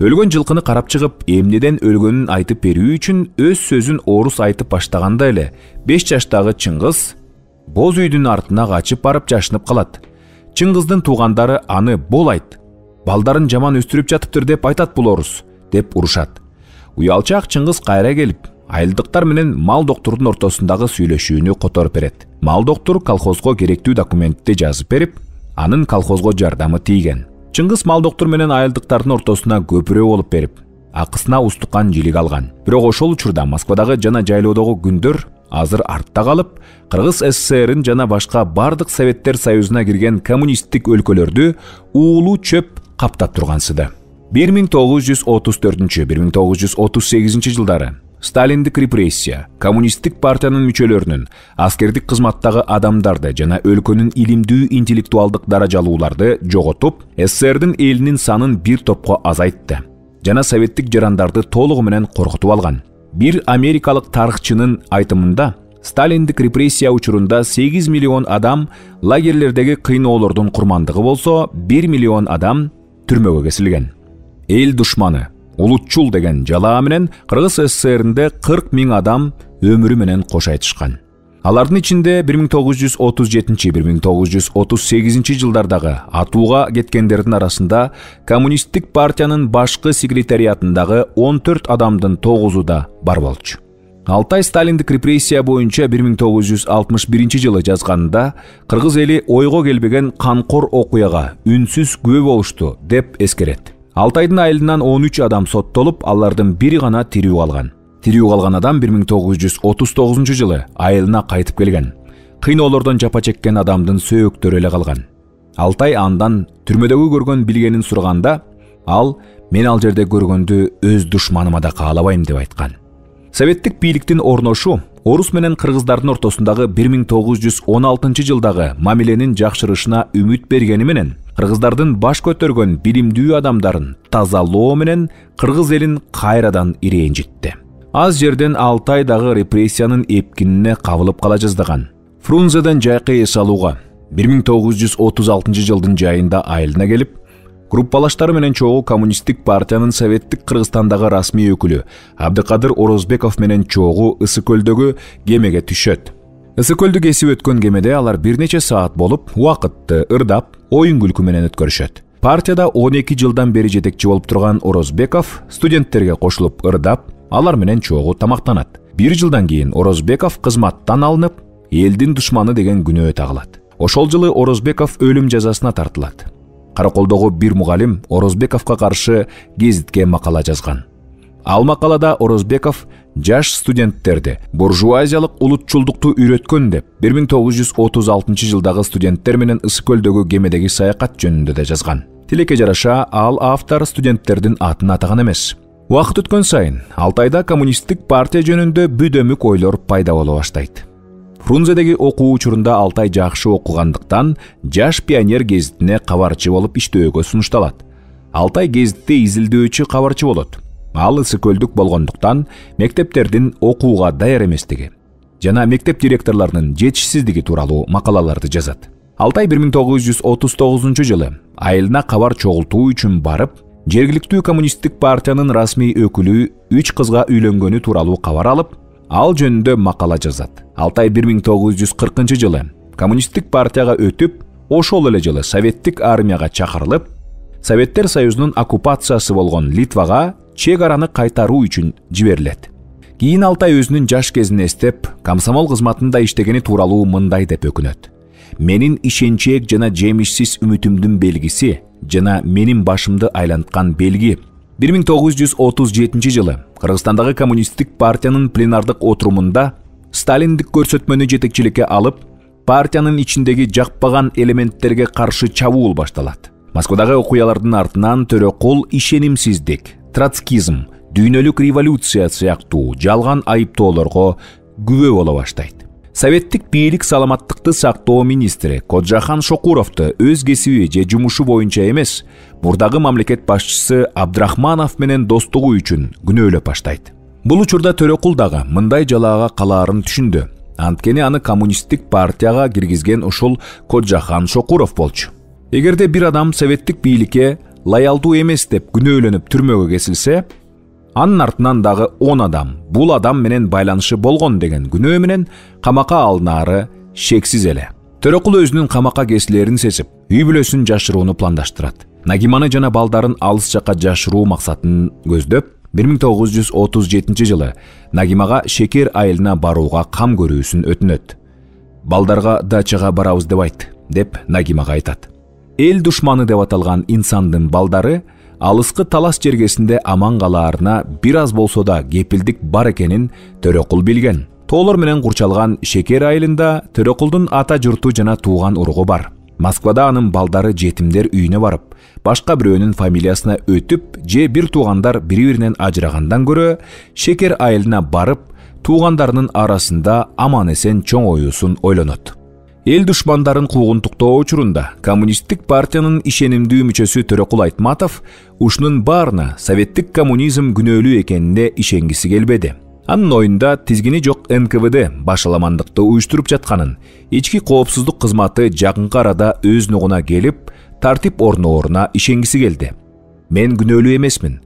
Өлгөн жылкыны карап чыгып, эмнеден өлгөнүн айтып берүү үчүн өз сөзүн орус айтып баштаганда эле беш жаштагы Чыңгыз боз үйдүн артына качып барып жашынып калат. Чыңгыздын туугандары аны бол айт, балдарын жаман өстүрүп жатыптыр деп айтат бул орус, деп урушат. Уялчаак Чыңгыз кайра келип, айылдыктар менен мал доктурдун ортосундагы сүйлөшүүнү которуп берет. Мал доктур колхозго керектүү документти жазып берип, анын колхозго жардамы тийген. Чыңгыз мал доктур менен айылдыктардын ортосуна көпүрө болуп берип, акысына устукан жилик алган. Бирок ошол учурда Москвадагы жана жайлоодогу күндөр азыр артта калып, Кыргыз СССРин жана башка бардык Советтер Союзуна кирген коммунисттик өлкөлөрдү уулуу чөп каптап тургансыды. бир миң тогуз жүз отуз төртүнчү — бир миң тогуз жүз отуз сегизинчи жылдары Сталиндик репрессия, коммунисттик партиянын мүчөлөрүнүн, аскердик кызматтагы адамдарды жана өлкөнүн илимдүү интеллектуалдык даражалууларды жоготуп, СССРдин элинин санын бир топко азайтты жана советтик жарандарды толугу менен коркутуп алган. Бир америкалык тарыхчынын айтымында, Сталиндик репрессия учурунда сегиз миллион адам лагерлердеги кыйноолордун курмандыгы болсо, бир миллион адам түрмөгө кесилген. Эл душманы, улутчул деген жалаа менен Кыргыз СССРинде кырк миң адам өмүрү менен кош айтышкан. Алардын ичинде бир миң тогуз жүз отуз жетинчи — бир миң тогуз жүз отуз сегизинчи жылдардагы атууга кеткендердин арасында коммунисттик партиянын башкы секретариатындагы он төрт адамдын тогузу да бар болчу. Алтай Сталиндик репрессия боюнча бир миң тогуз жүз алтымыш биринчи жылы жазганында кыргыз эли ойго келбеген канкор окуяга үнсүз күбө болушту деп эскерет. Алтайдын айылынан он үч адам соттолуп, алардын бири гана тирүү калган. Тирүү калган адам бир миң тогуз жүз отуз тогузунчу жылы айылына кайтып келген. Кыйноолордон жапа чеккен адамдын сөөктөрү эле калган. Алтай андан түрмөдөгү көргөн билгенин сураганда, ал мен ал жерде көргөндү өз душманыма да каалабайм деп айткан. Советтик бийликтин орношу орус менен кыргыздардын ортосундагы бир миң тогуз жүз он алтынчы жылдагы мамиленин жакшырышына үмүт бергени менен кыргыздардын баш көтөргөн билимдүү адамдарын тазалоо менен кыргыз элин кайрадан ирэнжитти. Аз жерден Алтай дагы репрессиянын эпкинине кабылып кала жаздаган. Фрунзеден жайкы эс алууга бир миң тогуз жүз отуз алтынчы жылдын жайында айылына келип, группалаштары менен чогуу коммунисттик партиянын советтик Кыргызстандагы расмий өкүлү Абдыкадыр Орозбеков менен чогуу Ысык көлдөгү кемеге түшөт. Ысык көлдү кесип өткөн кемеде алар бир нече саат болуп, убакытты ырдап, оюн күлкү менен өткөрүшөт. Партияда он эки жылдан бери жетекчи болуп турган Орозбеков студенттерге кошулуп ырдап, алар менен чогуу тамактанат. Бир жылдан кийин Орозбеков кызматтан алынып, элдин душманы деген күнөө тагылат. Ошол жылы Орозбеков өлүм жазасына тартылат. Караколдогу бир мугалим Орозбековго каршы гезитке макала жазган. Ал макалада Орозбеков жаш студенттерди буржуазиялык улутчулдукту үйрөткөн деп бир миң тогуз жүз отуз алтынчы жылдагы студенттер менен Ысык көлдөгү кемедеги саякат жөнүндө да жазган. Тилекке жараша ал автор студенттердин атын атаган эмес. Убакыт өткөн сайын Алтайда коммунисттик партия жөнүндө бүдөмүк ойлор пайда боло баштайт. Фрунзедеги окуу учурунда Алтай жакшы окугандыктан жаш пионер гезитине кабарчы болуп иштөөгө сунушталат. Алтай гезитте изилдөөчү кабарчы болот. Ал Ысык көлдүк болгондуктан мектептердин окууга даяр эместиги жана мектеп директорлорунун жетишсиздиги тууралуу макалаларды жазат. Алтай бир миң тогуз жүз отуз тогузунчу жылы айылына кабар чогултуу үчүн барып, жергиликтүү коммунисттик партиянын расмий өкүлү үч кызга үйлөнгөнү тууралуу кабар алып, ал жөнүндө макала жазат. Алтай бир миң тогуз жүз кыркынчы жылы коммунисттик партияга өтүп, ошол эле жылы советтик армияга чакырылып, Советтер Союзунун оккупациясы болгон Литвага чек араны кайтаруу үчүн жиберилет. Кийин Алтай өзүнүн жаш кезин эстеп, комсомол кызматында иштегени тууралуу мындай деп өкүнөт. Менин ишенчээк жана жемишсиз үмүтүмдүн белгиси жана менин башымды айланткан белги. бир миң тогуз жүз отуз жетинчи жылы Кыргызстандагы коммунисттик партиянын пленардык отурумунда Сталиндик көрсөтмөнү жетекчиликке алып, партиянын ичиндеги жакпаган элементтерге каршы чабуул башталат. Москвадагы окуялардын артынан төрөкул ишенимсиздик, троцкизм, дүйнөлүк революция сыяктуу жалган айыптоолорго күбө боло баштайт. Советтик бийлик саламаттыкты сактоо министри Коджахан Шокуровду өз кесиби же жумушу боюнча эмес, мурдагы мамлекет башчысы Абдрахманов менен достугу үчүн күнөөлөп баштайт. Бул учурда Төрөкул дагы мындай жалаага калаарын түшүндү. Анткени аны коммунисттик партияга киргизген ушул Коджахан Шокуров болчу. Эгерде бир адам советтик бийликке лоялдуу эмес деп күнөөлөнүп түрмөгө кесилсе, анын артынан дагы он адам бул адам менен байланышы болгон деген күнөө менен камакка алынаары шексиз эле. Төрөкул өзүнүн камакка кесилерин сезип, үй бүлөсүн жашырууну пландаштырат. Нагиманы жана балдарын алыс жакка жашыруу максатын көздөп, бир миң тогуз жүз отуз жетинчи жылы Нагимага Шекер айылына барууга кам көрүүсүн өтүнөт. Балдарга дачага барабыз деп айт, деп Нагимага айтат. Эл душманы деп аталган инсандын балдары алыскы талас жергесинде аман калаарына бир аз болсо да кепилдик бар экенин Төрөкул билген. Тоолор менен курчалган Шекер айылында Төрөкулдун ата журту жана тууган уругу бар. Москвада анын балдары жетимдер үйүнө барып, башка бирөөнүн фамилиясына өтүп, же бир туугандар бири-биринен ажырагандан көрө, Шекер айылына барып, туугандарынын арасында аман-эсен чоңоюусун ойлонот. Эл душмандарын куугунтуктоо учурунда коммунисттик партиянын ишенимдүү мүчөсү Төрөкул Айтматов ушунун баарына советтик коммунизм күнөөлүү экенине ишенгиси келбеди. Анын оюнда тизгини жок эн ка вэ дэ башаламандыкты уюштуруп жатканын, ички коопсуздук кызматы жакынкы арада өз нугуна келип, тартип орнооруна ишенгиси келди. Мен күнөөлүү эмесмин,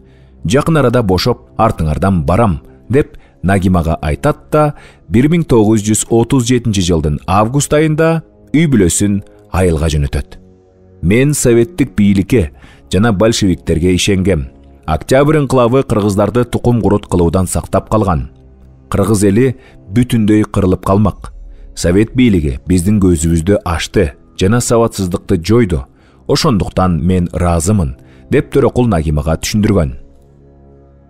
жакын арада бошоп, артыңардан барам, деп Нагимага айтат да, бир миң тогуз жүз отуз жетинчи жылдын август айында үй бүлөсүн айылга жөнөтөт. Мен советтик бийликке жана большевиктерге ишенгем. Октябрь инкылабы кыргыздарды тукум курут кылуудан сактап калган. Кыргыз эли бүтүндөй кырылып калмак. Совет бийлиги биздин көзүбүздү ачты жана сабатсыздыкты жойду. Ошондуктан мен ыраазымын, деп Төрөкул Нагимага түшүндүргөн.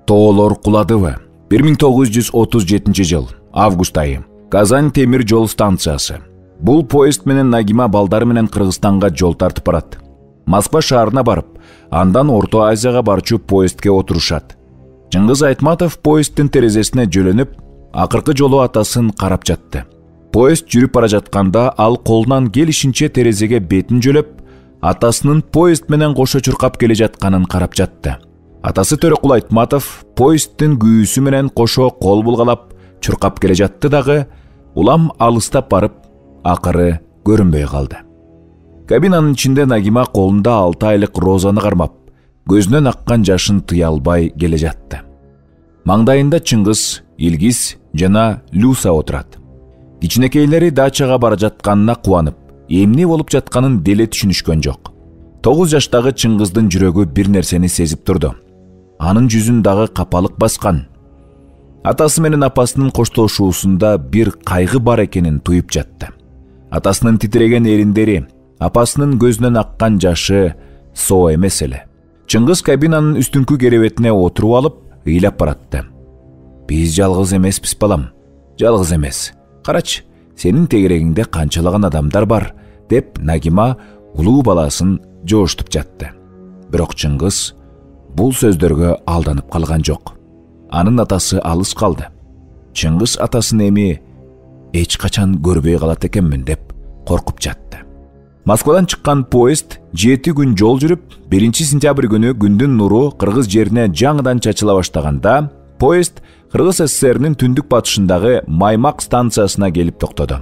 Тоолор куладыбы? бир миң тогуз жүз отуз жетинчи жыл, август айы. Казань темир жол станциясы. Бул поезд менен Нагима балдары менен Кыргызстанга жол тартып барат. Москва шаарына барып, андан Орто Азияга барчу поездке отурушат. Чыңгыз Айтматов поезддин терезесине жөлөнүп, акыркы жолу атасын карап жатты. Поезд жүрүп бара жатканда ал колунан келишинче терезеге бетин жөлөп, атасынын поезд менен кошо чуркап келе жатканын карап жатты. Атасы Төрөкул Айтматов поезддин күйүүсү менен кошо кол булгалап чуркап келе жатты дагы, улам алыстап барып, акыры көрүнбөй калды. Кабинанын ичинде Нагима колунда алты айлык Розаны кармап, көзүнөн аккан жашын тыя албай келе жатты. Маңдайында Чыңгыз, Илгиз жана Люса отурат. Кичинекейлери дачага бара жатканына кубанып, эмне болуп жатканын деле түшүнүшкөн жок. тогуз жаштагы Чыңгыздын жүрөгү бир нерсени сезип турду. Анын жүзүн дагы капалык баскан. Атасы менен апасынын коштошуусунда бир кайгы бар экенин туюп жатты. Атасынын титиреген эриндери, апасынын көзүнөн аккан жашы соо эмес эле. Чыңгыз кабинанын үстүңкү керебетине отуруп алып, ыйлап баратты. Биз жалгыз эмеспиз балам, жалгыз эмес. Карачы, сенин тегерегиңде канчалаган адамдар бар, деп Нагима улуу баласын жооштуп жатты. Бирок Чыңгыз бул сөздөргө алданып калган жок. Анын атасы алыс калды. Чыңгыз атасын эми эч качан көрбөй калат экенмин деп коркуп жатты. Москвадан чыккан поезд жети күн жол жүрүп, биринчи сентябрь күнү күндүн нуру кыргыз жерине жаңыдан чачыла баштаганда, поезд Кыргыз эс эс эрнин түндүк батышындагы Маймак станциясына келип токтоду.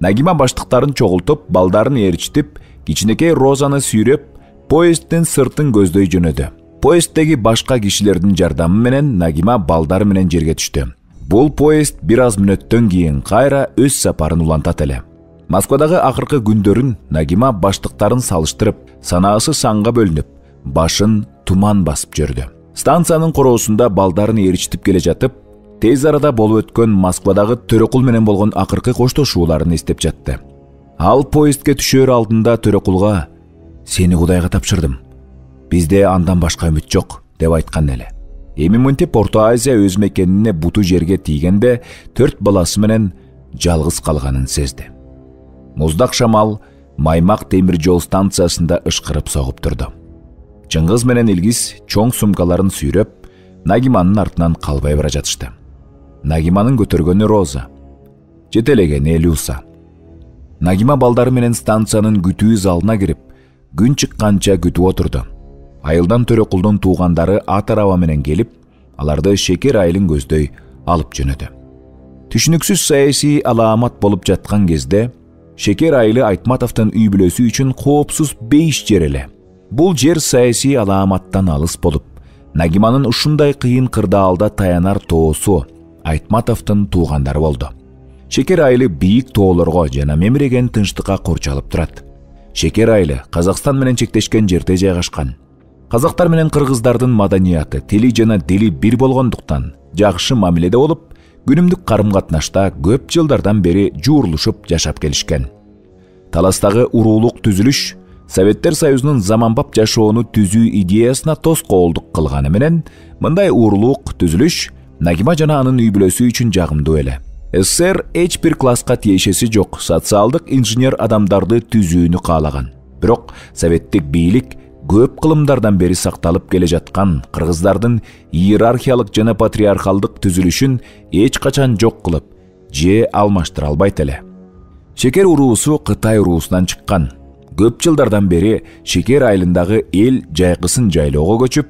Нагима баштыктарын чогултуп, балдарын ээрчитип, кичинекей Розаны сүйрөп, поезддин сыртын көздөй жөнөдү. Поезддеги башка кишилердин жардамы менен Нагима балдары менен жерге түштү. Бул поезд бир аз мүнөттөн кийин кайра өз сапарын улантат эле. Москвадагы акыркы күндөрүн Нагима баштыктарын салыштырып, санаасы санга бөлүнүп, башын туман басып жүрдү. Станциянын короосунда балдарын ээрчитип келе жатып, тез арада болуп өткөн Москвадагы Төрөкул менен болгон акыркы коштошууларын эстеп жатты. Ал поездге түшөр алдында Төрөкулга "Сени Кудайга тапшырдым. Бизде андан башка үмүт жок" деп айткан эле. Эми мынтип Орто Азия өз мекенине буту жерге тийгенде төрт баласы менен жалгыз калганын сезди. Муздак шамал Маймак темир жол станциясында ышкырып согуп турду. Чыңгыз менен Илгиз чоң сумкаларын сүйрөп, Нагиманын артынан калбай бара жатышты. Нагиманын көтөргөнү Роза. жетелеген Люса. Нагима балдары менен станциянын күтүү залына кирип, күн чыкканча күтүп отурду. Айылдан Төрөкулдун туугандары ат араба менен келип, аларды Шекер айылын көздөй алып жөнөдү. Түшүнүксүз саясий алаамат болуп жаткан кезде Шекер айылы Айтматовдун үй бүлөсү үчүн коопсуз бейиш жер эле. Бул жер саясий алааматтан алыс болуп, Нагиманын ушундай кыйын кырдаалда таянар тоосу Айтматовдун туугандары болду. Шекер айылы бийик тоолорго жана мемиреген тынчтыкка курчалып турат. Шекер айылы Казакстан менен чектешкен жерде жайгашкан. Казактар менен кыргыздардын маданияты, тили жана дили бир болгондуктан жакшы мамиледе болуп, күнүмдүк карым-катнашта көп жылдардан бери жуурулушуп жашап келишкен. Таластагы уруулук түзүлүш Советтер Союзунун заманбап жашоону түзүү идеясына тоскоолдук кылганы менен, мындай уруулук түзүлүш Нагима жана анын үй бүлөсү үчүн жагымдуу эле. СССР эч бир класска тиешеси жок социалдык инженер адамдарды түзүүнү каалаган. Бирок советтик бийлик көп кылымдардан бери сакталып келе жаткан кыргыздардын иерархиялык жана патриархалдык түзүлүшүн эч качан жок кылып, же алмаштыра албайт эле. Шекер уруусу Кытай уруусунан чыккан. Көп жылдардан бери Шекер айылындагы эл жайкысын жайлоого көчүп,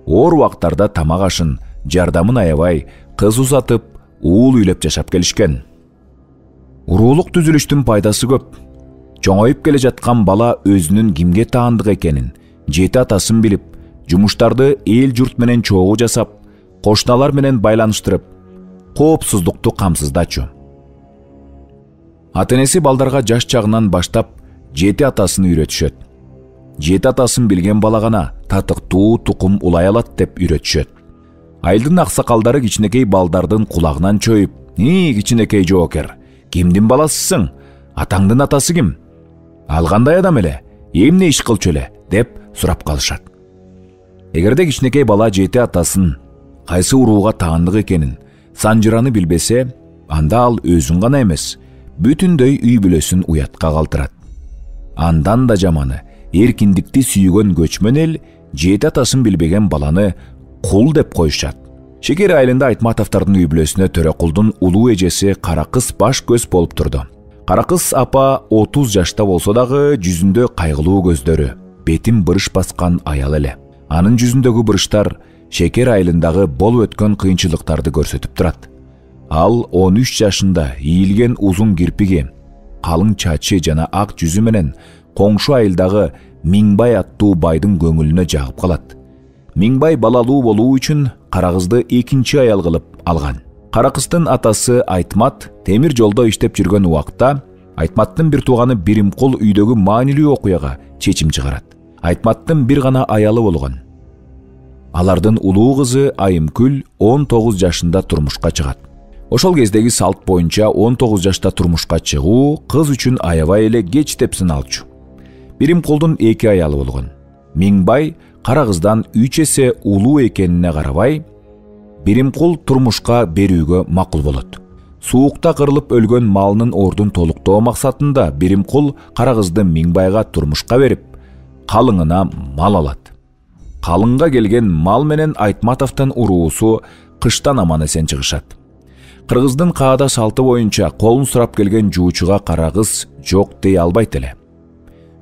оор убактарда тамак ашын, жардамын аябай, кыз узатып, уул үйлөп жашап келишкен. Уруулук түзүлүштүн пайдасы көп. Чоңоюп келе жаткан бала өзүнүн кимге таандык экенин, жети атасын билип, жумуштарды эл журт менен чогуу жасап, кошуналар менен байланыштырып, коопсуздукту камсыздачу. Ата-энеси балдарга жаш чагынан баштап жети атасын үйрөтүшөт. Жети атасын билген бала гана татыктуу тукум улай алат деп үйрөтүшөт. Айылдын аксакалдары кичинекей балдардын кулагынан чоюп, "Ни, кичинекей жоокер, кимдин баласысың? Атаңдын атасы ким? Ал кандай адам эле? Эмне иш кылчу эле?" деп сурап калышат. Эгерде кичинекей бала жети атасын, кайсы урууга таандык экенин, санжыраны билбесе, анда ал өзүн гана эмес, бүтүндөй үй бүлөсүн уятка калтырат. Андан да жаманы, эркиндикти сүйгөн көчмөн эл жети атасын билбеген баланы кул деп коюшат. Шекер айылында Айтматовдордун үй бүлөсүнө Төрөкулдун улуу эжеси Кара кыз баш көз болуп турду. Кара кыз апа отуз жашта болсо дагы жүзүндө кайгылуу көздөрү, бетин бырыш баскан аял эле. Анын жүзүндөгү бырыштар Шекер айылындагы болуп өткөн кыйынчылыктарды көрсөтүп турат. Ал он үч жашында ийилген узун кирпиги, калың чачы жана ак жүзү менен коңшу айылдагы Миңбай аттуу байдын көңүлүнө жагып калат. Миңбай балалуу болуу үчүн Кара кызды экинчи аял кылып алган. Кара кыздын атасы Айтмат темир жолдо иштеп жүргөн убакта Айтматтын бир тууганы Биримкул үйдөгү маанилүү окуяга чечим чыгарат. Айтматтын бир гана аялы болгон. Алардын улуу кызы Айымкүл он тогуз жашында турмушка чыгат. Ошол кездеги салт боюнча он тогуз жашта турмушка чыгуу кыз үчүн аябай эле кеч деп сыналчу. Биримкулдун эки аялы болгон. Миңбай Кара кыздан үч эсе улуу экенине карабай, Биримкул турмушка берүүгө макул болот. Суукта кырылып өлгөн малынын ордун толуктоо максатында Биримкул Кара кызды Миңбайга турмушка берип, калыңына мал алат. Калыңга келген мал менен Айтматовдун уруусу кыштан аман эсен чыгышат. Кыргыздын каада салты боюнча колун сурап келген жуучуга Кара кыз жок дей албайт эле.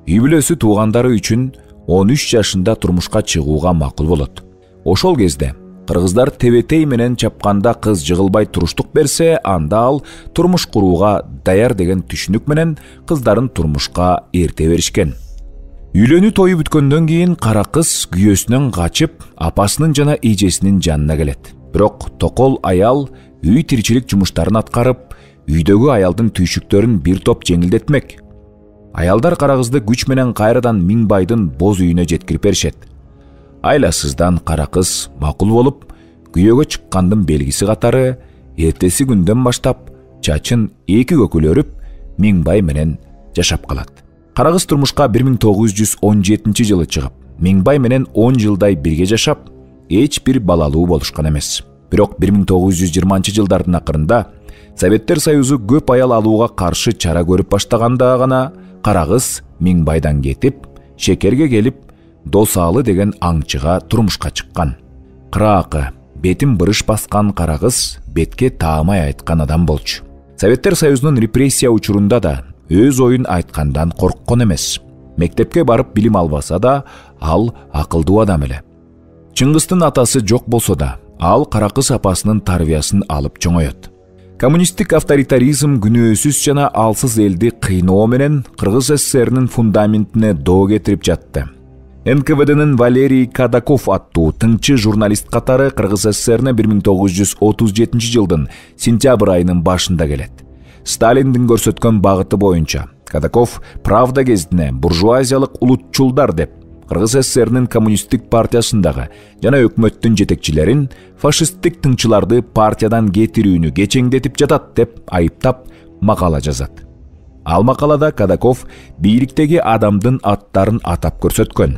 Үй бүлөсү туугандары үчүн он үч жашында турмушка чыгууга макул болот. Ошол кезде кыргыздар тебетей менен чапканда кыз жыгылбай туруштук берсе, анда ал турмуш курууга даяр деген түшүнүк менен кыздарын турмушка эрте беришкен. Үйлөнүү тою бүткөндөн кийин Кара кыз күйөөсүнөн качып, апасынын жана эжесинин жанына келет. Бирок токол аял үй тиричилик жумуштарын аткарып, үйдөгү аялдын түйшүктөрүн бир топ жеңилдетмек. Аялдар Кара кызды күч менен кайрадан Миңбайдын боз үйүнө жеткирип беришет. Айласыздан Кара кыз макул болуп, күйөөгө чыккандын белгиси катары эртеси күндөн баштап чачын эки көкүл өрүп, Миңбай менен жашап калат. Кара кыз турмушка бир миң тогуз жүз он жетинчи жылы чыгып, Миңбай менен он жылдай бирге жашап, эч бир балалуу болушкан эмес. Бирок бир миң тогуз жүз жыйырманчы жылдардын акырында Советтер Союзу көп аял алууга каршы чара көрүп баштаганда гана Кара кыз Миңбайдан кетип, Шекерге келип, Досалы деген аңчыга турмушка чыккан. Кыраакы, бетин бырыш баскан Кара кыз бетке таамай айткан адам болчу. Советтер Союзунун репрессия учурунда да өз оюн айткандан корккон эмес. Мектепке барып билим албаса да, ал акылдуу адам эле. Чыңгыстын атасы жок болсо да, ал Каракыз апасынын тарбиясын алып чоңоет. Коммунисттик авторитаризм күнөөсүз жана алсыз элди кыйноо менен Кыргыз СССРнин фундаментине доо кетирип жатты. эн ка вэ дэнин Валерий Кадаков аттуу тыңчы журналист катары Кыргыз СССРине бир миң тогуз жүз отуз жетинчи жылдын сентябрь айынын башында келет. Сталиндин көрсөткөн багыты боюнча Кадаков Правда гезитине буржуазиялык улутчулдар деп Кыргыз СССРнин коммунисттик партиясындагы жана өкмөттүн жетекчилерин фашисттик тыңчыларды партиядан кетирүүнү кечеңдетип жатат деп айыптап макала жазат. Ал макалада Кадаков бийликтеги адамдын аттарын атап көрсөткөн.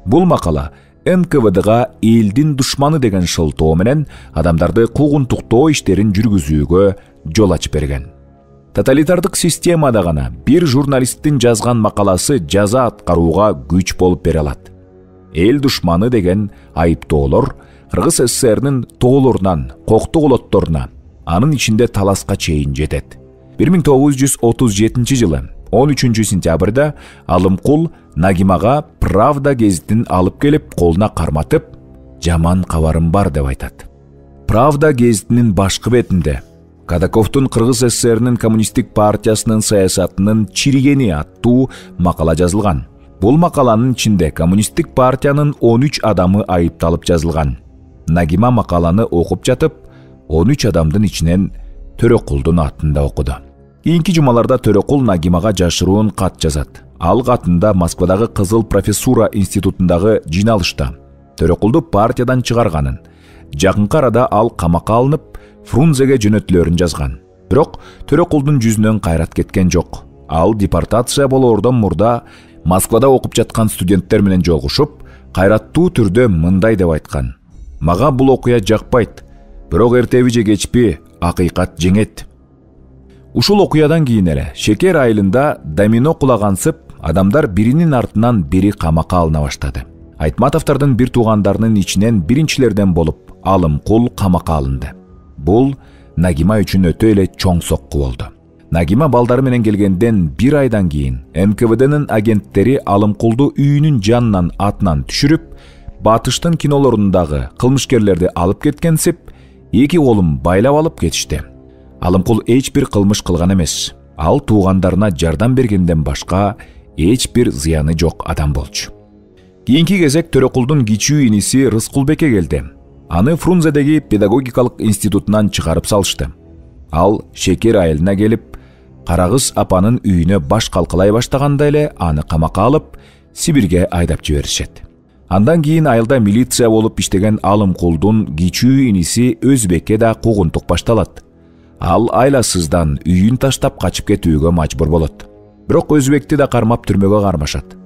Бул макала эн ка вэ дга элдин душманы деген шылтоо менен адамдарды куугунтуктоо иштерин жүргүзүүгө жол ачып берген. Тоталитардык системада гана бир журналисттин жазган макаласы жаза аткарууга күч болуп бере алат. Эл душманы деген айыптоолор Кыргыз СССРнин тоолорунан коктук олотторуна, анын ичинде таласка чейин жетет. бир миң тогуз жүз отуз жетинчи жылы он үчүнчү сентябрда Алымкул Нагимага Правда гезитин алып келип колуна карматып, жаман кабарым бар деп айтат. Правда гезитинин башкы бетинде Кадаковдун Кыргыз СССРнин коммунисттик партиясынын саясатынын чиригени аттуу макала жазылган. Бул макаланын ичинде коммунисттик партиянын он үч адамы айыпталып жазылган. Нагима макаланы окуп жатып, он үч адамдын ичинен Төрөкулдун атын да окуду. Кийинки жумаларда Төрөкул Нагимага жашыруун кат жазат. Ал катында Москвадагы Кызыл профессура институтундагы жыйналышта Төрөкулду партиядан чыгарганын, жакынкы арада ал камакка алынып, Фрунзеге жөнөтүлөрүн жазган. Бирок Төрөкулдун жүзүнөн кайрат кеткен жок. Ал депортация болоордон мурда Москвада окуп жаткан студенттер менен жолугушуп, кайраттуу түрдө мындай деп айткан: "Мага бул окуя жакпайт, бирок эртеби же кечпи акыйкат жеңет." Ушул окуядан кийин эле Шекер айылында домино кулагансып, адамдар биринин артынан бири камакка алына баштады. Айтматовдордун бир туугандарынын ичинен биринчилерден болуп Алымкул камакка алынды. Бул Нагима үчүн өтө эле чоң сокку болду. Нагима балдары менен келгенден бир айдан кийин эн ка вэ дэнин агенттери Алымкулду үйүнүн жанынан атынан түшүрүп, батыштын кинолорундагы кылмышкерлерди алып кеткенсип, эки колун байлап алып кетишти. Алымкул эч бир кылмыш кылган эмес. Ал туугандарына жардам бергенден башка эч бир зыяны жок адам болчу. Кийинки кезек Төрөкулдун кичүү иниси Рыскулбекке келди. Аны Фрунзедеги педагогикалык институтунан чыгарып салышты. Ал Шекер айылына келип, Карагыз апанын үйүнө баш калкалай баштаганда эле аны камакка алып, Сибирге айдап жиберишет. Андан кийин айылда милиция болуп иштеген Алымкулдун кичүү иниси Өзбекке да куугунтук башталат. Ал айласыздан үйүн таштап качып кетүүгө мажбур болот. Бирок Өзбекти да кармап түрмөгө кармашат.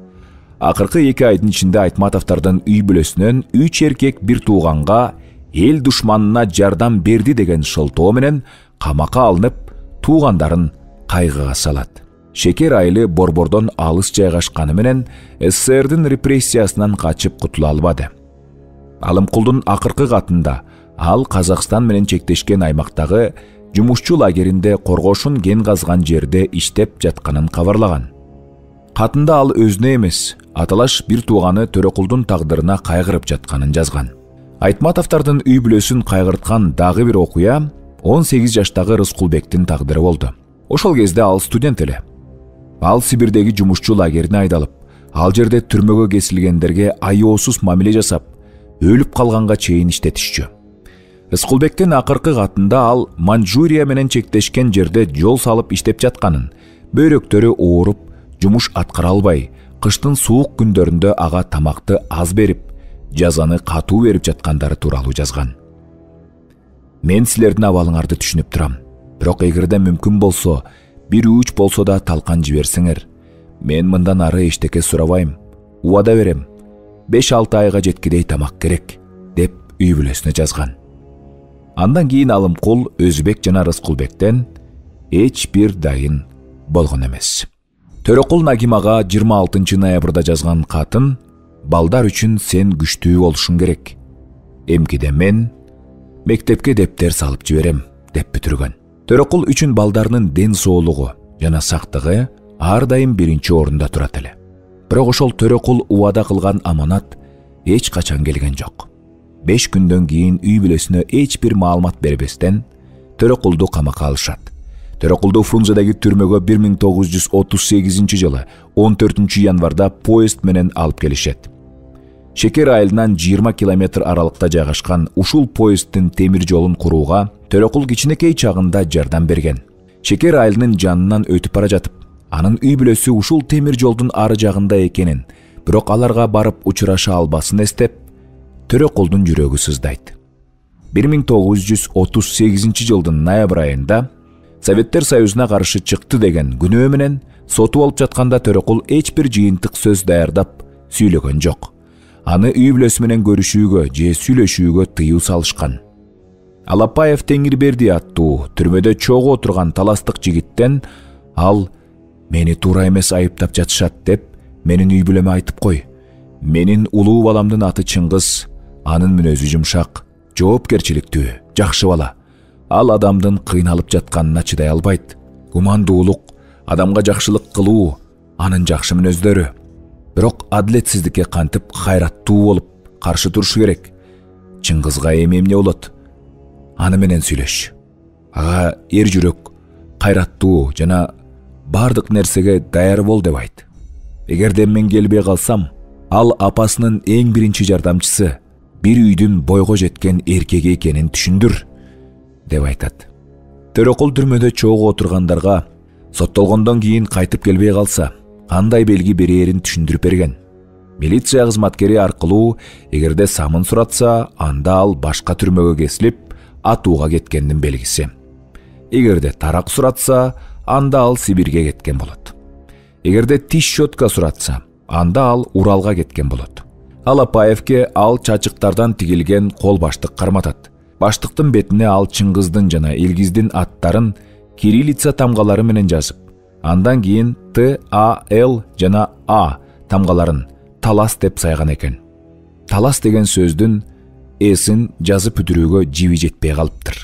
Акыркы эки айдын ичинде Айтматовдордун үй бүлөсүнөн үч эркек бир тууганга эл душманына жардам берди деген шылтоо менен камакка алынып, туугандарын кайгыга салат. Шекер айылы борбордон алыс жайгашканы менен СССРдин репрессиясынан качып кутула албады. Алымкулдун акыркы катында ал Казакстан менен чектешкен аймактагы жумушчу лагеринде коргошун кен казган жерде иштеп жатканын кабарлаган. Катында ал өзүнө эмес, аталаш бир тууганы Төрөкулдун тагдырына кайгырып жатканын жазган. Айтматовдордун үй бүлөсүн кайгырткан дагы бир окуя он сегиз жаштагы Рыскулбектин тагдыры болду. Ошол кезде ал студент эле. Ал Сибирдеги жумушчу лагерине айдалып, ал жерде түрмөгө кесилгендерге аяосуз мамиле жасап, өлүп калганга чейин иштетишчү. Рыскулбектин акыркы катында ал Манчжурия менен чектешкен жерде жол салып иштеп жатканын, бөйрөктөрү ооруп, жумуш аткара албай, кыштын суук күндөрүндө ага тамакты аз берип, жазаны катуу берип жаткандары тууралуу жазган. Мен силердин абалыңарды түшүнүп турам. Бирок эгерде мүмкүн болсо, бир үч болсо да талкан жиберсеңер, мен мындан ары эчтеке сурабайм. Убада берем. беш алты айга жеткидей тамак керек, деп үй бүлөсүнө жазган. Андан кийин Алымкул Өзбек жана Рыскулбектен эч бир дайын болгон эмес. Төрөкул Нагимага жыйырма алтынчы ноябрда жазган катын: "Балдар үчүн сен күчтүү болушуң керек. Эмкиде мен мектепке дептер салып жиберем", деп бүтүргөн. Төрөкул үчүн балдарынын ден соолугу жана сактыгы ар дайым биринчи орунда турат эле. Бирок ошол Төрөкул убада кылган аманат эч качан келген жок. Беш күндөн кийин үй бүлөсүнө эч бир маалымат бербестен Төрөкулду камакка алышат. Төрөкулду Фрунзедеги түрмөгө бир миң тогуз жүз отуз сегизинчи жылы он төртүнчү январда поезд менен алып келишет. Шекер айылынан жыйырма километр аралыкта жайгашкан ушул поезддин темир жолун курууга Төрөкул кичинекей чагында жардам берген. Шекер айылынын жанынан өтүп бара жатып, анын үй бүлөсү ушул темир жолдун ары жагында экенин, бирок аларга барып учураша албасын эстеп, Төрөкулдун жүрөгү сыздайт. бир миң тогуз жүз отуз сегизинчи жылдын ноябрь айында Советтер Союзуна каршы чыкты деген күнөө менен соту болуп жатканда Төрөкул эч бир жыйынтык сөз даярдап сүйлөгөн жок. Аны үй бүлөсү менен көрүшүүгө же сүйлөшүүгө тыюу салышкан. Алапаев Теңирберди аттуу түрмөдө чогуу отурган таластык жигиттен ал «Мени туура эмес айыптап жатышат» деп менин үй бүлөмө айтып кой. Менин улуу баламдын аты Чыңгыз, анын мүнөзү жумшак, жоопкерчиликтүү, жакшы бала. Ал адамдын кыйналып жатканына чыдай албайт. Гумандуулук, адамга жакшылык кылуу анын жакшы мүнөздөрү. Бирок адилетсиздикке кантип кайраттуу болуп каршы турушу керек. Чыңгызга эми эмне болот? Аны менен сүйлөш. Ага эр жүрөк, кайраттуу жана бардык нерсеге даяр бол деп айт. Эгерде мен келбей калсам, ал апасынын эң биринчи жардамчысы, бир үйдүн бойго жеткен эркеги экенин түшүндүр деп айтат. Төрөкул түрмөдө чогуу отургандарга соттолгондон кийин кайтып келбей калса, кандай белги берээрин түшүндүрүп берген. Милиция кызматкери аркылуу эгерде самын суратса, анда ал башка түрмөгө кесилип, атууга кеткендин белгиси. Эгерде тарак суратса, анда ал Сибирге кеткен болот. Эгерде тиш щетка суратса, анда ал Уралга кеткен болот. Алапаевке ал чачыктардан тигилген кол баштык карматат. Баштыктын бетине ал Чыңгыздын жана Илгиздин аттарын кириллица тамгалары менен жазып, андан кийин Т, А, Л жана А тамгаларын талас деп сайган экен. Талас деген сөздүн эсин жазып бүтүрүүгө жиби жетпей калыптыр.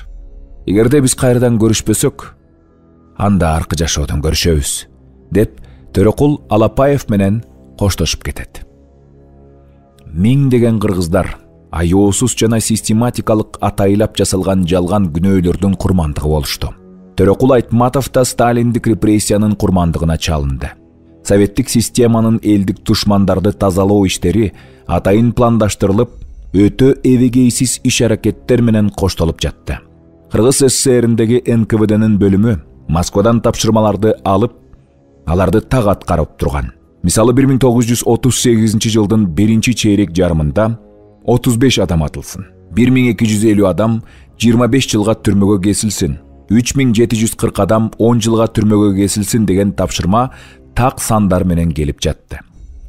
Эгерде биз кайрадан көрүшпөсөк, анда аркы жашоодон көрүшөбүз, деп Төрөкул Алапаев менен коштошуп кетет. Миңдеген кыргыздар аяосуз жана систематикалык атайлап жасалган жалган күнөөлөрдүн курмандыгы болушту. Төрөкул Айтматов да Сталиндик репрессиянын курмандыгына чалынды. Советтик системанын элдик душмандарды тазалоо иштери атайын пландаштырылып, өтө эбегейсиз иш-аракеттер менен коштолуп жатты. Кыргыз СССРиндеги эн ка вэ дэнин бөлүмү Москвадан тапшырмаларды алып, аларды так аткарып турган. Мисалы бир миң тогуз жүз отуз сегизинчи жылдын биринчи чейрек жарымында отуз беш адам атылсын, бир миң эки жүз элүү адам жыйырма беш жылга түрмөгө кесилсин, үч миң жети жүз кырк адам он жылга түрмөгө кесилсин деген тапшырма так сандар менен келип жатты.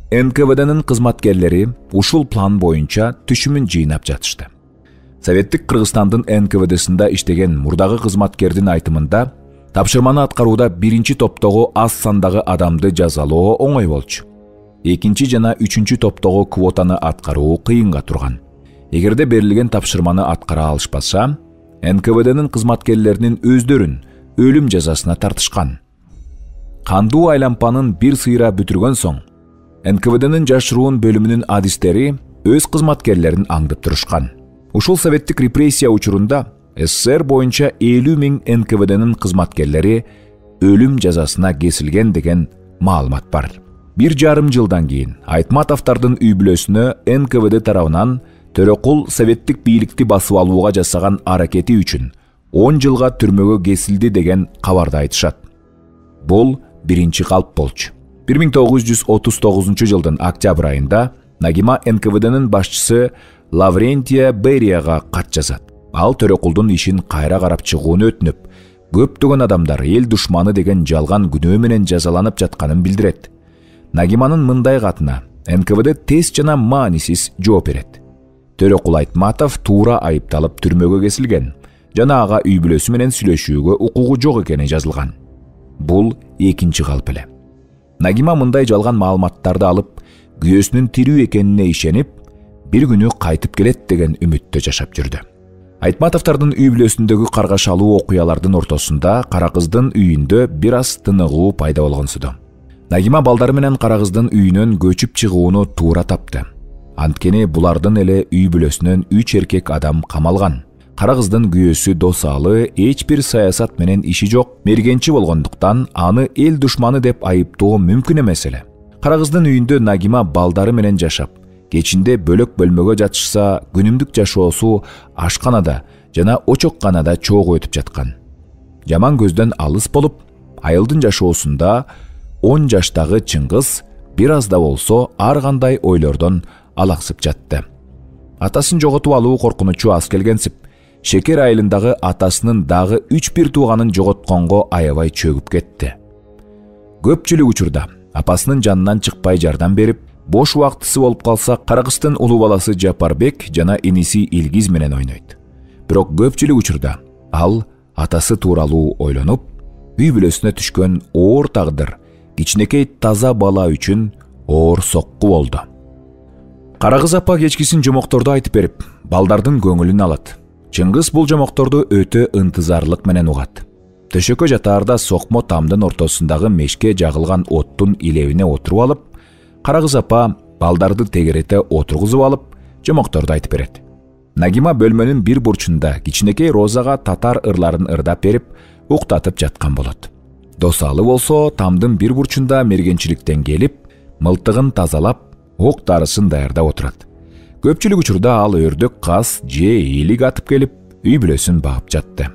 эн ка вэ дэнин кызматкерлери ушул план боюнча түшүмүн жыйнап жатышты. Советтик Кыргызстандын эн ка вэ дэ-синде иштеген мурдагы кызматкердин айтымында, тапшырманы аткарууда биринчи топтогу аз сандагы адамды жазалоо оңой болчу. Экинчи жана үчүнчү топтогу квотаны аткаруу кыйынга турган. Эгерде берилген тапшырманы аткара алышпаса, эн ка вэ дэнин кызматкерлеринин өздөрүн өлүм жазасына тартышкан. Кандуу айлампанын бир сыйра бүтүргөн соң, эн ка вэ дэнин жашыруун бөлүмүнүн адистери өз кызматкерлерин аңдып турушкан. Ушул советтик репрессия учурунда эс эс эс эр боюнча элүү миң эн ка вэ дэнин кызматкерлери өлүм жазасына кесилген деген маалымат бар. Бир жарым жылдан кийин Айтматовдордун үй бүлөсүнө эн ка вэ дэ тарабынан Төрөкул советтик бийликти басып алууга жасаган аракети үчүн он жылга түрмөгө кесилди деген кабарды айтышат. Бул биринчи калп болчу. бир миң тогуз жүз отуз тогузунчу жылдын октябрь айында Нагима эн ка вэ дэнин башчысы Лаврентия Берияга кат жазат. Ал Төрөкулдун ишин кайра карап чыгууну өтүнүп, көптөгөн адамдар эл душманы деген жалган күнөө менен жазаланып жатканын билдирет. Нагиманын мындай катына эн ка вэ дэ тез жана маанисиз жооп берет. Төрөкул Айтматов туура айыпталып түрмөгө кесилген жана ага үй бүлөсү менен сүйлөшүүгө укугу жок экени жазылган. Бул экинчи калп эле. Нагима мындай жалган маалыматтарды алып, күйөөсүнүн тирүү экенине ишенип, бир күнү кайтып келет деген үмүттө жашап жүрдү. Айтматовдордун үй бүлөсүндөгү каргашалуу окуялардын ортосунда кара кыздын үйүндө бир аз тыныгуу пайда болгонсуду. Нагима балдары менен кара кыздын үйүнөн көчүп чыгууну туура тапты. Анткени булардын эле үй бүлөсүнөн үч эркек адам камалган. Кара кыздын күйөөсү Досалы эч бир саясат менен иши жок мергенчи болгондуктан аны эл душманы деп айыптоо мүмкүн эмес эле. Кара кыздын үйүндө Нагима балдары менен жашап, кечинде бөлөк бөлмөгө жатышса, күнүмдүк жашоосу ашканада жана очокканада чогуу өтүп жаткан. Жаман көздөн алыс болуп, айылдын жашоосунда он жаштагы Чыңгыз бир аз да болсо ар кандай ойлордон алаксып жатты. Атасын жоготуп алуу коркунучу аз келгенсип, Шекер айылындагы атасынын дагы үч бир тууганын жоготконго аябай чөгүп кетти. Көпчүлүк учурда апасынын жанынан чыкпай жардам берип, бош убактысы болуп калса, кара кыздын улуу баласы Жапарбек жана иниси Илгиз менен ойнойт. Бирок көпчүлүк учурда ал атасы тууралуу ойлонуп, үй бүлөсүнө түшкөн оор тагдыр кичинекей таза бала үчүн оор сокку болду. Кара кыз апа кечкисин жомокторду айтып берип, балдардын көңүлүн алат. Чыңгыз бул жомокторду өтө ынтызарлык менен угат. Төшөккө жатаарда сокмо тамдын ортосундагы мешке жагылган оттун илебине отуруп алып, кара кыз апа балдарды тегерете отургузуп алып, жомокторду айтып берет. Нагима бөлмөнүн бир бурчунда кичинекей Розага татар ырларын ырдап берип, уктатып жаткан болот. Досалы болсо тамдын бир бурчунда мергенчиликтен келип, мылтыгын тазалап, ок дарысын даярдап отурат. Көпчүлүк учурда ал өрдөк, каз же ийилик атып келип, үй бүлөсүн багып жатты.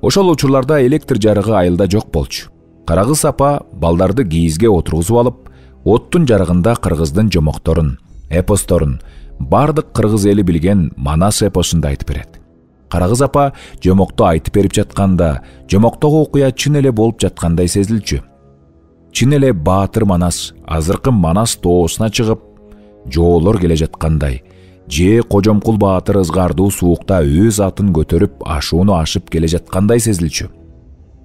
Ошол учурларда электр жарыгы айылда жок болчу. Кара кыз апа балдарды кийизге отургузуп алып, оттун жарыгында кыргыздын жомокторун, эпосторун, бардык кыргыз эли билген Манас эпосун айтып берет. Кара кыз апа жомокту айтып берип жатканда, жомоктогу окуя чын эле болуп жаткандай сезилчү. Чын эле Баатыр Манас азыркы Манас тоосуна чыгып, жоолор келе жаткандай, же Кожомкул Баатыр ызгардуу суукта өз атын көтөрүп ашууну ашып келе жаткандай сезилчү.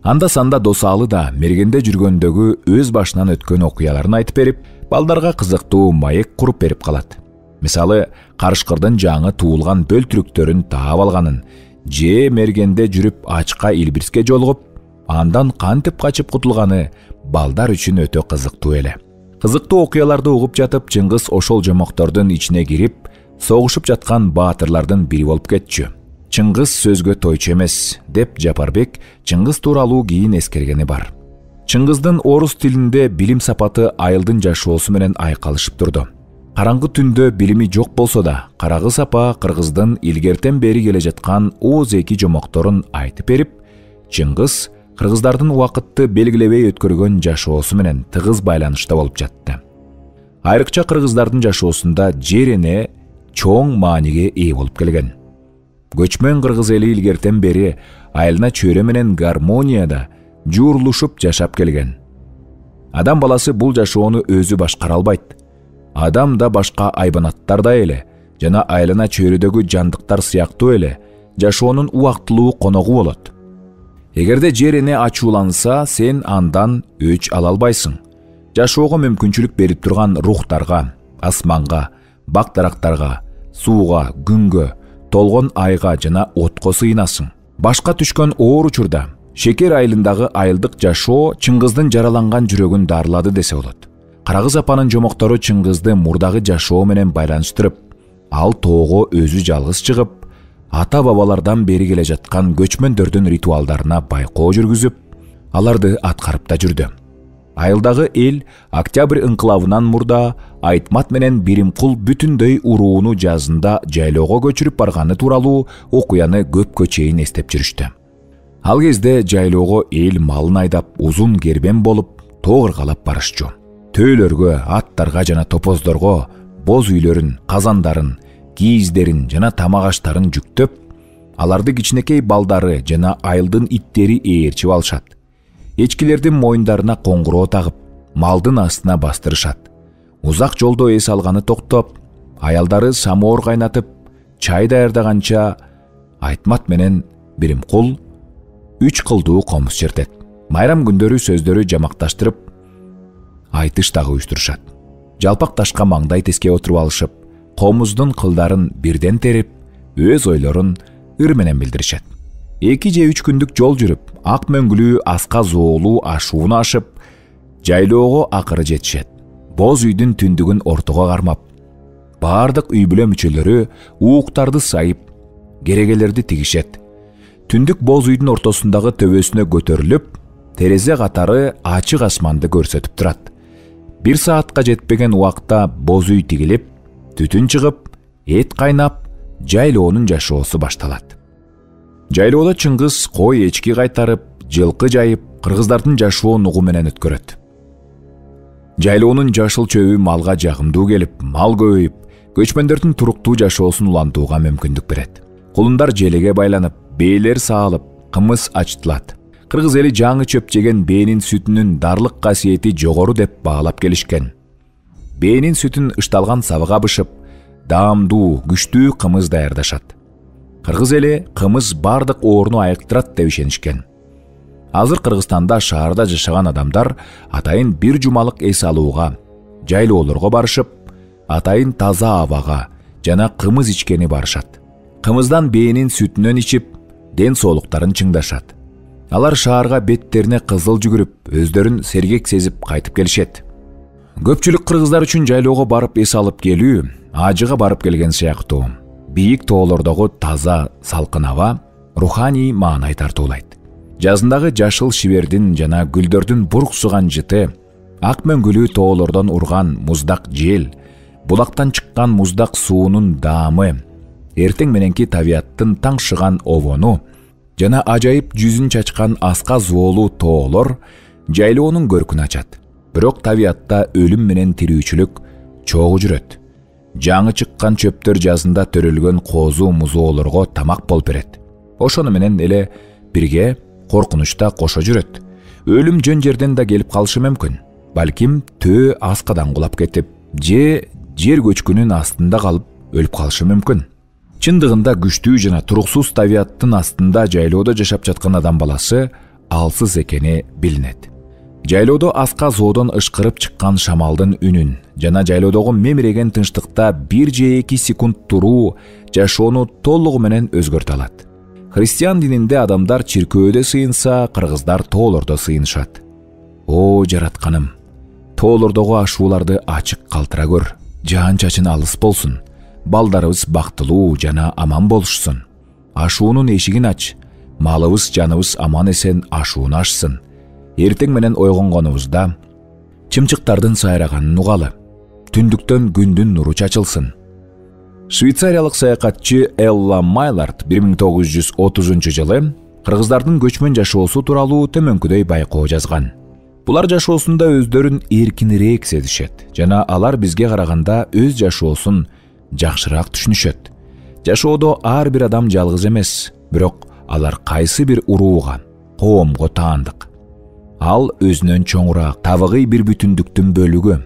Анда санда Досалы да мергенде жүргөндөгү өз башынан өткөн окуяларын айтып берип, балдарга кызыктуу маек куруп берип калат. Мисалы, Карышкырдын жаңы туулган бөлтүрүктөрүн таап алганын, же мергенде жүрүп ачка Илбирске жолугуп, андан кантип качып кутулганы балдар үчүн өтө кызыктуу эле. Кызыктуу окуяларды угуп жатып, Чыңгыз ошол жомоктордун ичине кирип, согушуп жаткан баатырлардын бири болуп кетчү. Чыңгыз сөзгө тойчу эмес, деп Жапарбек Чыңгыз тууралуу кийин эскергени бар. Чыңгыздын орус тилинде билим сапаты айылдын жашоосу менен айкалышып турду. Караңгы түндө билими жок болсо да, кара кыз апа кыргыздын илгертен бери келе жаткан ооз эки жомокторун айтып берип, Чыңгыз кыргыздардын убакытты белгилебей өткөргөн жашоосу менен тыгыз байланышта болуп жатты. Айрыкча кыргыздардын жашоосунда жер эне чоң мааниге ээ болуп келген. Көчмөн кыргыз эли илгертен бери айылына чөйрө менен гармонияда жуурулушуп жашап келген. Адам баласы бул жашоону өзү башкара албайт. Адам да башка айбанаттардай эле жана айылына чөйрөдөгү жандыктар сыяктуу эле жашоонун убактылуу коногу болот. Эгерде жер эне ачууланса, сен андан өч ала албайсың. Жашоого мүмкүнчүлүк берип турган рухтарга, асманга, бак-дарактарга, сууга, күнгө, толгон айга жана отко сыйынасың. Башка түшкөн оор учурда Шекер айылындагы айылдык жашоо Чыңгыздын жараланган жүрөгүн дарылады десе болот. Кара кыз апанын жомоктору Чыңгызды мурдагы жашоо менен байланыштырып, ал тоого өзү жалгыз чыгып, ата-бабалардан бери келе жаткан көчмөндөрдүн ритуалдарына байкоо жүргүзүп, аларды аткарып да жүрдү. Айылдагы эл Октябрь ыңкылабынан мурда Айтмат менен Биримкул бүтүндөй урууну жазында жайлоого көчүрүп барганы тууралуу окуяны көпкө чейин эстеп жүрүштү. Ал кезде жайлоого эл малын айдап, узун кербен болуп, тоо ыргалап барышчу. Төөлөргө, аттарга жана топоздорго боз үйлөрүн, казандарын, кийиздерин жана тамак аштарын жүктөп, аларды кичинекей балдары жана айылдын иттери ээрчип алышат. Эчкилердин моюндарына коңгуроо тагып, малдын астына бастырышат. Узак жолдо эс алганы токтоп, аялдары самоор кайнатып, чай даярдаганча Айтмат менен Биримкул үч кылдуу комуз чертет. Майрам күндөрү сөздөрү жамакташтырып, айтыш дагы уюштурушат. Жалпак ташка маңдай теске отуруп алышып, комуздун кылдарын бирден терип, өз ойлорун ыр менен билдиришет. Эки же үч күндүк жол жүрүп, ак мөңгүлүү аска зоолуу ашууну ашып, жайлоого акыры жетишет. Боз үйдүн түндүгүн ортого кармап, бардык үй бүлө мүчөлөрү ууктарды сайып, керегелерди тигишет. Түндүк боз үйдүн ортосундагы төбөсүнө көтөрүлүп, терезе катары ачык асманды көрсөтүп турат. Бир саатка жетпеген убакта боз үй тигилип, түтүн чыгып, эт кайнап, жайлоонун жашоосу башталат. Жайлоодо чыңгыз кой эчки кайтарып, жылкы жайып, кыргыздардын жашоон угу менен өткөрөт. Жайлоонун жашыл чөбү малга жагымдуу келип, мал көбөйүп, көчмөндөрдүн туруктуу жашоосун улантууга мүмкүндүк берет. Кулундар желеге байланып, бээлер саалып, кымыз ачтылат. Кыргыз эли жаңы чөп жеген бээнин сүтүнүн дарлык касиети жогору деп баалап келишкен. Бээнин сүтүн ышталган сабыга бышып, даамдуу, күчтүү кымыз даярдашат. Кыргыз эли кымыз бардык ооруну айыктырат деп ишенишкен. Азыр Кыргызстанда шаарда жашаган адамдар атайын бир жумалык эс алууга, жайлоолорго барышып, атайын таза абага жана кымыз ичкени барышат. Кымыздан бээнин сүтүнөн ичип, ден соолуктарын чыңдашат. Алар шаарга беттерине кызыл жүгүрүп, өздөрүн сергек сезип кайтып келишет. Көпчүлүк кыргыздар үчүн жайлоого барып эс алып келүү ажыга барып келген сыяктуу. Бийик тоолордогу таза, салкын аба руханий маанай тартуулайт. Жазындагы жашыл шибердин жана гүлдөрдүн бурксуган жыты, ак мөңгүлүү тоолордон урган муздак жел, булактан чыккан муздак суунун даамы, эртең мененки табияттын таңшыган обону жана ажайып жүзүн чачкан аска зоолуу тоолор жайлоонун көркүн ачат. Бирок табиятта өлүм менен тирүүчүлүк чогуу жүрөт. Жаңы чыккан чөптөр жазында төрөлгөн коозу музоолорго тамак болуп берет. Ошону менен эле бирге коркунучта кошо жүрөт. Өлүм жөн жерден да келип калышы мүмкүн. Балким төө аскадан кулап кетип, же жер көчкүнүн астында калып өлүп калышы мүмкүн. Чындыгында күчтүү жана туруксуз табияттын астында жайлоодо жашап жаткан адам баласы алсыз экени билинет. Жайлоодо аска зоодон ышкырып чыккан шамалдын үнүн жана жайлоодогу мемиреген тынчтыкта бир же эки секунд туруу жашоону толугу менен өзгөртө алат. Христиан дининде адамдар чиркөөдө сыйынса, кыргыздар тоолордо сыйынышат. О жаратканым, тоолордогу ашууларды ачык калтыра көр. Жаан чачын алыс болсун. Балдарыбыз бактылуу жана аман болушсун. Ашуунун эшигин ач. Малыбыз, жаныбыз аман эсен ашууну ашсын. Эртең менен ойгонгонубузда чымчыктардын сайраганын угалы. Түндүктөн күндүн нуру чачылсын. Швейцариялык саякатчы Элла Майлард бир миң тогуз жүз отузунчу жылы кыргыздардын көчмөн жашоосу тууралуу төмөнкүдөй байкоо жазган. Булар жашоосунда өздөрүн эркинирээк сезишет жана алар бизге караганда өз жашоосун жакшыраак түшүнүшөт. Жашоодо ар бир адам жалгыз эмес, бирок алар кайсы бир урууга, коомго таандык. Ал өзүнөн чоңураак, табыгый бир бүтүндүктүн бөлүгү.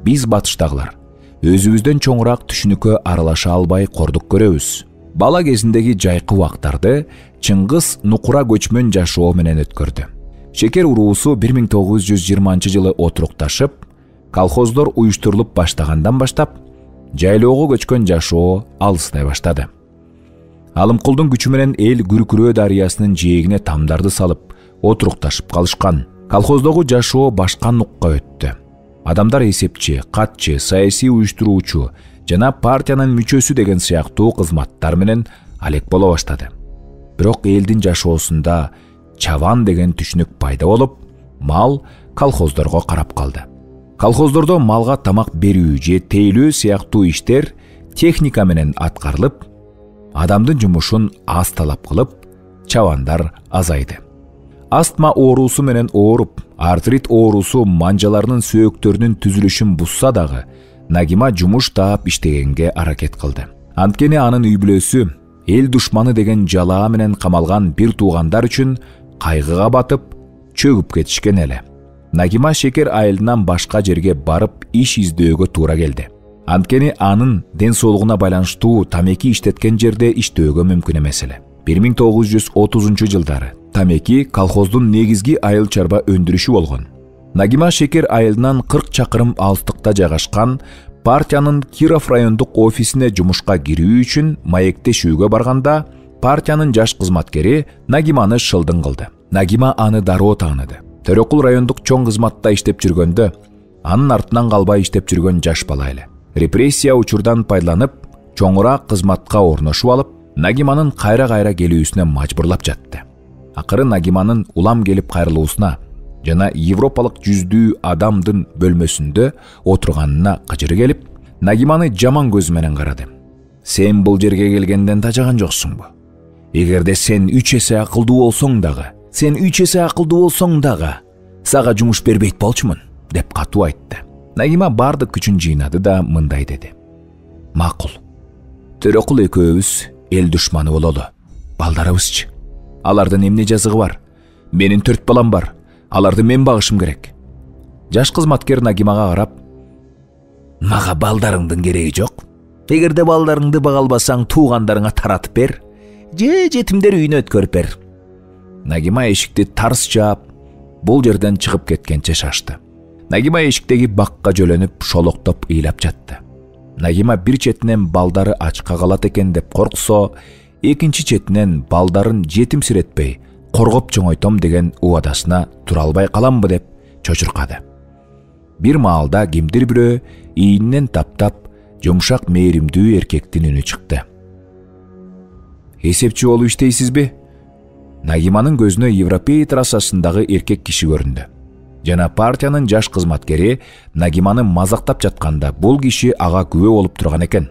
Биз батыштагылар өзүбүздөн чоңураак түшүнүккө аралаша албай кордук көрөбүз. Бала кезиндеги жайкы убактарды Чыңгыз нукура көчмөн жашоо менен өткөрдү. Шекер уруусу бир миң тогуз жүз жыйырманчы жылы отурукташып, колхоздор уюштурулуп баштагандан баштап, жайлоого көчкөн жашоо алыстай баштады. Алымкулдун күчү менен эл Күркүрөө дарыясынын жээгине тамдарды салып, отурукташып калышкан. Колхоздогу жашоо башка нукка өттү. Адамдар эсепчи, катчы, саясий уюштуруучу жана партиянын мүчөсү деген сыяктуу кызматтар менен алек боло баштады. Бирок элдин жашоосунда чабан деген түшүнүк пайда болуп, мал колхоздорго карап калды. Колхоздордо малга тамак берүү же тейлөө сыяктуу иштер техника менен аткарылып, адамдын жумушун аз талап кылып, чабандар азайды. Астма оорусу менен ооруп, артрит оорусу манжаларынын сөөктөрүнүн түзүлүшүн бузса дагы, Нагима жумуш таап иштегенге аракет кылды. Анткени анын үй бүлөсү эл душманы деген жалаа менен камалган бир туугандар үчүн кайгыга батып, чөгүп кетишкен эле. Нагима шекер айылынан башка жерге барып иш издөөгө туура келди. Анткени анын ден соолугуна байланыштуу тамеки иштеткен жерде иштөөгө мүмкүн эмес эле. бир миң тогуз жүз отузунчу жылдары тамеки колхоздун негизги айыл чарба өндүрүшү болгон. Нагима шекер айылынан кырк чакырым алыстыкта жайгашкан партиянын Киров райондук офисине жумушка кирүү үчүн маектешүүгө барганда, партиянын жаш кызматкери Нагиманы шылдың кылды. Нагима аны дароо тааныды. Төрөкул райондук чоң кызматта иштеп жүргөндө анын артынан калбай иштеп жүргөн жаш бала эле. Репрессия учурдан пайдаланып, чоңураак кызматка орношуп алып, Нагиманын кайра-кайра келүүсүнө мажбурлап жатты. Акыры Нагиманын улам келип кайрылуусуна жана европалык жүздүү адамдын бөлмөсүндө отурганына кыжыры келип, Нагиманы жаман көз менен карады. Сен бул жерге келгенден тажаган жоксуңбу? Эгерде сен үч эсе акылдуу болсоң дагы, сен үч эсе акылдуу болсоң дагы, сага жумуш бербейт болчумун, деп катуу айтты. Нагима бардык күчүн жыйнады да мындай деди. Макул. Төрөкул экөөбүз эл душманы бололу. Балдарыбызчы? Алардын эмне жазыгы бар? Менин төрт балам бар. Аларды мен багышым керек. Жаш кызматкер Нагимага карап, мага балдарыңдын кереги жок. Эгерде балдарыңды бага албасаң, туугандарыңа таратып бер, же жетимдер үйүнө өткөрүп бер. Нагима эшикти тарс жаап, бул жерден чыгып кеткенче шашты. Нагима эшиктеги бакка жөлөнүп, шолоктоп ыйлап жатты. Нагима бир четинен балдары ачка калат экен деп корксо, экинчи четинен балдарын жетимсиретпей, коргоп чоңойтом деген убадасына тура албай каламбы деп чочуркады. Бир маалда кимдир бирөө ийинен таптап, жумшак мээримдүү эркектин үнү чыкты. Эсепчи болуп иштейсизби? Нагиманын көзүнө Европей трассасындагы эркек киши көрүндү. Жана партиянын жаш кызматкери Нагиманы мазактап жатканда бул киши ага күбө болуп турган экен.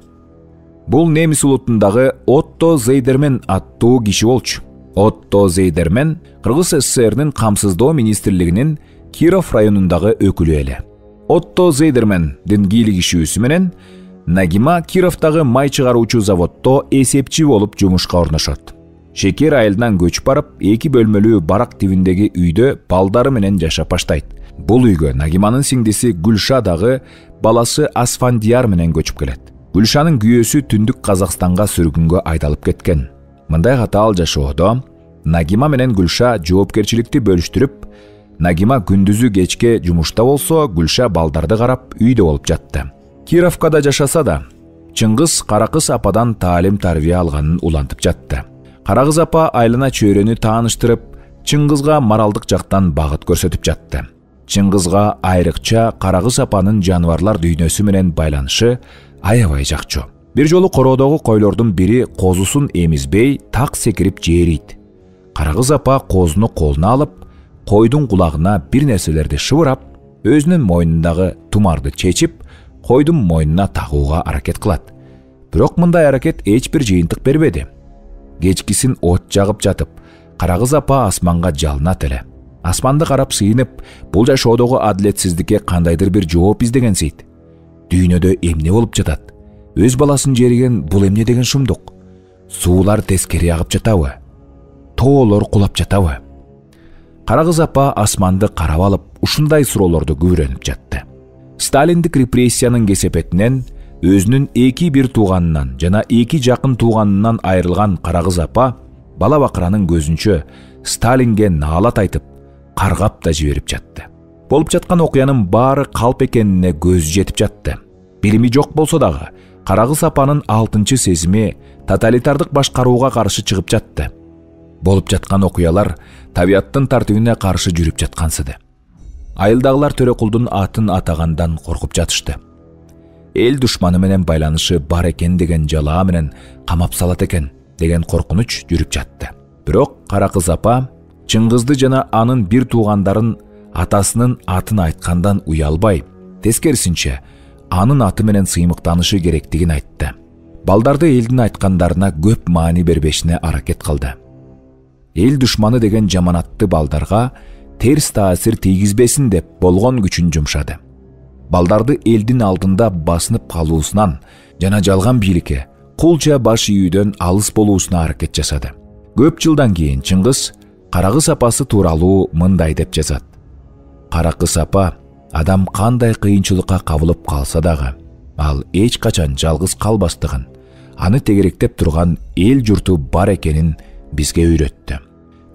Бул немис улутундагы Отто Зейдермен аттуу киши болчу. Отто Зейдермен Кыргыз СССРнин камсыздоо министрлигинин Киров районундагы өкүлү эле. Отто Зейдермендин кийлигишүүсү менен Нагима Кировдагы май чыгаруучу заводдо эсепчи болуп жумушка орношот. Шекер айылынан көчүп барып, эки бөлмөлүү барак тибиндеги үйдө балдары менен жашап баштайт. Бул үйгө Нагиманын сиңдиси Гүлша дагы баласы Асфандияр менен көчүп келет. Гүлшанын күйөөсү түндүк Казакстанга сүргүнгө айдалып кеткен. Мындай катаал жашоодо Нагима менен Гүлша жоопкерчиликти бөлүштүрүп, Нагима күндүзү кечке жумушта болсо, Гүлша балдарды карап үйдө болуп жатты. Кировкада жашаса да, Чыңгыз Каракыз ападан таалим-тарбия алганын улантып жатты. Каракыз апа айлана чөйрөнү тааныштырып, Чыңгызга моралдык жактан багыт көрсөтүп жатты. Чыңгызга айрыкча Каракыз апанын жаныбарлар дүйнөсү менен байланышы аябай жакчу. Бир жолу короодогу койлордун бири козусун эмизбей так секирип жээрийт. Каракыз апа козуну колуна алып, койдун кулагына бир нерселерди шыбырап, өзүнүн мойнундагы тумарды чечип, койдун мойнуна тагууга аракет кылат. Бирок мындай аракет эч бир жыйынтык бербеди. Кечкисин от жагып жатып, Каракыз апа асманга жалынат эле. Асманды карап сыйынып, бул жашоодогу адилетсиздикке кандайдыр бир жооп издегенсейт. Дүйнөдө эмне болуп жатат? Өз баласын жериген бул эмне деген шумдук? Суулар тескери агып жатабы? Тоолор кулап жатабы? Каракыз апа асманды карап алып, ушундай суроолорду күбөрөнүп жатты. Сталиндик репрессиянын кесепетинен өзүнүн эки бир тууганынан жана эки жакын тууганынан айрылган Каракыз апа бала бакыранын көзүнчө Сталинге наалат айтып, каргап да жиберип жатты. Болуп жаткан окуянын баары калп экенине көзү жетип жатты. Билими жок болсо дагы, Каракыз апанын алтынчы сезими тоталитардык башкарууга каршы чыгып жатты. Болуп жаткан окуялар табияттын тартибине каршы жүрүп жаткансыды. Айылдагылар Төрөкулдун атын атагандан коркуп жатышты. Эл душманы менен байланышы бар экен деген жалаа менен камап салат экен деген коркунуч жүрүп жатты. Бирок Каракыз апа Чыңгызды жана анын бир туугандарын атасынын атын айткандан уялбай, тескерисинче анын аты менен сыймыктанышы керектигин айтты. Балдарды элдин айткандарына көп маани бербешине аракет кылды. Эл душманы деген жаманатты балдарга терс таасир тийгизбесин деп болгон күчүн жумшады. Балдарды элдин алдында басынып калуусунан жана жалган бийликке, кулча баш ийүүдөн алыс болуусуна аракет жасады. Көп жылдан кийин Чыңгыз Каракыз апасы тууралуу мындай деп жазат. Каракыз апа адам кандай кыйынчылыкка кабылып калса дагы, ал эч качан жалгыз калбастыгын, аны тегеректеп турган эл журту бар экенин бизге үйрөттү.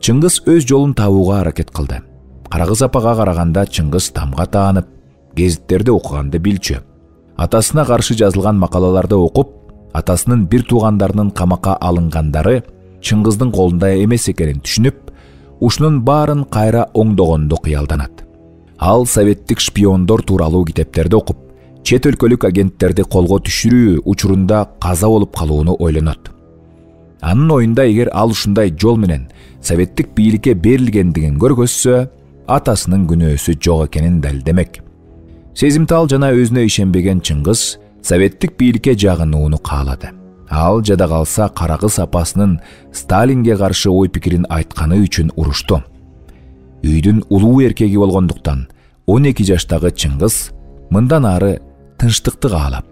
Чыңгыз өз жолун табууга аракет кылды. Каракыз апага караганда Чыңгыз тамга таанып, гезиттерди окуганды билчү. Атасына каршы жазылган макалаларды окуп, атасынын бир туугандарынын камакка алынгандары Чыңгыздын колунда эмес экенин түшүнүп, ушунун баарын кайра оңдогонду кыялданат. Ал советтик шпиондор тууралуу китептерди окуп, чет өлкөлүк агенттерди колго түшүрүү учурунда каза болуп калууну ойлонот. Анын оюнда эгер ал ушундай жол менен советтик бийликке берилгендигин көргөзсө, атасынын күнөөсү жок экенин далилдемек. Сезимтал жана өзүнө ишенбеген Чыңгыз советтик бийликке жагынууну каалады. Ал жада калса Карагыз апасынын Сталинге каршы ой пикирин айтканы үчүн урушту. Үйдүн улуу эркеги болгондуктан он эки жаштагы Чыңгыз мындан ары тынчтыкты каалап,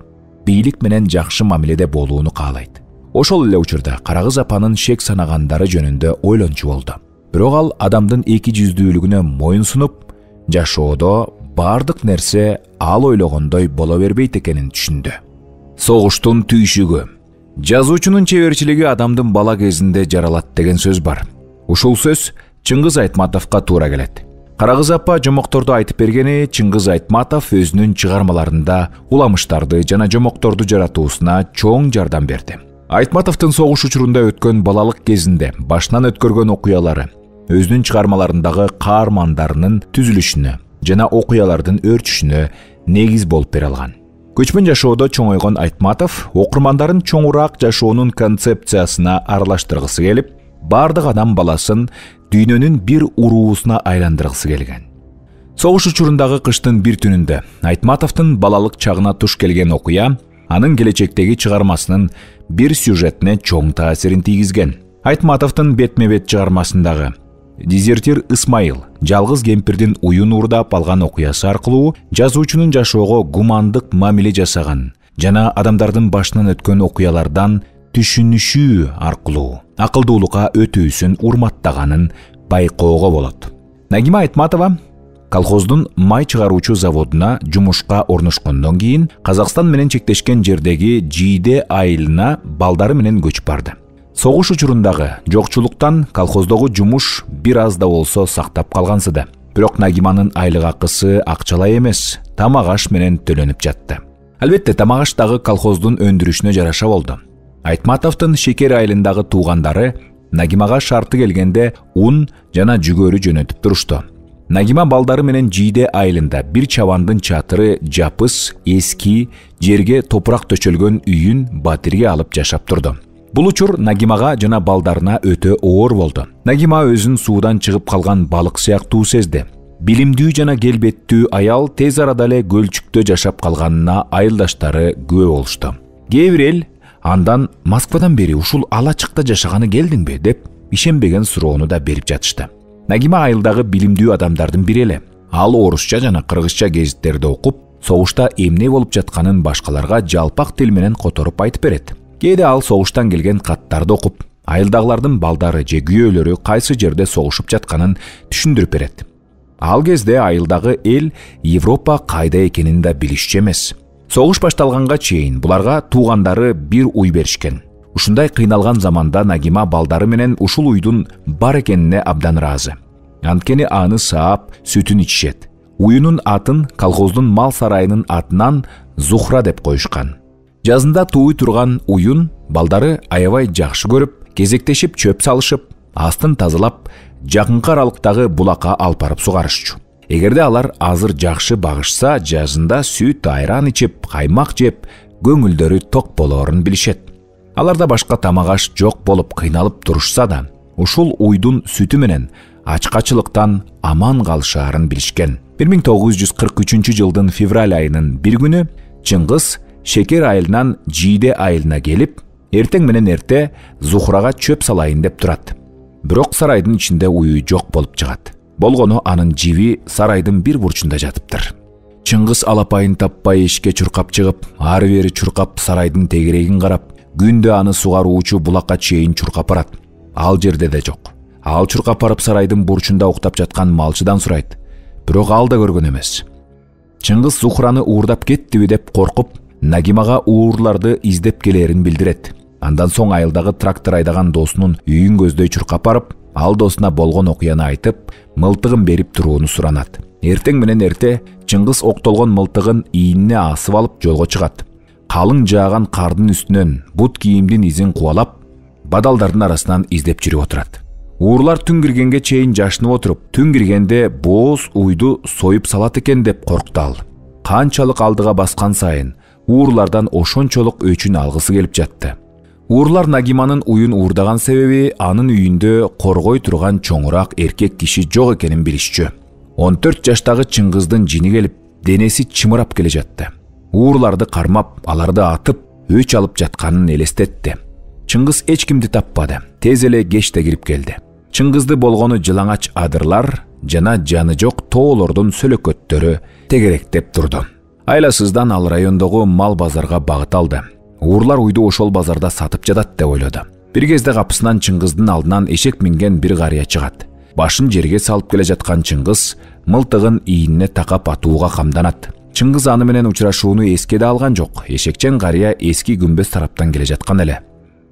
бийлик менен жакшы мамиледе болууну каалайт. Ошол эле учурда Карагыз апанын шек санагандары жөнүндө ойлончу болду. Бирок ал адамдын эки жүздүүлүгүнө моюн сунуп, жашоодо бардык нерсе ал ойлогондой боло бербейт экенин түшүндү. Согуштун түйшүгү. Жазуучунун чеберчилиги адамдын бала кезинде жаралат деген сөз бар. Ушул сөз Чыңгыз Айтматовго туура келет. Карагыз апа жомокторду айтып бергени Чыңгыз Айтматов өзүнүн чыгармаларында уламыштарды жана жомокторду жаратуусуна чоң жардам берди. Айтматовдун согуш учурунда өткөн балалык кезинде башынан өткөргөн окуялары өзүнүн чыгармаларындагы каармандарынын түзүлүшүнө жана окуялардын өрчүшүнө негиз болуп бере алган. Көчмөн жашоодо чоңойгон Айтматов окурмандарын чоңураак жашоонун концепциясына аралаштыргысы келип, бардык адам баласын дүйнөнүн бир уруусуна айландыргысы келген. Согуш учурундагы кыштын бир түнүндө Айтматовдун балалык чагына туш келген окуя анын келечектеги чыгармасынын бир сюжетине чоң таасирин тийгизген. Айтматовдун бетме-бет чыгармасындагы Дезертир Исмайыл жалгыз кемпирдин уюн уурдап алган окуясы аркылуу жазуучунун жашоого гумандык мамиле жасаган жана адамдардын башынан өткөн окуялардан түшүнүшүү аркылуу акылдуулукка өтүүсүн урматтаганын байкоого болот. Нагима Айтматова колхоздун май чыгаруучу заводуна жумушка орношкондон кийин Казакстан менен чектешкен жердеги Жийде айылына балдары менен көчүп барды. Согуш учурундагы жокчулуктан колхоздогу жумуш бир аз да болсо сактап калгансыды. Бирок Нагиманын айлык акысы акчалай эмес, тамак аш менен төлөнүп жатты. Албетте, тамак аш дагы колхоздун өндүрүшүнө жараша болду. Айтматовдун Шекер айылындагы туугандары Нагимага шарты келгенде ун жана жүгөрү жөнөтүп турушту. Нагима балдары менен Жийде айылында бир чабандын чатыры жапыс, эски, жерге топурак төчөлгөн үйүн батирге алып жашап турду. Бул учур Нагимага жана балдарына өтө оор болду. Нагима өзүн суудан чыгып калган балык сыяктуу сезди. Билимдүү жана келбеттүү аял тез арада эле көлчүктө жашап калганына айылдаштары күбө болушту. Кээ бир эл андан Москвадан бери ушул алачыкта жашаганы келдиңби деп ишенбеген суроону да берип жатышты. Нагима айылдагы билимдүү адамдардын бири эле. Ал орусча жана кыргызча гезиттерди окуп, согушта эмне болуп жатканын башкаларга жалпак тил менен которуп айтып берет. Кээде ал согуштан келген каттарды окуп, айылдагылардын балдары же күйөөлөрү кайсы жерде согушуп жатканын түшүндүрүп берет. Ал кезде айылдагы эл Европа кайда экенин да билишчү эмес. Согуш башталганга чейин буларга туугандары бир уй беришкен. Ушундай кыйналган заманда Нагима балдары менен ушул уйдун бар экенине абдан ыраазы. Анткени аны саап, сүтүн ичишет. Уюнун атын колхоздун мал сарайынын атынан Зухра деп коюшкан. Жазында тууй турган уюн балдары аябай жакшы көрүп, кезектешип чөп салышып, астын тазалап, жакынкы аралыктагы булакка алып барып сугарышчу. Эгерде алар азыр жакшы багышса, жазында сүт, айран ичип, каймак жеп, көңүлдөрү ток болоорун билишет. Аларда башка тамак аш жок болуп кыйналып турушса да, ушул уйдун сүтү менен ачкачылыктан аман калышаарын билишкен. бир миң тогуз жүз кырк үчүнчү жылдын февраль айынын бир күнү Чыңгыз Шекер айылынан Жийде айылына келип, эртең менен эрте Зухрага чөп салайын деп турат. Бирок сарайдын ичинде уюу жок болуп чыгат. Болгону анын жиби сарайдын бир бурчунда жатыптыр. Чыңгыз алапайын таппай эшикке чуркап чыгып, ары бери чуркап сарайдын тегерегин карап, күндө аны сугаруучу булакка чейин чуркап барат. Ал жерде да жок. Ал чуркап барып сарайдын бурчунда уктап жаткан малчыдан сурайт. Бирок ал да көргөн эмес. Чыңгыз Зухраны уурдап кеттиби деп коркуп, Нагимага уурларды издеп келерин билдирет. Андан соң айылдагы трактор айдаган досунун үйүн көздөй чуркап барып, ал досуна болгон окуяны айтып, мылтыгын берип турууну суранат. Эртең менен эрте Чыңгыз октолгон мылтыгын ийинине асып алып жолго чыгат. Калың жааган кардын үстүнөн бут кийимдин изин кубалап, бадалдардын арасынан издеп жүрүп отурат. Уурлар түн киргенге чейин жашынып отуруп, түн киргенде бооз уйду союп салат экен деп коркту ал. Канчалык алдыга баскан сайын уурлардан ошончолук өчүн алгысы келип жатты. Уурлар Нагиманын уюн уурдаган себеби анын үйүндө коргой турган чоңураак эркек киши жок экенин билишчү. он төрт жаштагы Чыңгыздын жини келип, денеси чымырап келе жатты. Уурларды кармап, аларды атып, өч алып жатканын элестетти. Чыңгыз эч кимди таппады. Тез эле кечте кирип келди. Чыңгызды болгону жылаңач адырлар жана жаны жок тоолордун сөлөкөттөрү тегеректеп турду. Айласыздан ал райондогу мал базарга багыт алды. Уурлар уйду ошол базарда сатып жатат деп ойлоду. Бир кезде капысынан Чыңгыздын алдынан эшек минген бир карыя чыгат. Башын жерге салып келе жаткан Чыңгыз мылтыгын ийине такап атууга камданат. Чыңгыз аны менен учурашууну эске да алган жок. Эшекчен карыя эски күмбөз тараптан келе жаткан эле.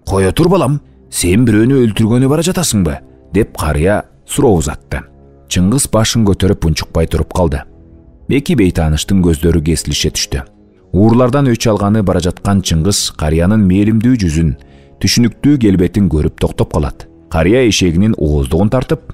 "Кое тур балам, сен бирөөнү өлтүргөнү бара жатасыңбы?" деп карыя суроо узатты. Чыңгыз башын көтөрүп унчукпай туруп калды. Эки бейтааныштын көздөрү кесилише түштү. Уурлардан өч алганы бара жаткан Чыңгыз карыянын мээлимдүү жүзүн, түшүнүктүү келбетин көрүп токтоп калат. Карыя эшегинин ооздугун тартып,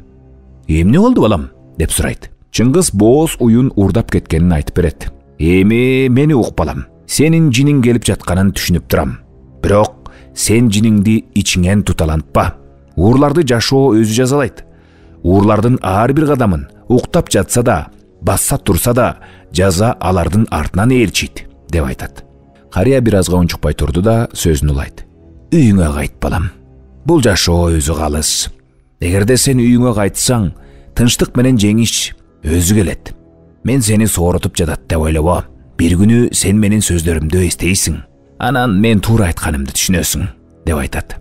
"Эмне болду балам?" деп сурайт. Чыңгыз бооз уюн уурдап кеткенин айтып берет. "Эми мени ук балам. Сенин жиниң келип жатканын түшүнүп турам. Бирок сен жиниңди ичиңен туталантпа. Уурларды жашоо өзү жазалайт. Уурлардын ар бир кадамын уктап жатса да, басса турса да, жаза алардын артынан ээрчийт" деп айтат. Карыя бир азга унчукпай турду да сөзүн улайт. "Үйүңө кайт балам. Бул жашоо өзү калыс. Эгерде сен үйүңө кайтсаң, тынчтык менен жеңиш өзү келет. Мен сени сооротуп жатат деп ойлобо. Бир күнү сен менин сөздөрүмдү эстейсиң. Анан мен туура айтканымды түшүнөсүң" деп айтат.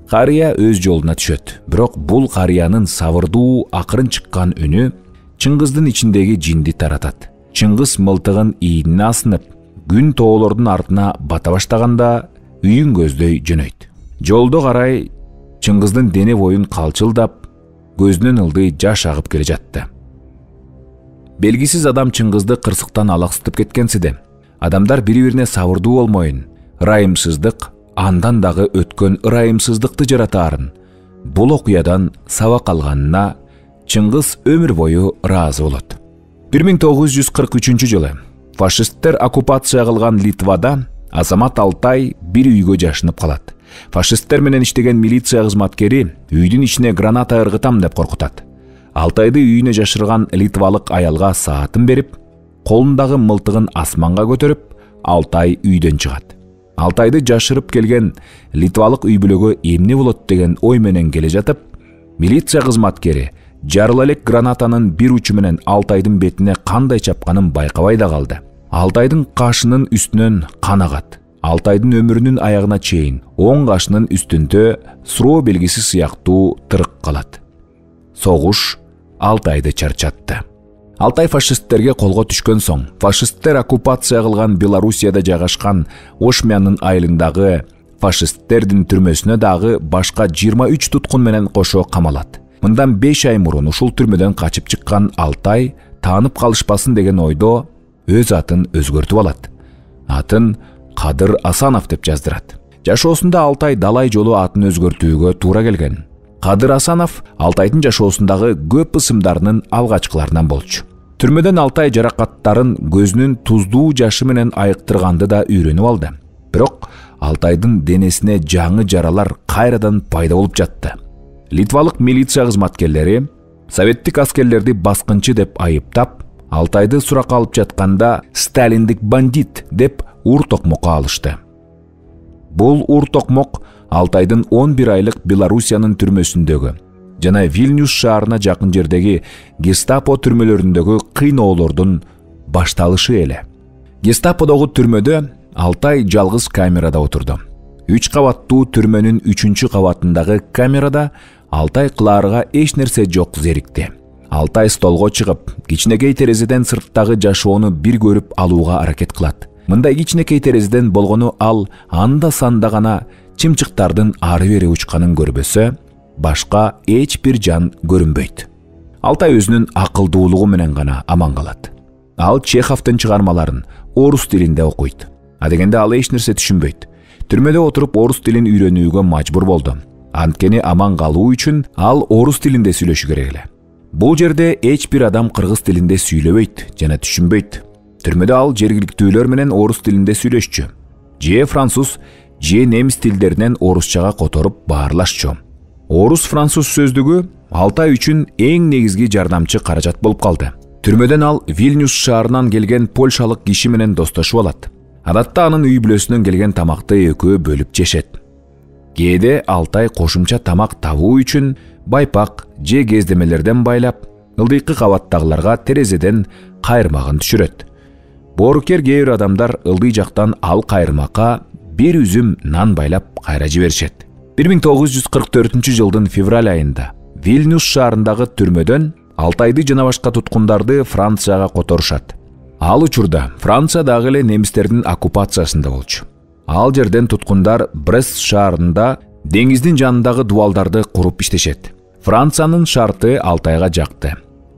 Карыя өз жолуна түшөт. Бирок бул карыянын сабырдуу, акырын чыккан үнү Чыңгыздын ичиндеги жинди таратат. Чыңгыз мылтыгын ийине асынып, күн тоолордун артына бата баштаганда үйүн көздөй жөнөйт. Жолдо карай Чыңгыздын дене боюн калчылдап, көзүнөн ылдый жаш агып келе жатты. Белгисиз адам Чыңгызды кырсыктан алаксытып кеткенсиде. Адамдар бири-бирине сабырдуу болмоюн, ырайымсыздык андан дагы өткөн ырайымсыздыкты жаратаарын, бул окуядан сабак алганына Чыңгыз өмүр бою ыраазы болот. бир миң тогуз жүз кырк үчүнчү жылы фашисттер оккупация кылган Литвада Азамат Алтай бир үйгө жашынып калат. Фашисттер менен иштеген милиция кызматкери үйдүн ичине граната ыргытам деп коркутат. Алтайды үйүнө жашырган литвалык аялга саатын берип, колундагы мылтыгын асманга көтөрүп, Алтай үйдөн чыгат. Алтайды жашырып келген литвалык үй бүлөгө эмне болот деген ой менен келе жатып, милиция кызматкери жарыла элек гранатанын бир учу менен Алтайдын бетине кандай чапканын байкабай да калды. Алтайдын кашынын үстүнөн кан агат. Алтайдын өмүрүнүн аягына чейин оң кашынын үстүндө суроо белгиси сыяктуу тырык калат. Согуш Алтайды чарчатты. Алтай фашисттерге колго түшкөн соң, фашисттер оккупация кылган Белоруссияда жайгашкан Ошмянын айылындагы фашисттердин түрмөсүнө дагы башка жыйырма үч туткун менен кошо камалат. Мындан беш ай мурун ушул түрмөдөн качып чыккан Алтай таанып калышпасын деген ойдо өз атын өзгөртүп алат. Атын Кадыр Асанов деп жаздырат. Жашоосунда Алтай далай жолу атын өзгөртүүгө туура келген. Кадыр Асанов Алтайдын жашоосундагы көп ысымдарынын алгачкыларынан болчу. Түрмөдөн Алтай жаракаттарын көзүнүн туздуу жашы менен айыктырганды да үйрөнүп алды. Бирок Алтайдын денесине жаңы жаралар кайрадан пайда болуп жатты. Литвалык милиция кызматкерлери советтик аскерлерди баскынчы деп айыптап, Алтайды суракка алып жатканда сталиндик бандит деп ур токмокко алышты. Бул ур токмок Алтайдын он бир айлык Белоруссиянын түрмөсүндөгү жана Вильнюс шаарына жакын жердеги Гестапо түрмөлөрүндөгү кыйноолордун башталышы эле. Гестаподогу түрмөдө Алтай жалгыз камерада отурду. Үч кабаттуу түрмөнүн үчүнчү кабатындагы камерада Алтай кылаарга эч нерсе жок зерикти. Алтай столго чыгып, кичинекей терезеден сырттагы жашоону бир көрүп алууга аракет кылат. Мындай кичинекей терезеден болгону ал анда санда гана чымчыктардын ары бери учканын көрбөсө, башка эч бир жан көрүнбөйт. Алтай өзүнүн акылдуулугу менен гана аман калат. Ал Чеховдун чыгармаларын орус тилинде окуйт. А дегенде ал эч нерсе түшүнбөйт. Түрмөдө отуруп орус тилин үйрөнүүгө мажбур болду. Анткени аман калуу үчүн ал орус тилинде сүйлөшү керек эле. Бул жерде эч бир адам кыргыз тилинде сүйлөбөйт жана түшүнбөйт. Түрмөдө ал жергиликтүүлөр менен орус тилинде сүйлөшчү. Же француз, же немис тилдеринен орусчага которуп баарлашчу. Орус-француз сөздүгү Алтай үчүн эң негизги жардамчы каражат болуп калды. Түрмөдөн ал Вильнюс шаарынан келген польшалык киши менен достошуп алат. Адатта анын үй бүлөсүнөн келген тамакты экөө бөлүп жешет. Кээде Алтай кошумча тамак табуу үчүн байпак же кездемелерден байлап, ылдыйкы кабаттагыларга терезеден кайырмагын түшүрөт. Боорукер кээ бир адамдар ылдый жактан ал кайырмакка бир үзүм нан байлап кайра жиберишет. бир миң тогуз жүз кырк төртүнчү жылдын февраль айында Вильнюс шаарындагы түрмөдөн Алтайды жана башка туткундарды Францияга которушат. Ал учурда Франция дагы эле немистердин оккупациясында болчу. Ал жерден туткундар Брест шаарында деңиздин жанындагы дубалдарды куруп иштешет. Франциянын шарты Алтайга жакты.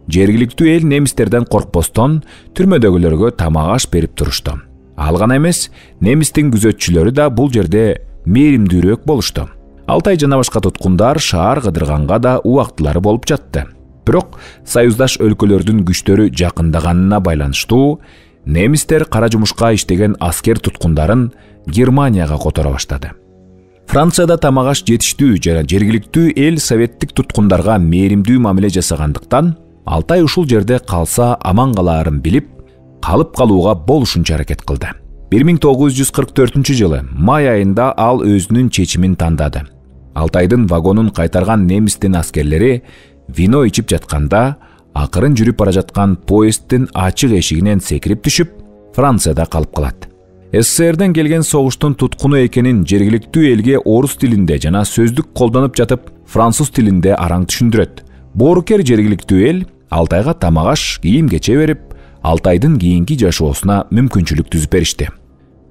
Жергиликтүү эл немистерден коркпостон түрмөдөгүлөргө тамак аш берип турушту. Ал гана эмес, немистин күзөтчүлөрү да бул жерде мээримдүүрөөк болушту. Алтай жана башка туткундар шаар кыдырганга да убактылары болуп жатты. Бирок союздаш өлкөлөрдүн күчтөрү жакындаганына байланыштуу немистер кара жумушка иштеген аскер туткундарын Германияга которо баштады. Францияда тамак аш жетиштүү жана жергиликтүү эл советтик туткундарга мээримдүү мамиле жасагандыктан Алтай ушул жерде калса аман калаарын билип, калып калууга болушунча аракет кылды. бир миң тогуз жүз кырк төртүнчү жылы май айында ал өзүнүн чечимин тандады. Алтайдын вагонун кайтарган немистин аскерлери вино ичип жатканда, акырын жүрүп бара жаткан поезддин ачык эшигинен секирип түшүп, Францияда калып калат. СССРден келген согуштун туткуну экенин жергиликтүү элге орус тилинде жана сөздүк колдонуп жатып, француз тилинде араң түшүндүрөт. Боорукер жергиликтүү эл Алтайга тамак аш, кийим кече берип, Алтайдын кийинки жашоосуна мүмкүнчүлүк түзүп беришти.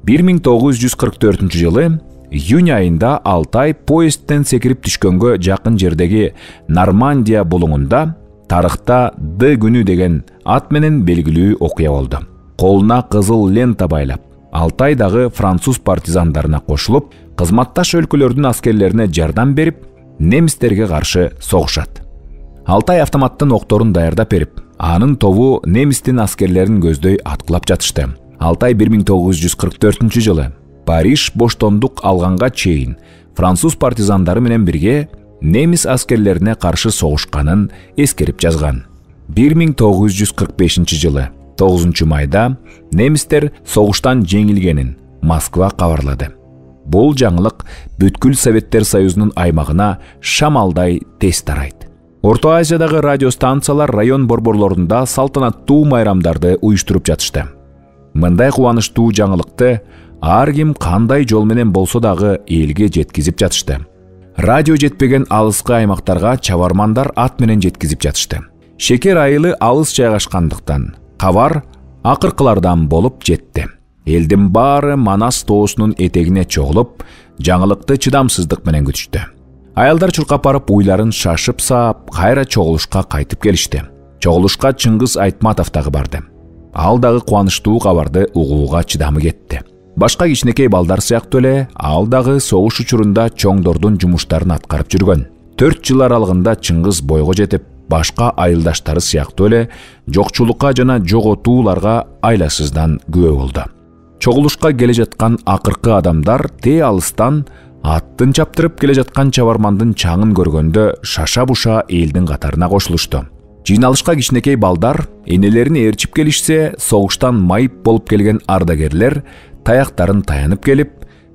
бир миң тогуз жүз кырк төртүнчү жылы июнь айында Алтай поездден секирип түшкөнгө жакын жердеги Нормандия булуңунда тарыхта Д күнү деген ат менен белгилүү окуя болду. Колуна кызыл лента байлап, Алтай дагы француз партизандарына кошулуп, кызматташ өлкөлөрдүн аскерлерине жардам берип, немистерге каршы согушат. Алтай автоматтын окторун даярдап берип, анын тобу немистин аскерлерин көздөй аткылап жатышты. Алтай бир миң тогуз жүз кырк төртүнчү жылы Париж боштондук алганга чейин француз партизандары менен бирге немис аскерлерине каршы согушканын эскерип жазган. бир миң тогуз жүз кырк бешинчи жылы тогузунчу майда немистер согуштан жеңилгенин Москва кабарлады. Бул жаңылык бүткүл Советтер Союзунун аймагына шамалдай тез тарайт. Орто Азиядагы радиостанциялар район борборлорунда салтанаттуу майрамдарды уюштуруп жатышты. Мындай кубанычтуу жаңылыкты ар ким кандай жол менен болсо дагы элге жеткизип жатышты. Радио жетпеген алыскы аймактарга чабармандар ат менен жеткизип жатышты. Шекер айылы алыс жайгашкандыктан кабар акыркылардан болуп жетти. Элдин баары Манас тоосунун этегине чогулуп, жаңылыкты чыдамсыздык менен күтүштү. Аялдар чуркап барып уйларын шашып саап, кайра чогулушка кайтып келишти. Чогулушка Чыңгыз Айтматов дагы барды. Ал дагы кубанычтуу кабарды угууга чыдамы кетти. Башка кичинекей балдар сыяктуу эле, ал дагы согуш учурунда чоңдордун жумуштарын аткарып жүргөн. төрт жыл аралыгында Чыңгыз бойго жетип, башка айылдаштары сыяктуу эле жокчулукка жана жоготууларга айласыздан күбө болду. Чогулушка келе жаткан акыркы адамдар те алыстан аттын чаптырып келе жаткан чабармандын чаңын көргөндө шаша-буша элдин катарына кошулушту. Жыйналышка кичинекей балдар энелерин ээрчип келишсе, согуштан майып болуп келген ардагерлер таяктарын таянып келип,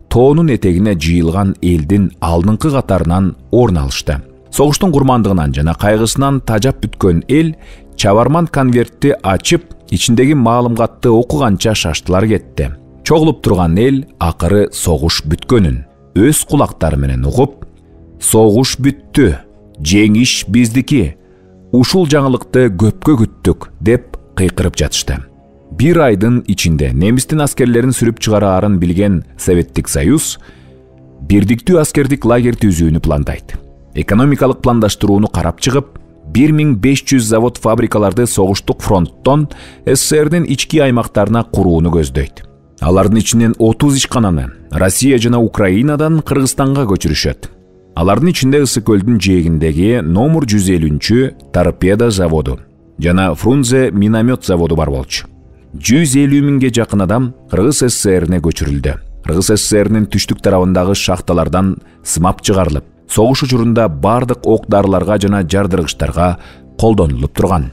тоонун этегине жыйылган элдин алдыңкы катарынан орун алышты. Согуштун курмандыгынан жана кайгысынан тажап бүткөн эл чабарман конвертти ачып, ичиндеги маалыматты окуганча шаштылар кетти. Чогулуп турган эл акыры согуш бүткөнүн өз кулактары менен угуп, согуш бүттү, жеңиш биздики, ушул жаңылыкты көпкө күттүк деп кыйкырып жатышты. Бир айдын ичинде немистин аскерлерин сүрүп чыгараарын билген Советтик Союз бирдиктүү аскердик лагерь түзүүнү пландайт. Экономикалык пландаштырууну карап чыгып, бир миң беш жүз завод фабрикаларды согуштук фронттон СССРдин ички аймактарына курууну көздөйт. Алардын ичинен отуз ишкананы Россия жана Украинадан Кыргызстанга көчүрүшөт. Алардын ичинде Ысык көлдүн жээгиндеги номер жүз элүүнчү торпеда заводу жана Фрунзе миномет заводу бар болчу. жүз элүү миңге жакын адам Кыргыз СССРине көчүрүлдү. Кыргыз СССРинин түштүк тарабындагы шахталардан сымап чыгарылып, согуш учурунда бардык ок-дарыларга жана жардыргычтарга колдонулуп турган.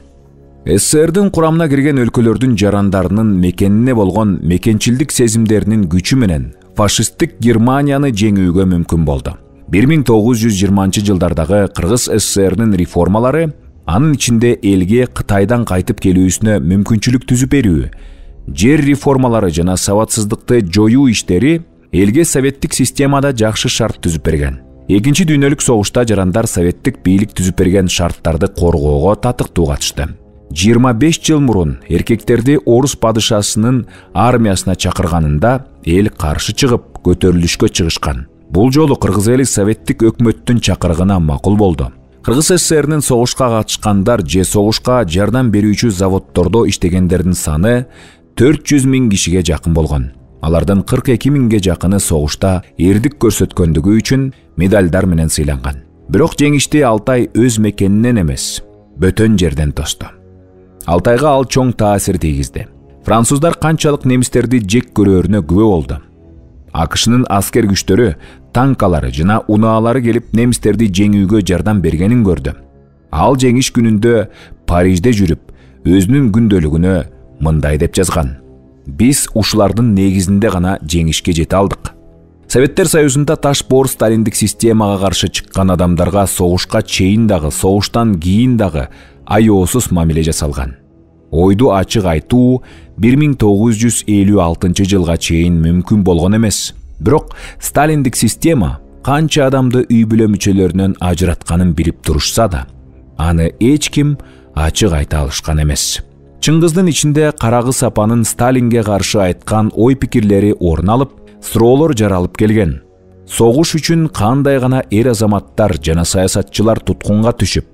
СССРдин курамына кирген өлкөлөрдүн жарандарынын мекенине болгон мекенчилдик сезимдеринин күчү менен фашисттик Германияны жеңүүгө мүмкүн болду. бир миң тогуз жүз жыйырманчы жылдардагы Кыргыз СССРинин реформалары, анын ичинде элге Кытайдан кайтып келүүсүнө мүмкүнчүлүк түзүп берүү, жер реформалары жана сабатсыздыкты жоюу иштери элге советтик системада жакшы шарт түзүп берген. Экинчи дүйнөлүк согушта жарандар советтик бийлик түзүп берген шарттарды коргоого татыктуу катышты. жыйырма беш жыл мурун эркектерди орус падышасынын армиясына чакырганында эл каршы чыгып көтөрүлүшкө чыгышкан. Бул жолу кыргыз эли советтик өкмөттүн чакырыгына макул болду. Кыргыз СССРинин согушка катышкандар же согушка жардам берүүчү заводдордо иштегендердин саны төрт жүз миң кишиге жакын болгон. Алардын кырк эки миңге жакыны согушта эрдик көрсөткөндүгү үчүн медалдар менен сыйланган. Бирок жеңишти Алтай өз мекенинен эмес, бөтөн жерден тосту. Алтайга ал чоң таасир тийгизди. Француздар канчалык немистерди жек көрөрүнө күбө болду. АКШнын аскер күчтөрү, танкалары жана унаалары келип немистерди жеңүүгө жардам бергенин көрдү. Ал жеңиш күнүндө Парижде жүрүп, өзүнүн күндөлүгүнө мындай деп жазган: "Биз ушулардын негизинде гана жеңишке жете алдык." Советтер Союзунда таш боор сталиндик системага каршы чыккан адамдарга согушка чейин дагы, согуштан кийин дагы аёосуз мамиле жасалган. Ойду ачык айтуу бир миң тогуз жүз элүү алтынчы жылга чейин мүмкүн болгон эмес. Бирок сталиндик система канча адамды үй бүлө мүчөлөрүнөн ажыратканын билип турушса да, аны эч ким ачык айта алышкан эмес. Чыңгыздын ичинде Карагыз апанын Сталинге каршы айткан ой-пикирлери орун алып, суроолор жаралып келген. Согуш үчүн кандай гана эр азаматтар жана саясатчылар туткунга түшүп,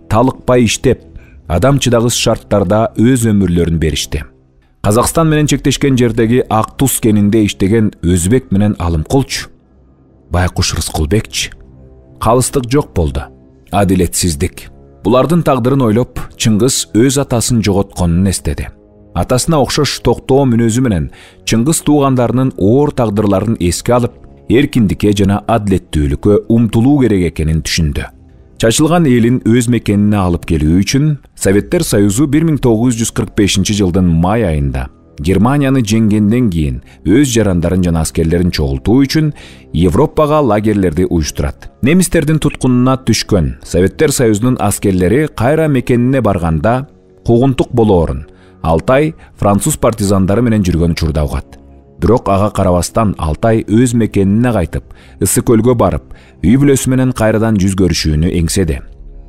талыкпай иштеп, адамчыдагыс шарттарда өз өмүрлөрүн беришти. Казакстан менен чектешкен жердеги Ак Туз кенинде иштеген Өзбек менен Алымкулчу, Байкуш Рыскулбекчи, калыстык жок болду. Адилетсиздик. Булардын тагдырын ойлоп, Чыңгыз өз атасын жоготконун эстеди. Атасына окшош токтоо мүнөзү менен Чыңгыз туугандарынын оор тагдырларын эске алып, эркиндикке жана адилеттүүлүккө умтулуу керек экенин түшүндү. Чачылган элин өз мекенине алып келүү үчүн Советтер Союзу бир миң тогуз жүз кырк бешинчи жылдын май айында Германияны жеңгенден кийин өз жарандарын жана аскерлерин чогултуу үчүн Европага лагерлерди уюштурат. Немистердин туткунуна түшкөн Советтер Союзунун аскерлери кайра мекенине барганда куугунтук болоорун Алтай француз партизандары менен жүргөн учурда угат. Бирок ага карабастан Алтай өз мекенине кайтып, Ысык көлгө барып, үй бүлөсү менен кайрадан жүз көрүшүүнү эңседи.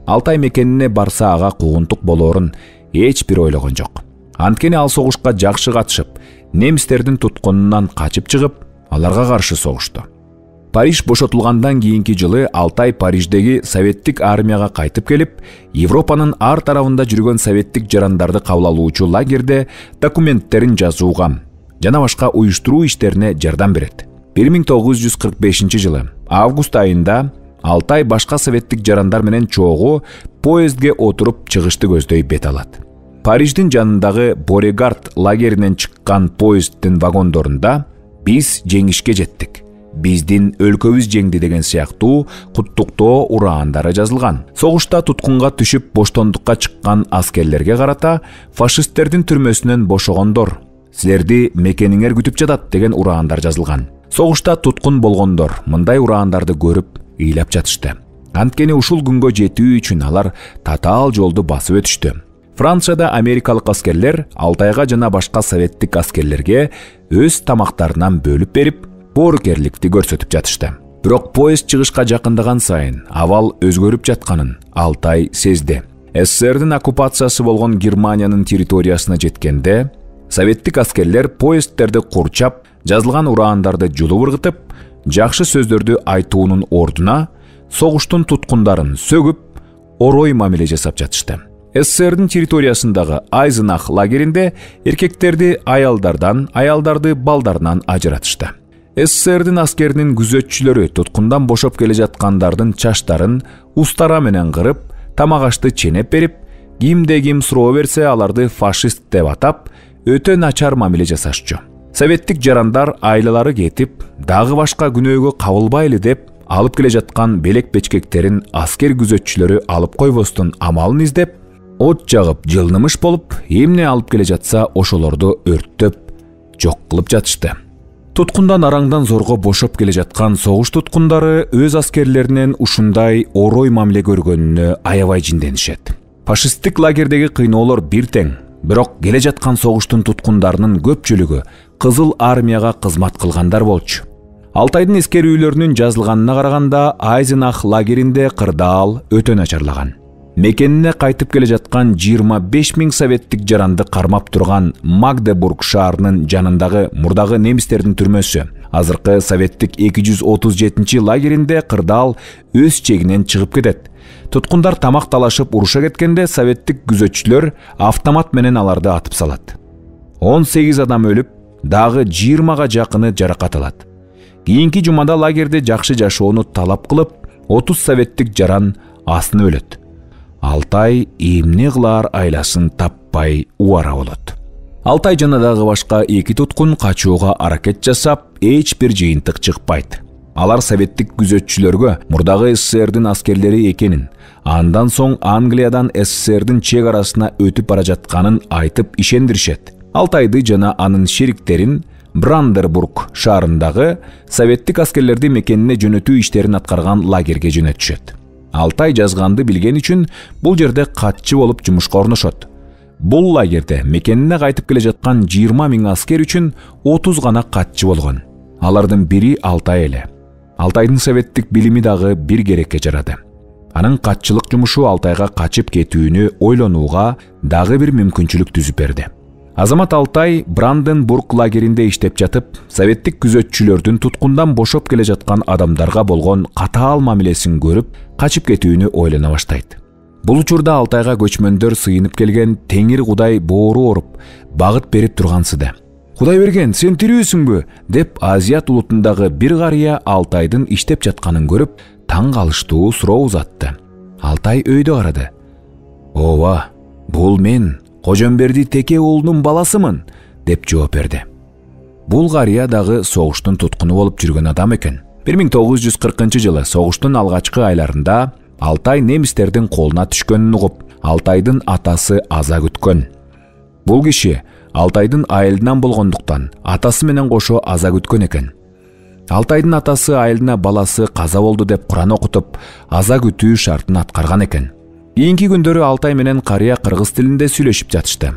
Алтай мекенине барса ага куугунтук болоорун эч бир ойлогон жок. Анткени ал согушка жакшы катышып, немистердин туткунунан качып чыгып, аларга каршы согушту. Париж бошотулгандан кийинки жылы Алтай Париждеги советтик армияга кайтып келип, Европанын ар тарабында жүргөн советтик жарандарды кабыл алуучу лагерде документтерин жазууга жана башка уюштуруу иштерине жардам берет. бир миң тогуз жүз кырк бешинчи жылы август айында Алтай башка советтик жарандар менен чогуу поездге отуруп чыгышты көздөй бет алат. Париждин жанындагы Борегард лагеринен чыккан поезддин вагондорунда "Биз жеңишке жеттик, биздин өлкөбүз жеңди" деген сыяктуу куттуктоо ураандары жазылган. Согушта туткунга түшүп боштондукка чыккан аскерлерге карата фашисттердин түрмөсүнөн бошогондор, силерди мекениңер күтүп жатат деген ураандар жазылган. Согушта туткун болгондор мындай ураандарды көрүп ыйлап жатышты. Анткени ушул күнгө жетүү үчүн алар татаал жолду басып өтүштү. Францияда америкалык аскерлер Алтайга жана башка советтик аскерлерге өз тамактарынан бөлүп берип, боорукерликти көрсөтүп жатышты. Бирок поезд чыгышка жакындаган сайын абал өзгөрүп жатканын Алтай сезди. СССРдин оккупациясы болгон Германиянын территориясына жеткенде, советтик аскерлер поездтерди курчап, жазылган ураандарды жулуп ыргытып, жакшы сөздөрдү айтуунун ордуна согуштун туткундарын сөгүп, орой мамиле жасап жатышты. СССРдин территориясындагы Айзенах лагеринде эркектерди аялдардан, аялдарды балдарынан ажыратышты. СССРдин аскеринин күзөтчүлөрү туткундан бошоп келе жаткандардын чачтарын устара менен кырып, тамак ашты ченеп берип, кимде ким суроо берсе аларды фашист деп атап, өтө начар мамиле жасашчу. Советтик жарандар айлалары кетип, дагы башка күнөөгө кабылбайлы деп алып келе жаткан белек-бечкектерин аскер күзөтчүлөрү алып койбостун амалын издеп, от жагып жылнымыш болуп, эмне алып келе жатса ошолорду өрттөп, жок кылып жатышты. Туткундан араңдан зорго бошоп келе жаткан согуш туткундары өз аскерлеринен ушундай орой мамиле көргөнүнө аябай жинденишет. Фашисттик лагердеги кыйноолор бир тең, бирок келе жаткан согуштун туткундарынын көпчүлүгү Кызыл армияга кызмат кылгандар болчу. Алтайдын эскерүүлөрүнүн жазылганына караганда Айзенах лагеринде кырдаал өтө начарлаган. Мекенине кайтып келе жаткан жыйырма беш миң советтик жаранды кармап турган Магдебург шаарынын жанындагы мурдагы немистердин түрмөсү, азыркы советтик эки жүз отуз жетинчи лагеринде кырдаал өз чегинен чыгып кетет. Туткундар тамак талашып уруша кеткенде советтик күзөтчүлөр автомат менен аларды атып салат. он сегиз адам өлүп, дагы жыйырмага жакыны жаракат алат. Кийинки жумада лагерде жакшы жашоону талап кылып, отуз советтик жаран астын өлөт. Алтай эмне кылаар айласын таппай убара болот. Алтай жана дагы башка эки туткун качууга аракет жасап, эч бир жыйынтык чыкпайт. Алар советтик күзөтчүлөргө мурдагы СССРдин аскерлери экенин, андан соң Англиядан СССРдин чек арасына өтүп бара жатканын айтып ишендиришет. Алтайды жана анын шериктерин Брандербург шаарындагы советтик аскерлерди мекенине жөнөтүү иштерин аткарган лагерге жөнөтүшөт. Алтай жазганды билген үчүн бул жерде катчы болуп жумушка орношот. Бул лагерде мекенине кайтып келе жаткан жыйырма миң аскер үчүн отуз гана катчы болгон. Алардын бири Алтай эле. Алтайдын советтик билими дагы бир керекке жарады. Анын катчылык жумушу Алтайга качып кетүүнү ойлонууга дагы бир мүмкүнчүлүк түзүп берди. Азамат Алтай Бранденбург лагеринде иштеп жатып, советтик күзөтчүлөрдүн туткундан бошоп келе жаткан адамдарга болгон катаал мамилесин көрүп, качып кетүүнү ойлоно баштайт. Бул учурда Алтайга көчмөндөр сыйынып келген Теңир Кудай боору оруп, багыт берип тургансыды. "Кудай берген, сен тирүүсүңбү?" деп Азият улутундагы бир карыя Алтайдын иштеп жатканын көрүп, таң калыштуу суроо узатты. Алтай өйдө карады. "Ооба, бул мен Кожомберди Теке уулунун баласымын" деп жооп берди. Бул карыя дагы согуштун туткуну болуп жүргөн адам экен. бир миң тогуз жүз кыркынчы жылы согуштун алгачкы айларында Алтай немистердин колуна түшкөнүн угуп, Алтайдын атасы аза күткөн. Бул киши Алтайдын айылынан болгондуктан атасы менен кошо аза күткөн экен. Алтайдын атасы айылына баласы каза болду деп Куран окутуп, аза күтүү шартын аткарган экен. Кийинки күндөрү Алтай менен карыя кыргыз тилинде сүйлөшүп жатышты.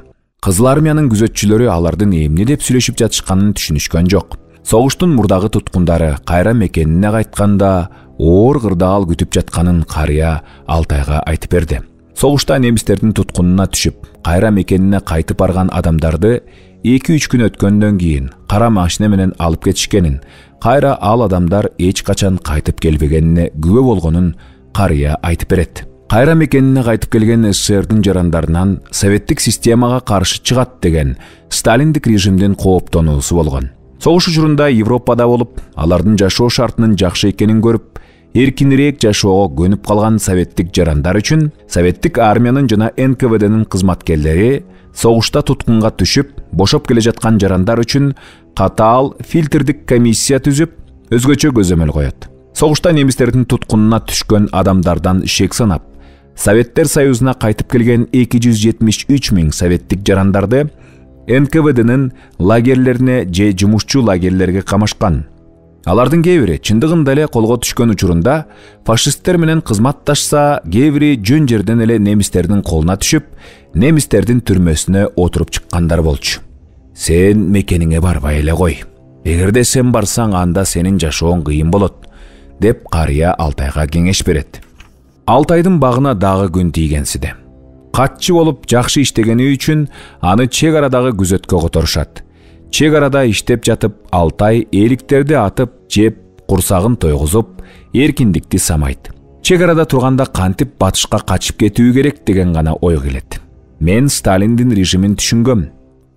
Кызыл армиянын күзөтчүлөрү алардын эмне деп сүйлөшүп жатышканын түшүнүшкөн жок. Согуштун мурдагы туткундары кайра мекенине кайтканда оор кырдаал күтүп жатканын карыя Алтайга айтып берди. Согушта немистердин туткунуна түшүп, кайра мекенине кайтып барган адамдарды эки үч күн өткөндөн кийин кара машина менен алып кетишкенин, кайра ал адамдар эч качан кайтып келбегенине күбө болгонун карыя айтып берет. Кайра мекенине кайтып келген СССРдин жарандарынан советтик системага каршы чыгат деген Сталиндик режимдин кооптонуусу болгон. Согуш учурунда Европада болуп, алардын жашоо шартынын жакшы экенин көрүп, эркинирээк жашоого көнүп калган советтик жарандар үчүн советтик армиянын жана эн ка вэ дэнин кызматкерлери согушта туткунга түшүп, бошоп келе жаткан жарандар үчүн катаал фильтрдик комиссия түзүп, өзгөчө көзөмөл коет. Согушта немистердин туткунуна түшкөн адамдардан шек санап, Советтер Союзуна кайтып келген эки жүз жетимиш үч миң советтик жарандарды эн ка вэ дэнин лагерлерине же жумушчу лагерлерге камашкан. Алардын кээ бири чындыгында эле колго түшкөн учурунда фашисттер менен кызматташса, кээ бири жөн жерден эле немистердин колуна түшүп, немистердин түрмөсүнө отуруп чыккандар болчу. Сен мекениңе барбай эле кой. Эгерде сен барсаң, анда сенин жашооң кыйын болот, деп карыя Алтайга кеңеш берет. Алтайдын багына дагы күн тийгенсиде. Катчы болуп жакшы иштегени үчүн аны чек арадагы күзөткө которушат. Чек арада иштеп жатып, Алтай эликтерди атып, жеп, курсагын тойгузуп, эркиндикти самайт. Чек арада турганда кантип батышка качып кетүү керек деген гана ой келет. Мен Сталиндин режимин түшүнгөм.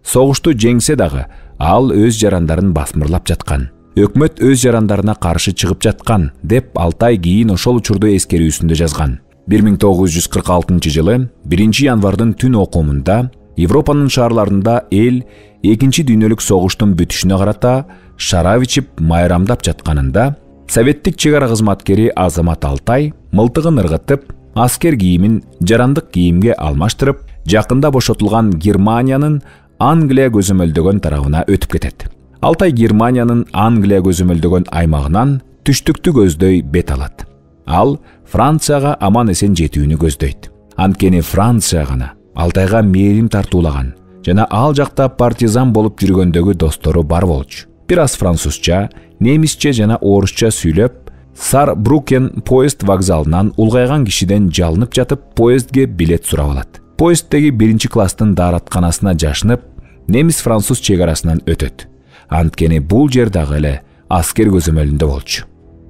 Согушту жеңсе дагы, ал өз жарандарын басмырлап жаткан. өкмөт өз жарандарына каршы чыгып жаткан деп Алтай кийин ошол учурду эскерүүсүндө жазган. бир миң тогуз жүз кырк алтынчы жылы биринчи январдын түн окумунда Европанын шаарларында эл экинчи дүйнөлүк согуштун бүтүшүнө карата шарап ичип майрамдап жатканында советтик чек ара кызматкери Азамат Алтай мылтыгын ыргытып, аскер кийимин жарандык кийимге алмаштырып, жакында бошотулган Германиянын Англия көзөмөлдөгөн тарабына өтүп кетет. Алтай Германиянын Англия көзөмөлдөгөн аймагынан түштүктү көздөй бет алат. Ал Францияга аман эсен жетүүнү көздөйт. Анткени Франция гана Алтайга мээрим тартуулаган жана ал жакта партизан болуп жүргөндөгү достору бар болчу. Бир аз французча, немисче жана орусча сүйлөп, Сарбрукен поезд вокзалынан улгайган кишиден жалынып жатып, поездге билет сурап алат. Поезддеги биринчи класстын дааратканасына жашынып, немис-француз чек арасынан өтөт. Анткени бул жер дагы эле аскер көзөмөлүндө болчу.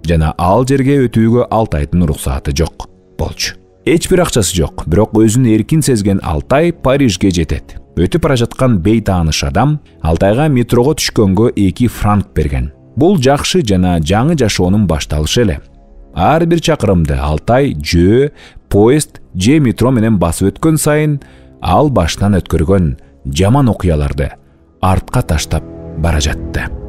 Жана ал жерге өтүүгө Алтайдын уруксааты жок болчу. Эч бир акчасы жок, бирок өзүн эркин сезген Алтай Парижге жетет. Өтүп бара жаткан бейтааныш адам Алтайга метрого түшкөнгө эки франк берген. Бул жакшы жана жаңы жашоонун башталышы эле. Ар бир чакырымды Алтай жөө, поезд же метро менен басып өткөн сайын ал баштан өткөргөн жаман окуяларды артка таштап бара жатты.